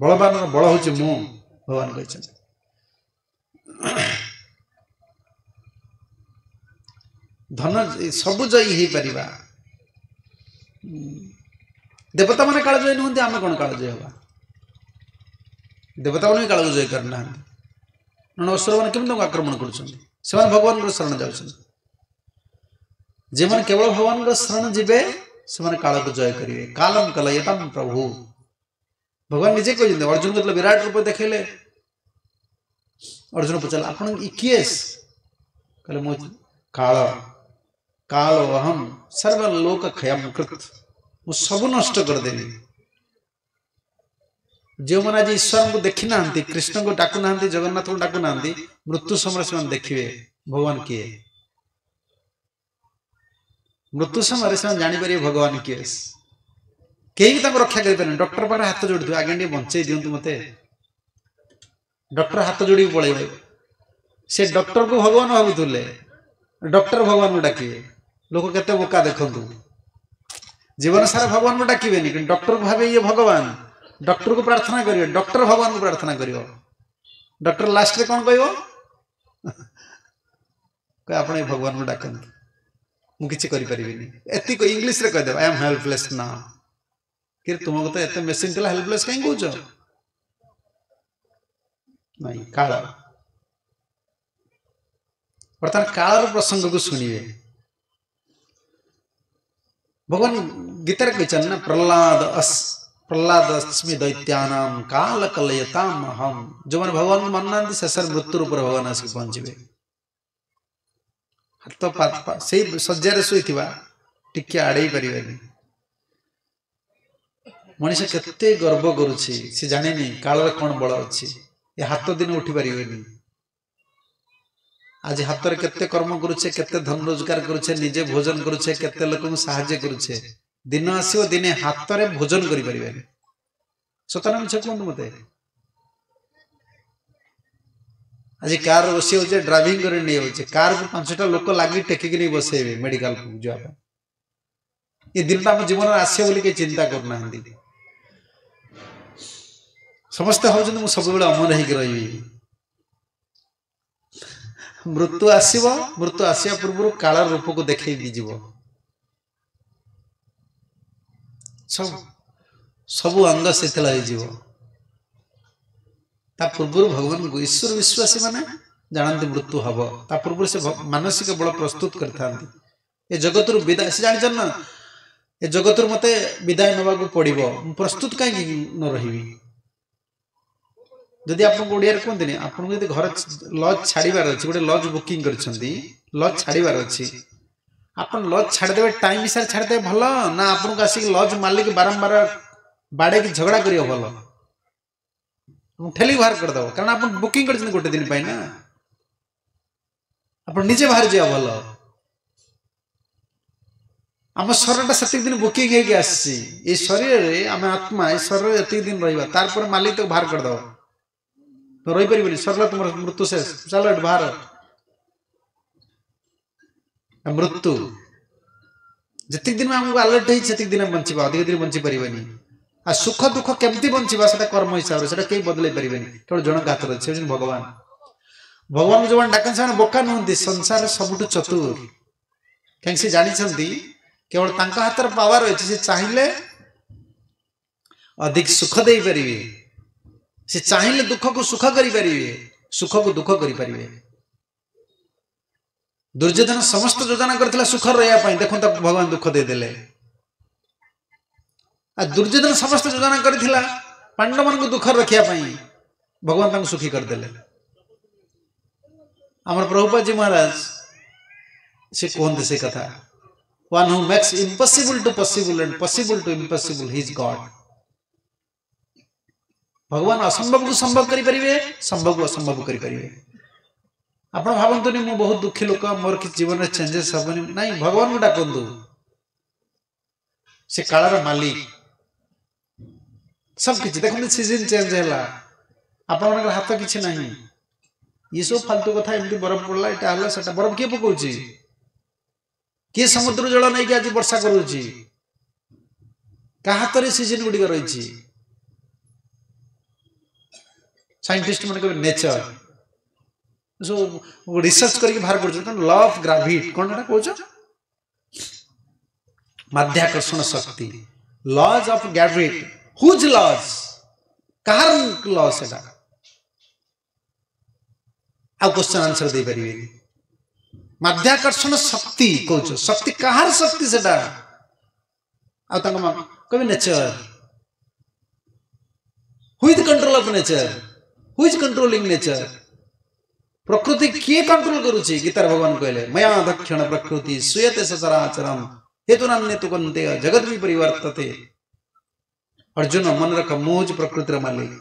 ବଳବାନର ବଳ ହେଉଛି ମୁଁ, ଭଗବାନ କହିଛନ୍ତି। ଧନ ସବୁ ଜୟୀ ହେଇପାରିବା। ଦେବତାମାନେ କାଳଜୟୀ ନୁହନ୍ତି, ଆମେ କ'ଣ କାଳଜୟୀ ହେବା? ଦେବତାମାନେ ବି କାଳକୁ ଜୟ କରିନାହାନ୍ତି। ନହେଲେ ଅସୁରମାନେ କେମିତି ତାଙ୍କୁ ଆକ୍ରମଣ କରୁଛନ୍ତି? ସେମାନେ ଭଗବାନଙ୍କର ଶରଣ ଯାଉଛନ୍ତି। ଯେଉଁମାନେ କେବଳ ଭଗବାନଙ୍କର ଶରଣ ଯିବେ ସେମାନେ କାଳକୁ ଜୟ କରିବେ। କାଲମ କଲୟତମ ପ୍ରଭୁ, ଭଗବାନ ନିଜେ କହିଛନ୍ତି। ଅର୍ଜୁନଙ୍କୁ ଯେତେବେଳେ ବିରାଟ ରୂପ ଦେଖେଇଲେ, ଅର୍ଜୁନ ପଚାରିଲେ ଆପଣ କିଏ? କହିଲେ ମୁଁ କାଳ। କାଳ ଅହಂ ସର୍ବ ଲୋକ କ୍ଷୟମ କୃତ, ମୁଁ ସବୁ ନଷ୍ଟ କରିଦେବି। ଯେଉଁମାନେ ଆଜି ଈଶ୍ୱରଙ୍କୁ ଦେଖିନାହାନ୍ତି, କୃଷ୍ଣଙ୍କୁ ଡାକୁନାହାନ୍ତି, ଜଗନ୍ନାଥଙ୍କୁ ଡାକୁନାହାନ୍ତି, ମୃତ୍ୟୁ ସମୟରେ ସେମାନେ ଦେଖିବେ ଭଗବାନ କିଏ। ମୃତ୍ୟୁ ସମୟରେ ସେମାନେ ଜାଣିପାରିବେ ଭଗବାନ କିଏ। କେହି ବି ତାଙ୍କୁ ରକ୍ଷା କରିପାରିବେନି। ଡକ୍ଟର ପାଖରେ ହାତ ଯୋଡ଼ିଥିବେ, ଆଜ୍ଞା ଟିକେ ବଞ୍ଚେଇ ଦିଅନ୍ତୁ ମୋତେ। ଡକ୍ଟର ହାତ ଯୋଡ଼ିକି ପଳେଇବେ। ସେ ଡକ୍ଟରକୁ ଭଗବାନ ଭାବୁଥିଲେ, ଡକ୍ଟର ଭଗବାନଙ୍କୁ ଡାକିବେ। ଲୋକ କେତେ ବୋକା ଦେଖନ୍ତୁ, ଜୀବନ ସାରା ଭଗବାନଙ୍କୁ ଡାକିବେନି, କିନ୍ତୁ ଡକ୍ଟରକୁ ଭାବେ ଇଏ ଭଗବାନ। ଡକ୍ଟରକୁ ପ୍ରାର୍ଥନା କରିବେ, ଡକ୍ଟର ଭଗବାନଙ୍କୁ ପ୍ରାର୍ଥନା କରିବ। ଡକ୍ଟର ଲାଷ୍ଟରେ କ'ଣ କହିବ? ଆପଣ ଏ ଭଗବାନଙ୍କୁ ଡାକନ୍ତୁ, ମୁଁ କିଛି କରିପାରିବିନି। ଏତିକି ଇଂଲିଶରେ କହିଦେବ, I M helpless ନା। କି ତୁମକୁ ତ ଏତେ ମେସିନ୍ ଥିଲା, ହେଲ୍ପଲେସ୍ କାହିଁ କହୁଛ? ନାଇଁ, କାଳ। ବର୍ତ୍ତମାନ କାଳର ପ୍ରସଙ୍ଗକୁ ଶୁଣିବେ। ଭଗବାନ ଗୀତାରେ କହିଛନ୍ତି ନା, ପ୍ରହ୍ଲାଦ ଅସ୍ମି ଦୈତ୍ୟାନାମ କାଲ କଲୟତାମ ଅହମ୍। ଯେଉଁମାନେ ଭଗବାନଙ୍କୁ ମାନୁନାହାନ୍ତି ଶେଷରେ ମୃତ୍ୟୁ ରୂପରେ ଭଗବାନ ଆସିକି ପହଞ୍ଚିବେ। ହାତ ସେଇ ଶଯ୍ୟାରେ ଶୋଇଥିବା ଟିକେ ଆଡ଼େଇ ପାରିବେନି। ମଣିଷ କେତେ ଗର୍ବ କରୁଛି, ସେ ଜାଣିନି କାଳର କ'ଣ ବଳ ଅଛି। ଏ ହାତ ଦିନ ଉଠି ପାରିବେନି। ଆଜି ହାତରେ କେତେ କର୍ମ କରୁଛେ, କେତେ ଧନ ରୋଜଗାର କରୁଛେ, ନିଜେ ଭୋଜନ କରୁଛେ, କେତେ ଲୋକଙ୍କୁ ସାହାଯ୍ୟ କରୁଛେ। ଦିନ ଆସିବ ଦିନେ ହାତରେ ଭୋଜନ କରିପାରିବେନି। ସତ ନା ମିଛ କୁହନ୍ତୁ ମତେ? ଆଜି କାର ବସି ଯାଉଛେ, ଡ୍ରାଇଭିଂ କରି ନେଇଯାଉଛେ, କାରକୁ 5ଟା ଲୋକ ଲାଗି ଟେକିକି ନେଇ ବସେଇବେ ମେଡିକାଲକୁ ଯିବା ପାଇଁ। ଏ ଦିନଟା ଆମ ଜୀବନରେ ଆସିବ ବୋଲି କେହି ଚିନ୍ତା କରୁନାହାନ୍ତି। ସମସ୍ତେ ଭାବୁଛନ୍ତି ମୁଁ ସବୁବେଳେ ଅମର ହେଇକି ରହିବି। ମୃତ୍ୟୁ ଆସିବ, ମୃତ୍ୟୁ ଆସିବା ପୂର୍ବରୁ କାଳର ରୂପକୁ ଦେଖେଇକି ଯିବ। ସବୁ ଅଙ୍ଗ ଶିଥିଳ ହେଇଯିବ। ତା ପୂର୍ବରୁ ଭଗବାନଙ୍କୁ ଈଶ୍ୱର ବିଶ୍ୱାସୀ ମାନେ ଜାଣନ୍ତି ମୃତ୍ୟୁ ହବ। ତା ପୂର୍ବରୁ ସେ ମାନସିକ ବଳ ପ୍ରସ୍ତୁତ କରିଥାନ୍ତି। ଏ ଜଗତରୁ ବିଦାୟ, ସେ ଜାଣିଛନ୍ତି ନା ଏ ଜଗତରୁ ମତେ ବିଦାୟ ନେବାକୁ ପଡ଼ିବ, ମୁଁ ପ୍ରସ୍ତୁତ କାହିଁକି ନ ରହିବି? ଯଦି ଆପଣଙ୍କୁ ଓଡ଼ିଆରେ କୁହନ୍ତିନି, ଆପଣଙ୍କୁ ଯଦି ଘର ଲଜ୍ ଛାଡ଼ିବାର ଅଛି, ଗୋଟେ ଲଜ୍ ବୁକିଂ କରିଛନ୍ତି, ଲଜ୍ ଛାଡ଼ିବାର ଅଛି, ଆପଣ ଲଜ୍ ଛାଡ଼ିଦେବେ ଟାଇମ୍ ହିସାବରେ ଛାଡ଼ିଦେବେ ଭଲ ନା ଆପଣଙ୍କୁ ଆସିକି ଲଜ୍ ମାଲିକ ବାରମ୍ବାର ବାଡ଼େଇକି ଝଗଡ଼ା କରିବ ଭଲ? ଠେଲିକି ବାହାର କରିଦେବ, କାରଣ ଆପଣ ବୁକିଂ କରିଛନ୍ତି ଗୋଟେ ଦିନ ପାଇଁ ନା, ଆପଣ ନିଜେ ବାହାରି ଯିବା ଭଲ। ଆମ ଶରୀରଟା ସେତିକି ଦିନ ବୁକିଂ ହେଇକି ଆସିଛି। ଏଇ ଶରୀରରେ ଆମେ ଆତ୍ମା, ଏଇ ଶରୀରରେ ଏତିକି ଦିନ ରହିବା, ତାରପରେ ମାଲିକ ତାକୁ ବାହାର କରିଦେବ। ରହିପାରିବନି, ସରିଲା ତୁମର ମୃତ୍ୟୁ ଶେଷ, ଚାଲ ଏଠୁ ବାହାର। ମୃତ୍ୟୁ ଯେତିକି ଦିନ ଆମକୁ ଆଲର୍ଟ ହେଇଛି ସେତିକି ଦିନ ବଞ୍ଚିବା, ଅଧିକ ଦିନ ବଞ୍ଚି ପାରିବାନି। ଆଉ ସୁଖ ଦୁଃଖ କେମିତି ବଞ୍ଚିବା ସେଟା କର୍ମ ହିସାବରେ, ସେଟା କେହି ବଦଳେଇ ପାରିବେନି, କେବଳ ଜଣଙ୍କ ହାତରେ ଅଛି, ସେ ହେଉଛନ୍ତି ଭଗବାନ। ଭଗବାନଙ୍କୁ ଯେଉଁମାନେ ଡାକନ୍ତି ସେମାନେ ବୋକା ନୁହନ୍ତି, ସଂସାରରେ ସବୁଠୁ ଚତୁର। କାହିଁକି ସେ ଜାଣିଛନ୍ତି କେବଳ ତାଙ୍କ ହାତରେ ପାୱାର ଅଛି, ସେ ଚାହିଁଲେ ଅଧିକ ସୁଖ ଦେଇପାରିବେ, ସେ ଚାହିଁଲେ ଦୁଃଖକୁ ସୁଖ କରିପାରିବେ, ସୁଖକୁ ଦୁଃଖ କରିପାରିବେ। ଦୁର୍ଯ୍ୟୋଧନ ସମସ୍ତ ଯୋଜନା କରିଥିଲା ସୁଖରେ ରହିବା ପାଇଁ, ଦେଖନ୍ତୁ ତାକୁ ଭଗବାନ ଦୁଃଖ ଦେଇଦେଲେ। ଆଉ ଦୁର୍ଯ୍ୟୋଧନ ସମସ୍ତ ଯୋଜନା କରିଥିଲା ପାଣ୍ଡବମାନଙ୍କୁ ଦୁଃଖରେ ରଖିବା ପାଇଁ, ଭଗବାନ ତାଙ୍କୁ ସୁଖୀ କରିଦେଲେ। ଆମର ପ୍ରଭୁପାଦଜୀ ମହାରାଜ ସେ କୁହନ୍ତି ସେ କଥା, One who makes impossible to possible and possible to impossible, he is God. ଭଗବାନ ଅସମ୍ଭବକୁ ସମ୍ଭବ କରିପାରିବେ, ସମ୍ଭବକୁ ଅସମ୍ଭବ କରିପାରିବେ। ଆପଣ ଭାବନ୍ତୁନି ମୁଁ ବହୁତ ଦୁଃଖୀ ଲୋକ, ମୋର କିଛି ଜୀବନରେ ଚେଞ୍ଜେସ୍ ହବନି। ନାଇଁ, ଭଗବାନଙ୍କୁ ଡାକନ୍ତୁ, ସେ କାଳର ମାଲିକ। ସବୁ କିଛି ଦେଖନ୍ତୁ, ସିଜନ ଚେଞ୍ଜ ହେଲା, ଆପଣମାନଙ୍କର ହାତ କିଛି ନାହିଁ। ଇଏ ସବୁ ଫାଲତୁ କଥା, ଏମିତି ବରଫ ପଡ଼ିଲା, ଏଇଟା ହେଲା ସେଟା, ବରଫ କିଏ ପକଉଛି? କିଏ ସମୁଦ୍ର ଜଳ ନେଇକି ଆଜି ବର୍ଷା କରୁଛି? କାହା ହାତରେ ସିଜନ ଗୁଡ଼ିକ ରହିଛି? ସାଇଣ୍ଟିଷ୍ଟ ମାନେ କହିବେ ନେଚର, ସବୁ ରିସର୍ଚ୍ଚ କରିକି ବାହାର କରୁଛନ୍ତି। କଣ ଲ ଅଫ୍ ଗ୍ରାଭିଟି, କଣ ଏଟା କହୁଛ? ମାଧ୍ୟାକର୍ଷଣ ଶକ୍ତି, laws of gravity. Whose laws? କାହାର ଲ ସେଟା? ଆଉ କ୍ୱେଶ୍ଚନ ଆନ୍ସର ଦେଇପାରିବେନି। ମାଧ୍ୟାକର୍ଷଣ ଶକ୍ତି କହୁଛ, ଶକ୍ତି କାହାର ଶକ୍ତି ସେଟା? ଆଉ ତାଙ୍କ କହିବେ nature. Who is control of nature? Who is controlling nature? ପ୍ରକୃତି କିଏ କଣ୍ଟ୍ରୋଲ କରୁଛି? ଗୀତାରେ ଭଗବାନ କହିଲେ ମୟା ଦକ୍ଷିଣ ପ୍ରକୃତି ସୁୟତେ ସଚରାଚରମ ହେତୁନାନ୍ୟତୁ କନ୍ତେୟ ଜଗତ ବି ପରିବର୍ତ୍ତତେ। ଅର୍ଜୁନ ମନେ ରଖ, ମୁଁ ହଉଛି ପ୍ରକୃତିର ମାଲିକ।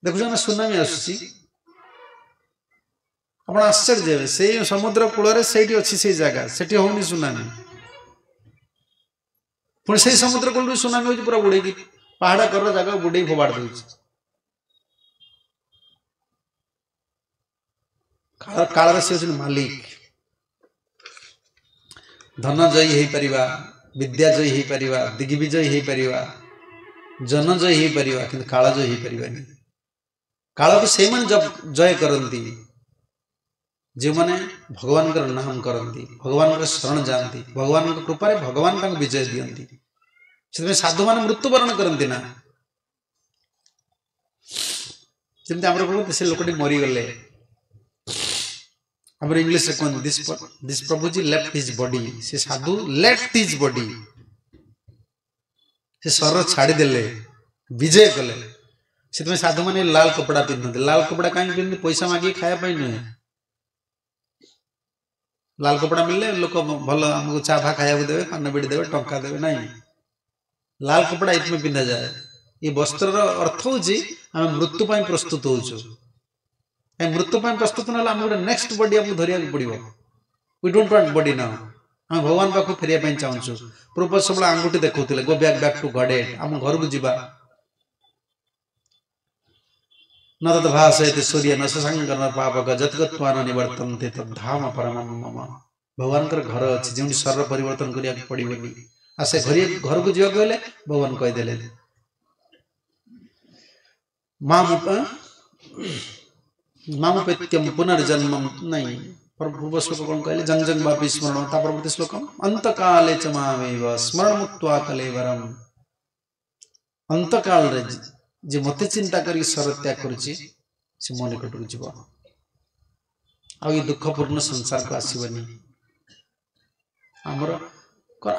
ଦେଖୁଛ ନା ସୁନାମି ଆସୁଛି, ଆପଣ ଆଶ୍ଚର୍ଯ୍ୟ ହେବେ। ସେଇ ସମୁଦ୍ର କୂଳରେ ସେଇଠି ଅଛି ସେଇ ଜାଗା, ସେଠି ହଉନି ସୁନାମି। ପୁଣି ସେଇ ସମୁଦ୍ର କୂଳରୁ ସୁନାମି ହଉଛି, ପୁରା ବୁଡେଇକି ପାହାଡ଼ କର ଜାଗା ବୁଡେଇ ଫୋପାଡ଼ି ଦଉଛି। କାଳର ସେ ହଉଛନ୍ତି ମାଲିକ। ଧନ ଜୟୀ ହେଇପାରିବା, ବିଦ୍ୟା ଜୟୀ ହେଇପାରିବା, ଦିଗ୍ବିଜୟୀ ହେଇପାରିବା, ଜନଜୟୀ ହେଇପାରିବା, କିନ୍ତୁ କାଳ ଜୟୀ ହେଇପାରିବାନି। କାଳକୁ ସେଇମାନେ ଜୟ କରନ୍ତି ଯେଉଁମାନେ ଭଗବାନଙ୍କର ନାମ କରନ୍ତି, ଭଗବାନଙ୍କର ଶରଣ ଯାଆନ୍ତି, ଭଗବାନଙ୍କ କୃପାରେ ଭଗବାନ ତାଙ୍କୁ ବିଜୟ ଦିଅନ୍ତି। ସେଥିପାଇଁ ସାଧୁମାନେ ମୃତ୍ୟୁବରଣ କରନ୍ତି ନା। ଯେମିତି ଆମର କୁହନ୍ତି ସେ ଲୋକଟି ମରିଗଲେ, ଆମର ଇଂଲିଶରେ କୁହନ୍ତି this Prabhuji left his body. ସେ ସାଧୁ ଲେଫ୍ଟ his body, ସେ ଶରୀର ଛାଡ଼ିଦେଲେ, ବିଜୟ କଲେ। ସେଥିପାଇଁ ସାଧୁମାନେ ଲାଲ କପଡ଼ା ପିନ୍ଧନ୍ତି। ଲାଲ କପଡ଼ା କାହିଁକି ପିନ୍ଧନ୍ତି? ପଇସା ମାଗିକି ଖାଇବା ପାଇଁ ନୁହେଁ। ଲାଲ କପଡ଼ା ମିଳିଲେ ଲୋକ ଭଲ ଆମକୁ ଚା ଫା ଖାଇବାକୁ ଦେବେ, ପାନ ବିଡ଼ି ଦେବେ, ଟଙ୍କା ଦେବେ। ନାଇଁ, ଲାଲ କପଡ଼ା ଏଇଥିପାଇଁ ପିନ୍ଧାଯାଏ। ଏ ବସ୍ତ୍ରର ଅର୍ଥ ହେଉଛି ଆମେ ମୃତ୍ୟୁ ପାଇଁ ପ୍ରସ୍ତୁତ ହେଉଛୁ। କାହିଁ ମୃତ୍ୟୁ ପାଇଁ ପ୍ରସ୍ତୁତ ନହେଲେ ଆମେ ଗୋଟେ ନେକ୍ସଟ ବଡି ଆମକୁ ଧରିବାକୁ ପଡ଼ିବ। We don't want body now. ଆମେ ଭଗବାନ ପାଖକୁ ଫେରିବା ପାଇଁ ଚାହୁଁଛୁ। ପ୍ରଭୁପାଦ ସବୁବେଳେ ଆଙ୍ଗୁଠି ଦେଖାଉଥିଲେ, go back back to Godhead, ଆମ ଘରକୁ ଯିବା। ନ ତତ ଭାସୟତି ସୂର୍ଯ୍ୟ ନ ଶଶାଙ୍କ ନ ପାପକ ଯତ୍ଗତ୍ୱା ନ ନିବର୍ତ୍ତନ୍ତେ ତଦ୍ଧାମ ପରମଂ ମମ। ଭଗବାନଙ୍କର ଘର ଅଛି ଯେଉଁଠି ଶରୀର ପରିବର୍ତ୍ତନ କରିବାକୁ ପଡ଼ିବନି। ଆଉ ସେ ଘରକୁ ଯିବାକୁ ହେଲେ ଭଗବାନ କହିଦେଲେ ମାମୁପେତ୍ୟମ ପୁନର୍ଜନ୍ମ ନାଇଁ। ପୂର୍ବ ଶ୍ଲୋକ କ'ଣ କହିଲେ? ଜଙ୍ଗ ଜଙ୍ଗ ବାପି ସ୍ମରଣ। ତା ପରବର୍ତ୍ତୀ ଶ୍ଲୋକ ଅନ୍ତକାଲେ ଚ ମାମେବ ସ୍ମରଣ ମୁକ୍ତ୍ୱା କଲେବରମ୍। ଅନ୍ତକାଳରେ ଯେ ମୋତେ ଚିନ୍ତା କରିକି ଶରୀର ତ୍ୟାଗ କରୁଛି ସେ ମୋ ନିକଟକୁ ଯିବ, ଆଉ ଏ ଦୁଃଖପୂର୍ଣ୍ଣ ସଂସାରକୁ ଆସିବନି। ଆମର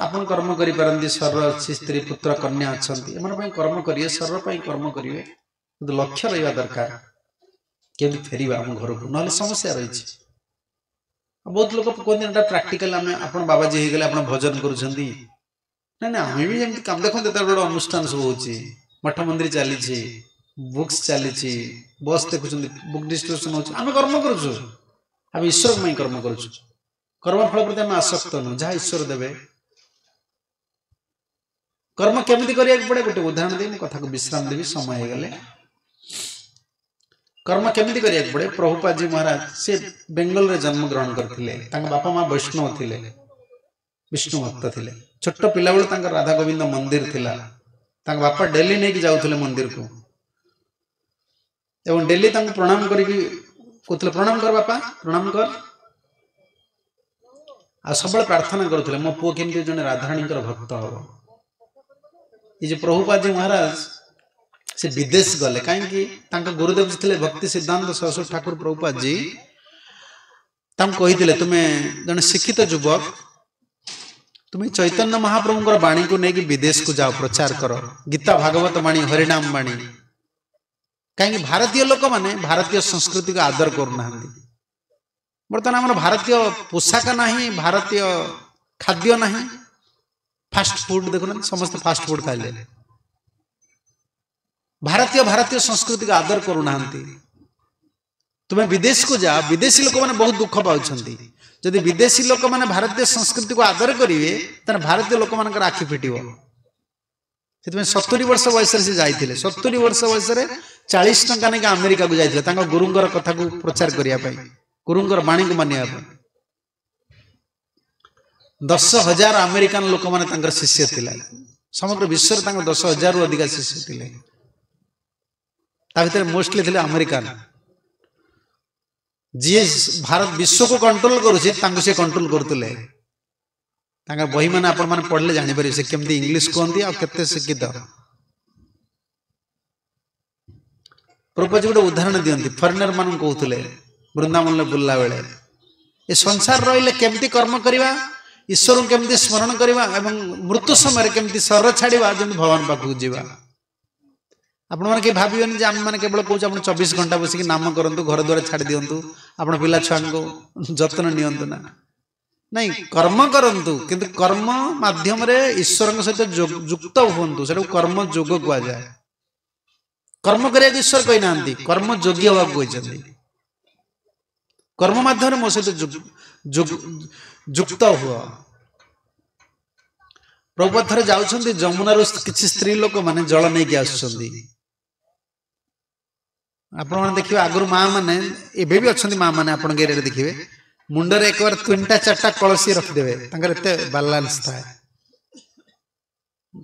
ଆପଣ କର୍ମ କରିପାରନ୍ତି, ଶରୀର ଅଛି, ସ୍ତ୍ରୀ ପୁତ୍ର କନ୍ୟା ଅଛନ୍ତି, ଏମାନଙ୍କ ପାଇଁ କର୍ମ କରିବେ, ଶରୀର ପାଇଁ କର୍ମ କରିବେ, କିନ୍ତୁ ଲକ୍ଷ୍ୟ ରହିବା ଦରକାର କେମିତି ଫେରିବା ଆମ ଘରକୁ, ନହେଲେ ସମସ୍ୟା ରହିଛି। ବହୁତ ଲୋକ କୁହନ୍ତି ଏଟା ପ୍ରାକ୍ଟିକାଲ, ଆମେ ଆପଣ ବାବାଜୀ ହେଇଗଲେ ଆପଣ ଭଜନ କରୁଛନ୍ତି। ନାଇଁ ନାଇଁ, ଆମେ ବି ଯେମିତି କାମ ଦେଖନ୍ତୁ, ଏତେ ବଡ଼ ଅନୁଷ୍ଠାନ ସବୁ ହେଉଛି, ମଠ ମନ୍ଦିର ଚାଲିଛି, ବୁକ୍ସ ଚାଲିଛି, ବସ୍ ଦେଖୁଛନ୍ତି, ବୁକ୍ ଡିଷ୍ଟ୍ରିବ୍ୟୁସନ ହେଉଛି, ଆମେ କର୍ମ କରୁଛୁ, ଆମେ ଈଶ୍ୱରଙ୍କ ପାଇଁ କର୍ମ କରୁଛୁ। କର୍ମଫଳ ପ୍ରତି ଆମେ ଆସକ୍ତ ନୁହଁ, ଯାହା ଈଶ୍ୱର ଦେବେ। କର୍ମ କେମିତି କରିବାକୁ ପଡ଼େ ଗୋଟେ ଉଦାହରଣ ଦେଇ ମୁଁ କଥାକୁ ବିଶ୍ରାମ ଦେବି, ସମୟ ହେଇଗଲେ। କର୍ମ କେମିତି କରିବାକୁ ପଡ଼େ? ପ୍ରଭୁପାଦଜୀ ମହାରାଜ ସେ ବେଙ୍ଗଲରେ ଜନ୍ମଗ୍ରହଣ କରିଥିଲେ। ତାଙ୍କ ବାପା ମା ବୈଷ୍ଣବ ଥିଲେ, ବିଷ୍ଣୁ ଭକ୍ତ ଥିଲେ। ଛୋଟ ପିଲାବେଳୁ ତାଙ୍କର ରାଧା ଗୋବିନ୍ଦ ମନ୍ଦିର ଥିଲା। ତାଙ୍କ ବାପା ଡେଲି ନେଇକି ଯାଉଥିଲେ ମନ୍ଦିରକୁ ଏବଂ ଡେଲି ତାଙ୍କୁ ପ୍ରଣାମ କରିକି କହୁଥିଲେ, ପ୍ରଣାମ କର ବାପା, ପ୍ରଣାମ କର। ଆଉ ସବୁବେଳେ ପ୍ରାର୍ଥନା କରୁଥିଲେ ମୋ ପୁଅ କେମିତି ଜଣେ ରାଧାରାଣୀଙ୍କର ଭକ୍ତ ହବ। ଏ ଯେ ପ୍ରଭୁପାଦଜୀ ମହାରାଜ ସେ ବିଦେଶ ଗଲେ କାହିଁକି? ତାଙ୍କ ଗୁରୁଦେବ ଥିଲେ ଭକ୍ତି ସିଦ୍ଧାନ୍ତ ସରସ୍ୱତୀ ଠାକୁର ପ୍ରଭୁପାଦଜୀ ତାଙ୍କୁ କହିଥିଲେ, ତୁମେ ଜଣେ ଶିକ୍ଷିତ ଯୁବକ, ତୁମେ ଚୈତନ୍ୟ ମହାପ୍ରଭୁଙ୍କର ବାଣୀକୁ ନେଇକି ବିଦେଶକୁ ଯାଅ, ପ୍ରଚାର କର, ଗୀତା ଭାଗବତ ବାଣୀ, ହରିନାମ ବାଣୀ। କାହିଁକି ଭାରତୀୟ ଲୋକମାନେ ଭାରତୀୟ ସଂସ୍କୃତିକୁ ଆଦର କରୁନାହାନ୍ତି। ବର୍ତ୍ତମାନ ଆମର ଭାରତୀୟ ପୋଷାକ ନାହିଁ, ଭାରତୀୟ ଖାଦ୍ୟ ନାହିଁ, ଫାଷ୍ଟ ଫୁଡ୍ ଦେଖୁନାହାନ୍ତି, ସମସ୍ତେ ଫାଷ୍ଟ ଫୁଡ୍ ଖାଇଲେ। ଭାରତୀୟ ସଂସ୍କୃତିକୁ ଆଦର କରୁନାହାନ୍ତି। ତୁମେ ବିଦେଶକୁ ଯାଅ, ବିଦେଶୀ ଲୋକମାନେ ବହୁତ ଦୁଃଖ ପାଉଛନ୍ତି। ଯଦି ବିଦେଶୀ ଲୋକମାନେ ଭାରତୀୟ ସଂସ୍କୃତିକୁ ଆଦର କରିବେ ତାହେଲେ ଭାରତୀୟ ଲୋକମାନଙ୍କର ଆଖି ଫିଟିବ। ସେଥିପାଇଁ 70 ବର୍ଷ ବୟସରେ ସେ ଯାଇଥିଲେ। 70 ବର୍ଷ ବୟସରେ 40 ଟଙ୍କା ନେଇକି ଆମେରିକାକୁ ଯାଇଥିଲେ ତାଙ୍କ ଗୁରୁଙ୍କର କଥାକୁ ପ୍ରଚାର କରିବା ପାଇଁ, ଗୁରୁଙ୍କର ବାଣୀକୁ ମାନିବା ପାଇଁ। 10,000 ଆମେରିକାନ ଲୋକମାନେ ତାଙ୍କର ଶିଷ୍ୟ ଥିଲେ। ସମଗ୍ର ବିଶ୍ୱରେ ତାଙ୍କର 10,000ରୁ ଅଧିକା ଶିଷ୍ୟ ଥିଲେ। ତା ଭିତରେ ମୋଷ୍ଟଲି ଥିଲେ ଆମେରିକାନ। ଯିଏ ଭାରତ ବିଶ୍ୱକୁ କଣ୍ଟ୍ରୋଲ କରୁଛି ତାଙ୍କୁ ସେ କଣ୍ଟ୍ରୋଲ କରୁଥିଲେ। ତାଙ୍କ ବହିମାନେ ଆପଣମାନେ ପଢ଼ିଲେ ଜାଣିପାରିବେ ସେ କେମିତି ଇଂଲିଶ କୁହନ୍ତି ଆଉ କେତେ ଶିକ୍ଷିତ। ପ୍ରଭୁପାଦ ଗୋଟେ ଉଦାହରଣ ଦିଅନ୍ତି, ଫରେନର ମାନଙ୍କୁ କହୁଥିଲେ ବୃନ୍ଦାବନରେ ବୁଲିଲା ବେଳେ, ଏ ସଂସାର ରହିଲେ କେମିତି କର୍ମ କରିବା, ଈଶ୍ୱରଙ୍କୁ କେମିତି ସ୍ମରଣ କରିବା ଏବଂ ମୃତ୍ୟୁ ସମୟରେ କେମିତି ଶରୀର ଛାଡ଼ିବା, ଯେମିତି ଭଗବାନ ପାଖକୁ ଯିବା। ଆପଣମାନେ କେହି ଭାବିବେନି ଯେ ଆମେମାନେ କେବଳ କହୁଛୁ ଆପଣ 24 ଘଣ୍ଟା ବସିକି ନାମ କରନ୍ତୁ, ଘର ଦ୍ୱାର ଛାଡ଼ି ଦିଅନ୍ତୁ, ଆପଣ ପିଲା ଛୁଆଙ୍କୁ ଯତ୍ନ ନିଅନ୍ତୁ। ନା ନାଇଁ, କର୍ମ କରନ୍ତୁ, କିନ୍ତୁ କର୍ମ ମାଧ୍ୟମରେ ଈଶ୍ୱରଙ୍କ ସହିତ ଯୁକ୍ତ ହୁଅନ୍ତୁ। ସେଟାକୁ କର୍ମ ଯୋଗ କୁହାଯାଏ। କର୍ମ କରିବାକୁ ଈଶ୍ୱର କହିନାହାନ୍ତି, କର୍ମ ଯୋଗୀ ହେବାକୁ କହିଛନ୍ତି। କର୍ମ ମାଧ୍ୟମରେ ମୋ ସହିତ ଯୁକ୍ତ ହୁଅ। ପ୍ରଭୁପାଦ ଥରେ ଯାଉଛନ୍ତି, ଯମୁନାରୁ କିଛି ସ୍ତ୍ରୀ ଲୋକମାନେ ଜଳ ନେଇକି ଆସୁଛନ୍ତି। ଆପଣମାନେ ଦେଖିବେ ଆଗରୁ ମା ମାନେ, ଏବେ ବି ଅଛନ୍ତି ମା ମାନେ, ଆପଣଙ୍କ ଏରିଆରେ ଦେଖିବେ ମୁଣ୍ଡରେ ଏକବାର 3ଟା 4ଟା କଳସୀ ରଖିଦେବେ, ତାଙ୍କର ଏତେ ବାଲାନ୍ସ ଥାଏ।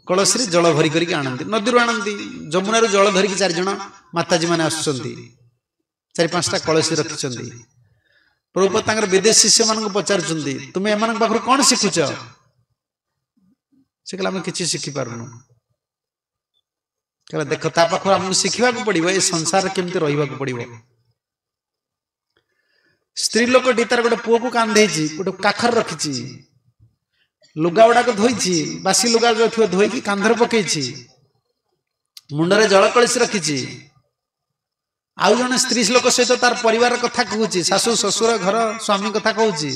କଳସୀରେ ଜଳ ଭରି କରିକି ଆଣନ୍ତି, ନଦୀରୁ ଆଣନ୍ତି, ଯମୁନାରୁ ଜଳ ଧରିକି 4 ଜଣ ମାତାଜୀ ମାନେ ଆସୁଛନ୍ତି, 4 5ଟା କଳସୀ ରଖିଛନ୍ତି। ପ୍ରଭୁପାଦ ତାଙ୍କର ବିଦେଶ ଶିଷ୍ୟମାନଙ୍କୁ ପଚାରୁଛନ୍ତି, ତୁମେ ଏମାନଙ୍କ ପାଖରୁ କ'ଣ ଶିଖୁଛ? ସେ କହିଲେ ଆମେ କିଛି ଶିଖିପାରୁନୁ। କହିଲେ ଦେଖ, ତା ପାଖରୁ ଆମକୁ ଶିଖିବାକୁ ପଡ଼ିବ ଏ ସଂସାରରେ କେମିତି ରହିବାକୁ ପଡ଼ିବ। ସ୍ତ୍ରୀ ଲୋକଟି ତାର ଗୋଟେ ପୁଅକୁ କାନ୍ଧେଇଛି, ଗୋଟେ କାଖରେ ରଖିଛି, ଲୁଗା ଗୁଡାକ ଧୋଇଛି, ବାସି ଲୁଗା ଯୋଉ ଥିବ ଧୋଇକି କାନ୍ଧରେ ପକେଇଛି, ମୁଣ୍ଡରେ ଜଳ କଳସୀ ରଖିଛି। ଆଉ ଜଣେ ସ୍ତ୍ରୀ ଲୋକ ସହିତ ତାର ପରିବାର କଥା କହୁଛି, ଶାଶୁ ଶ୍ୱଶୁର ଘର ସ୍ୱାମୀ କଥା କହୁଛି,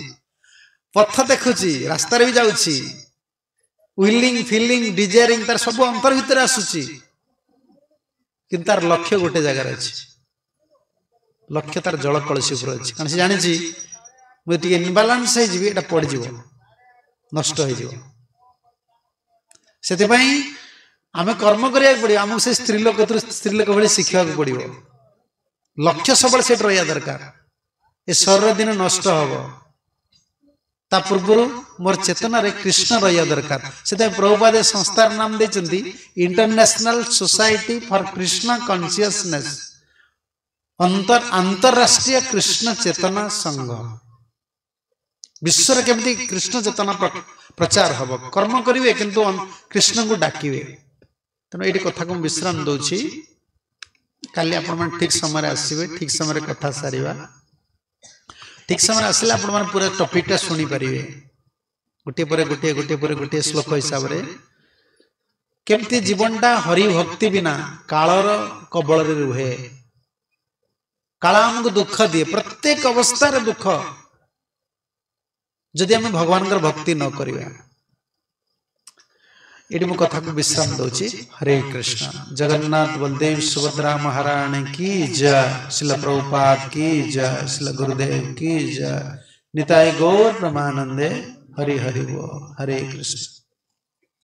ପଥ ଦେଖୁଛି, ରାସ୍ତାରେ ବି ଯାଉଛି, ୱିଲିଂ ଫିଲିଂ ଡିଜାୟାରିଂ ତାର ସବୁ ଅନ୍ତର ଭିତରେ ଆସୁଛି, କିନ୍ତୁ ତାର ଲକ୍ଷ୍ୟ ଗୋଟେ ଜାଗାରେ ଅଛି। ଲକ୍ଷ୍ୟ ତାର ଜଳ କଳସୀ ଉପରେ ଅଛି, କାରଣ ସେ ଜାଣିଛି ମୁଁ ଟିକେ ଇନବାଲାନ୍ସ ହେଇଯିବି, ଏଇଟା ପଡ଼ିଯିବ, ନଷ୍ଟ ହେଇଯିବ। ସେଥିପାଇଁ ଆମେ କର୍ମ କରିବାକୁ ପଡ଼ିବ, ଆମକୁ ସେ ସ୍ତ୍ରୀ ଲୋକ ସ୍ତ୍ରୀ ଲୋକ ଭଳି ଶିଖିବାକୁ ପଡ଼ିବ। ଲକ୍ଷ୍ୟ ସବୁବେଳେ ସେଠି ରହିବା ଦରକାର। ଏ ଶରୀର ଦିନ ନଷ୍ଟ ହବ, ତା ପୂର୍ବରୁ ମୋର ଚେତନାରେ କୃଷ୍ଣ ରହିବା ଦରକାର। ସେଥିପାଇଁ ପ୍ରଭୁପାଦ ସଂସ୍ଥାର ନାମ ଦେଇଛନ୍ତି international society for Krishna consciousness, ଆନ୍ତରାଷ୍ଟ୍ରୀୟ Krishna ଚେତନା ସଂଘ। ବିଶ୍ୱରେ କେମିତି କୃଷ୍ଣ ଚେତନା ପ୍ରଚାର ହବ, କର୍ମ କରିବେ କିନ୍ତୁ କୃଷ୍ଣଙ୍କୁ ଡାକିବେ। ତେଣୁ ଏଇଠି କଥାକୁ ମୁଁ ବିଶ୍ରାମ ଦଉଛି। କାଲି ଆପଣମାନେ ଠିକ ସମୟରେ ଆସିବେ, ଠିକ ସମୟରେ କଥା ସାରିବା। ଠିକ ସମୟରେ ଆସିଲେ ଆପଣମାନେ ପୁରା ଟପିକଟା ଶୁଣିପାରିବେ, ଗୋଟିଏ ପରେ ଗୋଟିଏ, ଗୋଟିଏ ପରେ ଗୋଟିଏ ଶ୍ଲୋକ ହିସାବରେ କେମିତି ଜୀବନଟା ହରି ଭକ୍ତି ବିନା କାଳର କବଳରେ ରୁହେ। କାଳ ଆମକୁ ଦୁଃଖ ଦିଏ, ପ୍ରତ୍ୟେକ ଅବସ୍ଥାରେ ଦୁଃଖ, ଯଦି ଆମେ ଭଗବାନଙ୍କର ଭକ୍ତି ନ କରିବା। ଏଠି ମୁଁ କଥାକୁ ବିଶ୍ରାମ ଦଉଛି। ହରେ କୃଷ୍ଣ। ଜଗନ୍ନାଥ ବଳଦେବ ସୁଭଦ୍ରା ମହାରାଣୀ କି ଜୟ, ଶିଲ ପ୍ରଭୁପାଦ କି ଜୟ, ଶିଲ ଗୁରୁଦେବ କି ଜୟ, ନିତାଇ ଗୌର ବ୍ରହ୍ମାନନ୍ଦେ ହରି ହରି ବୋଲ। ହରେ କୃଷ୍ଣ।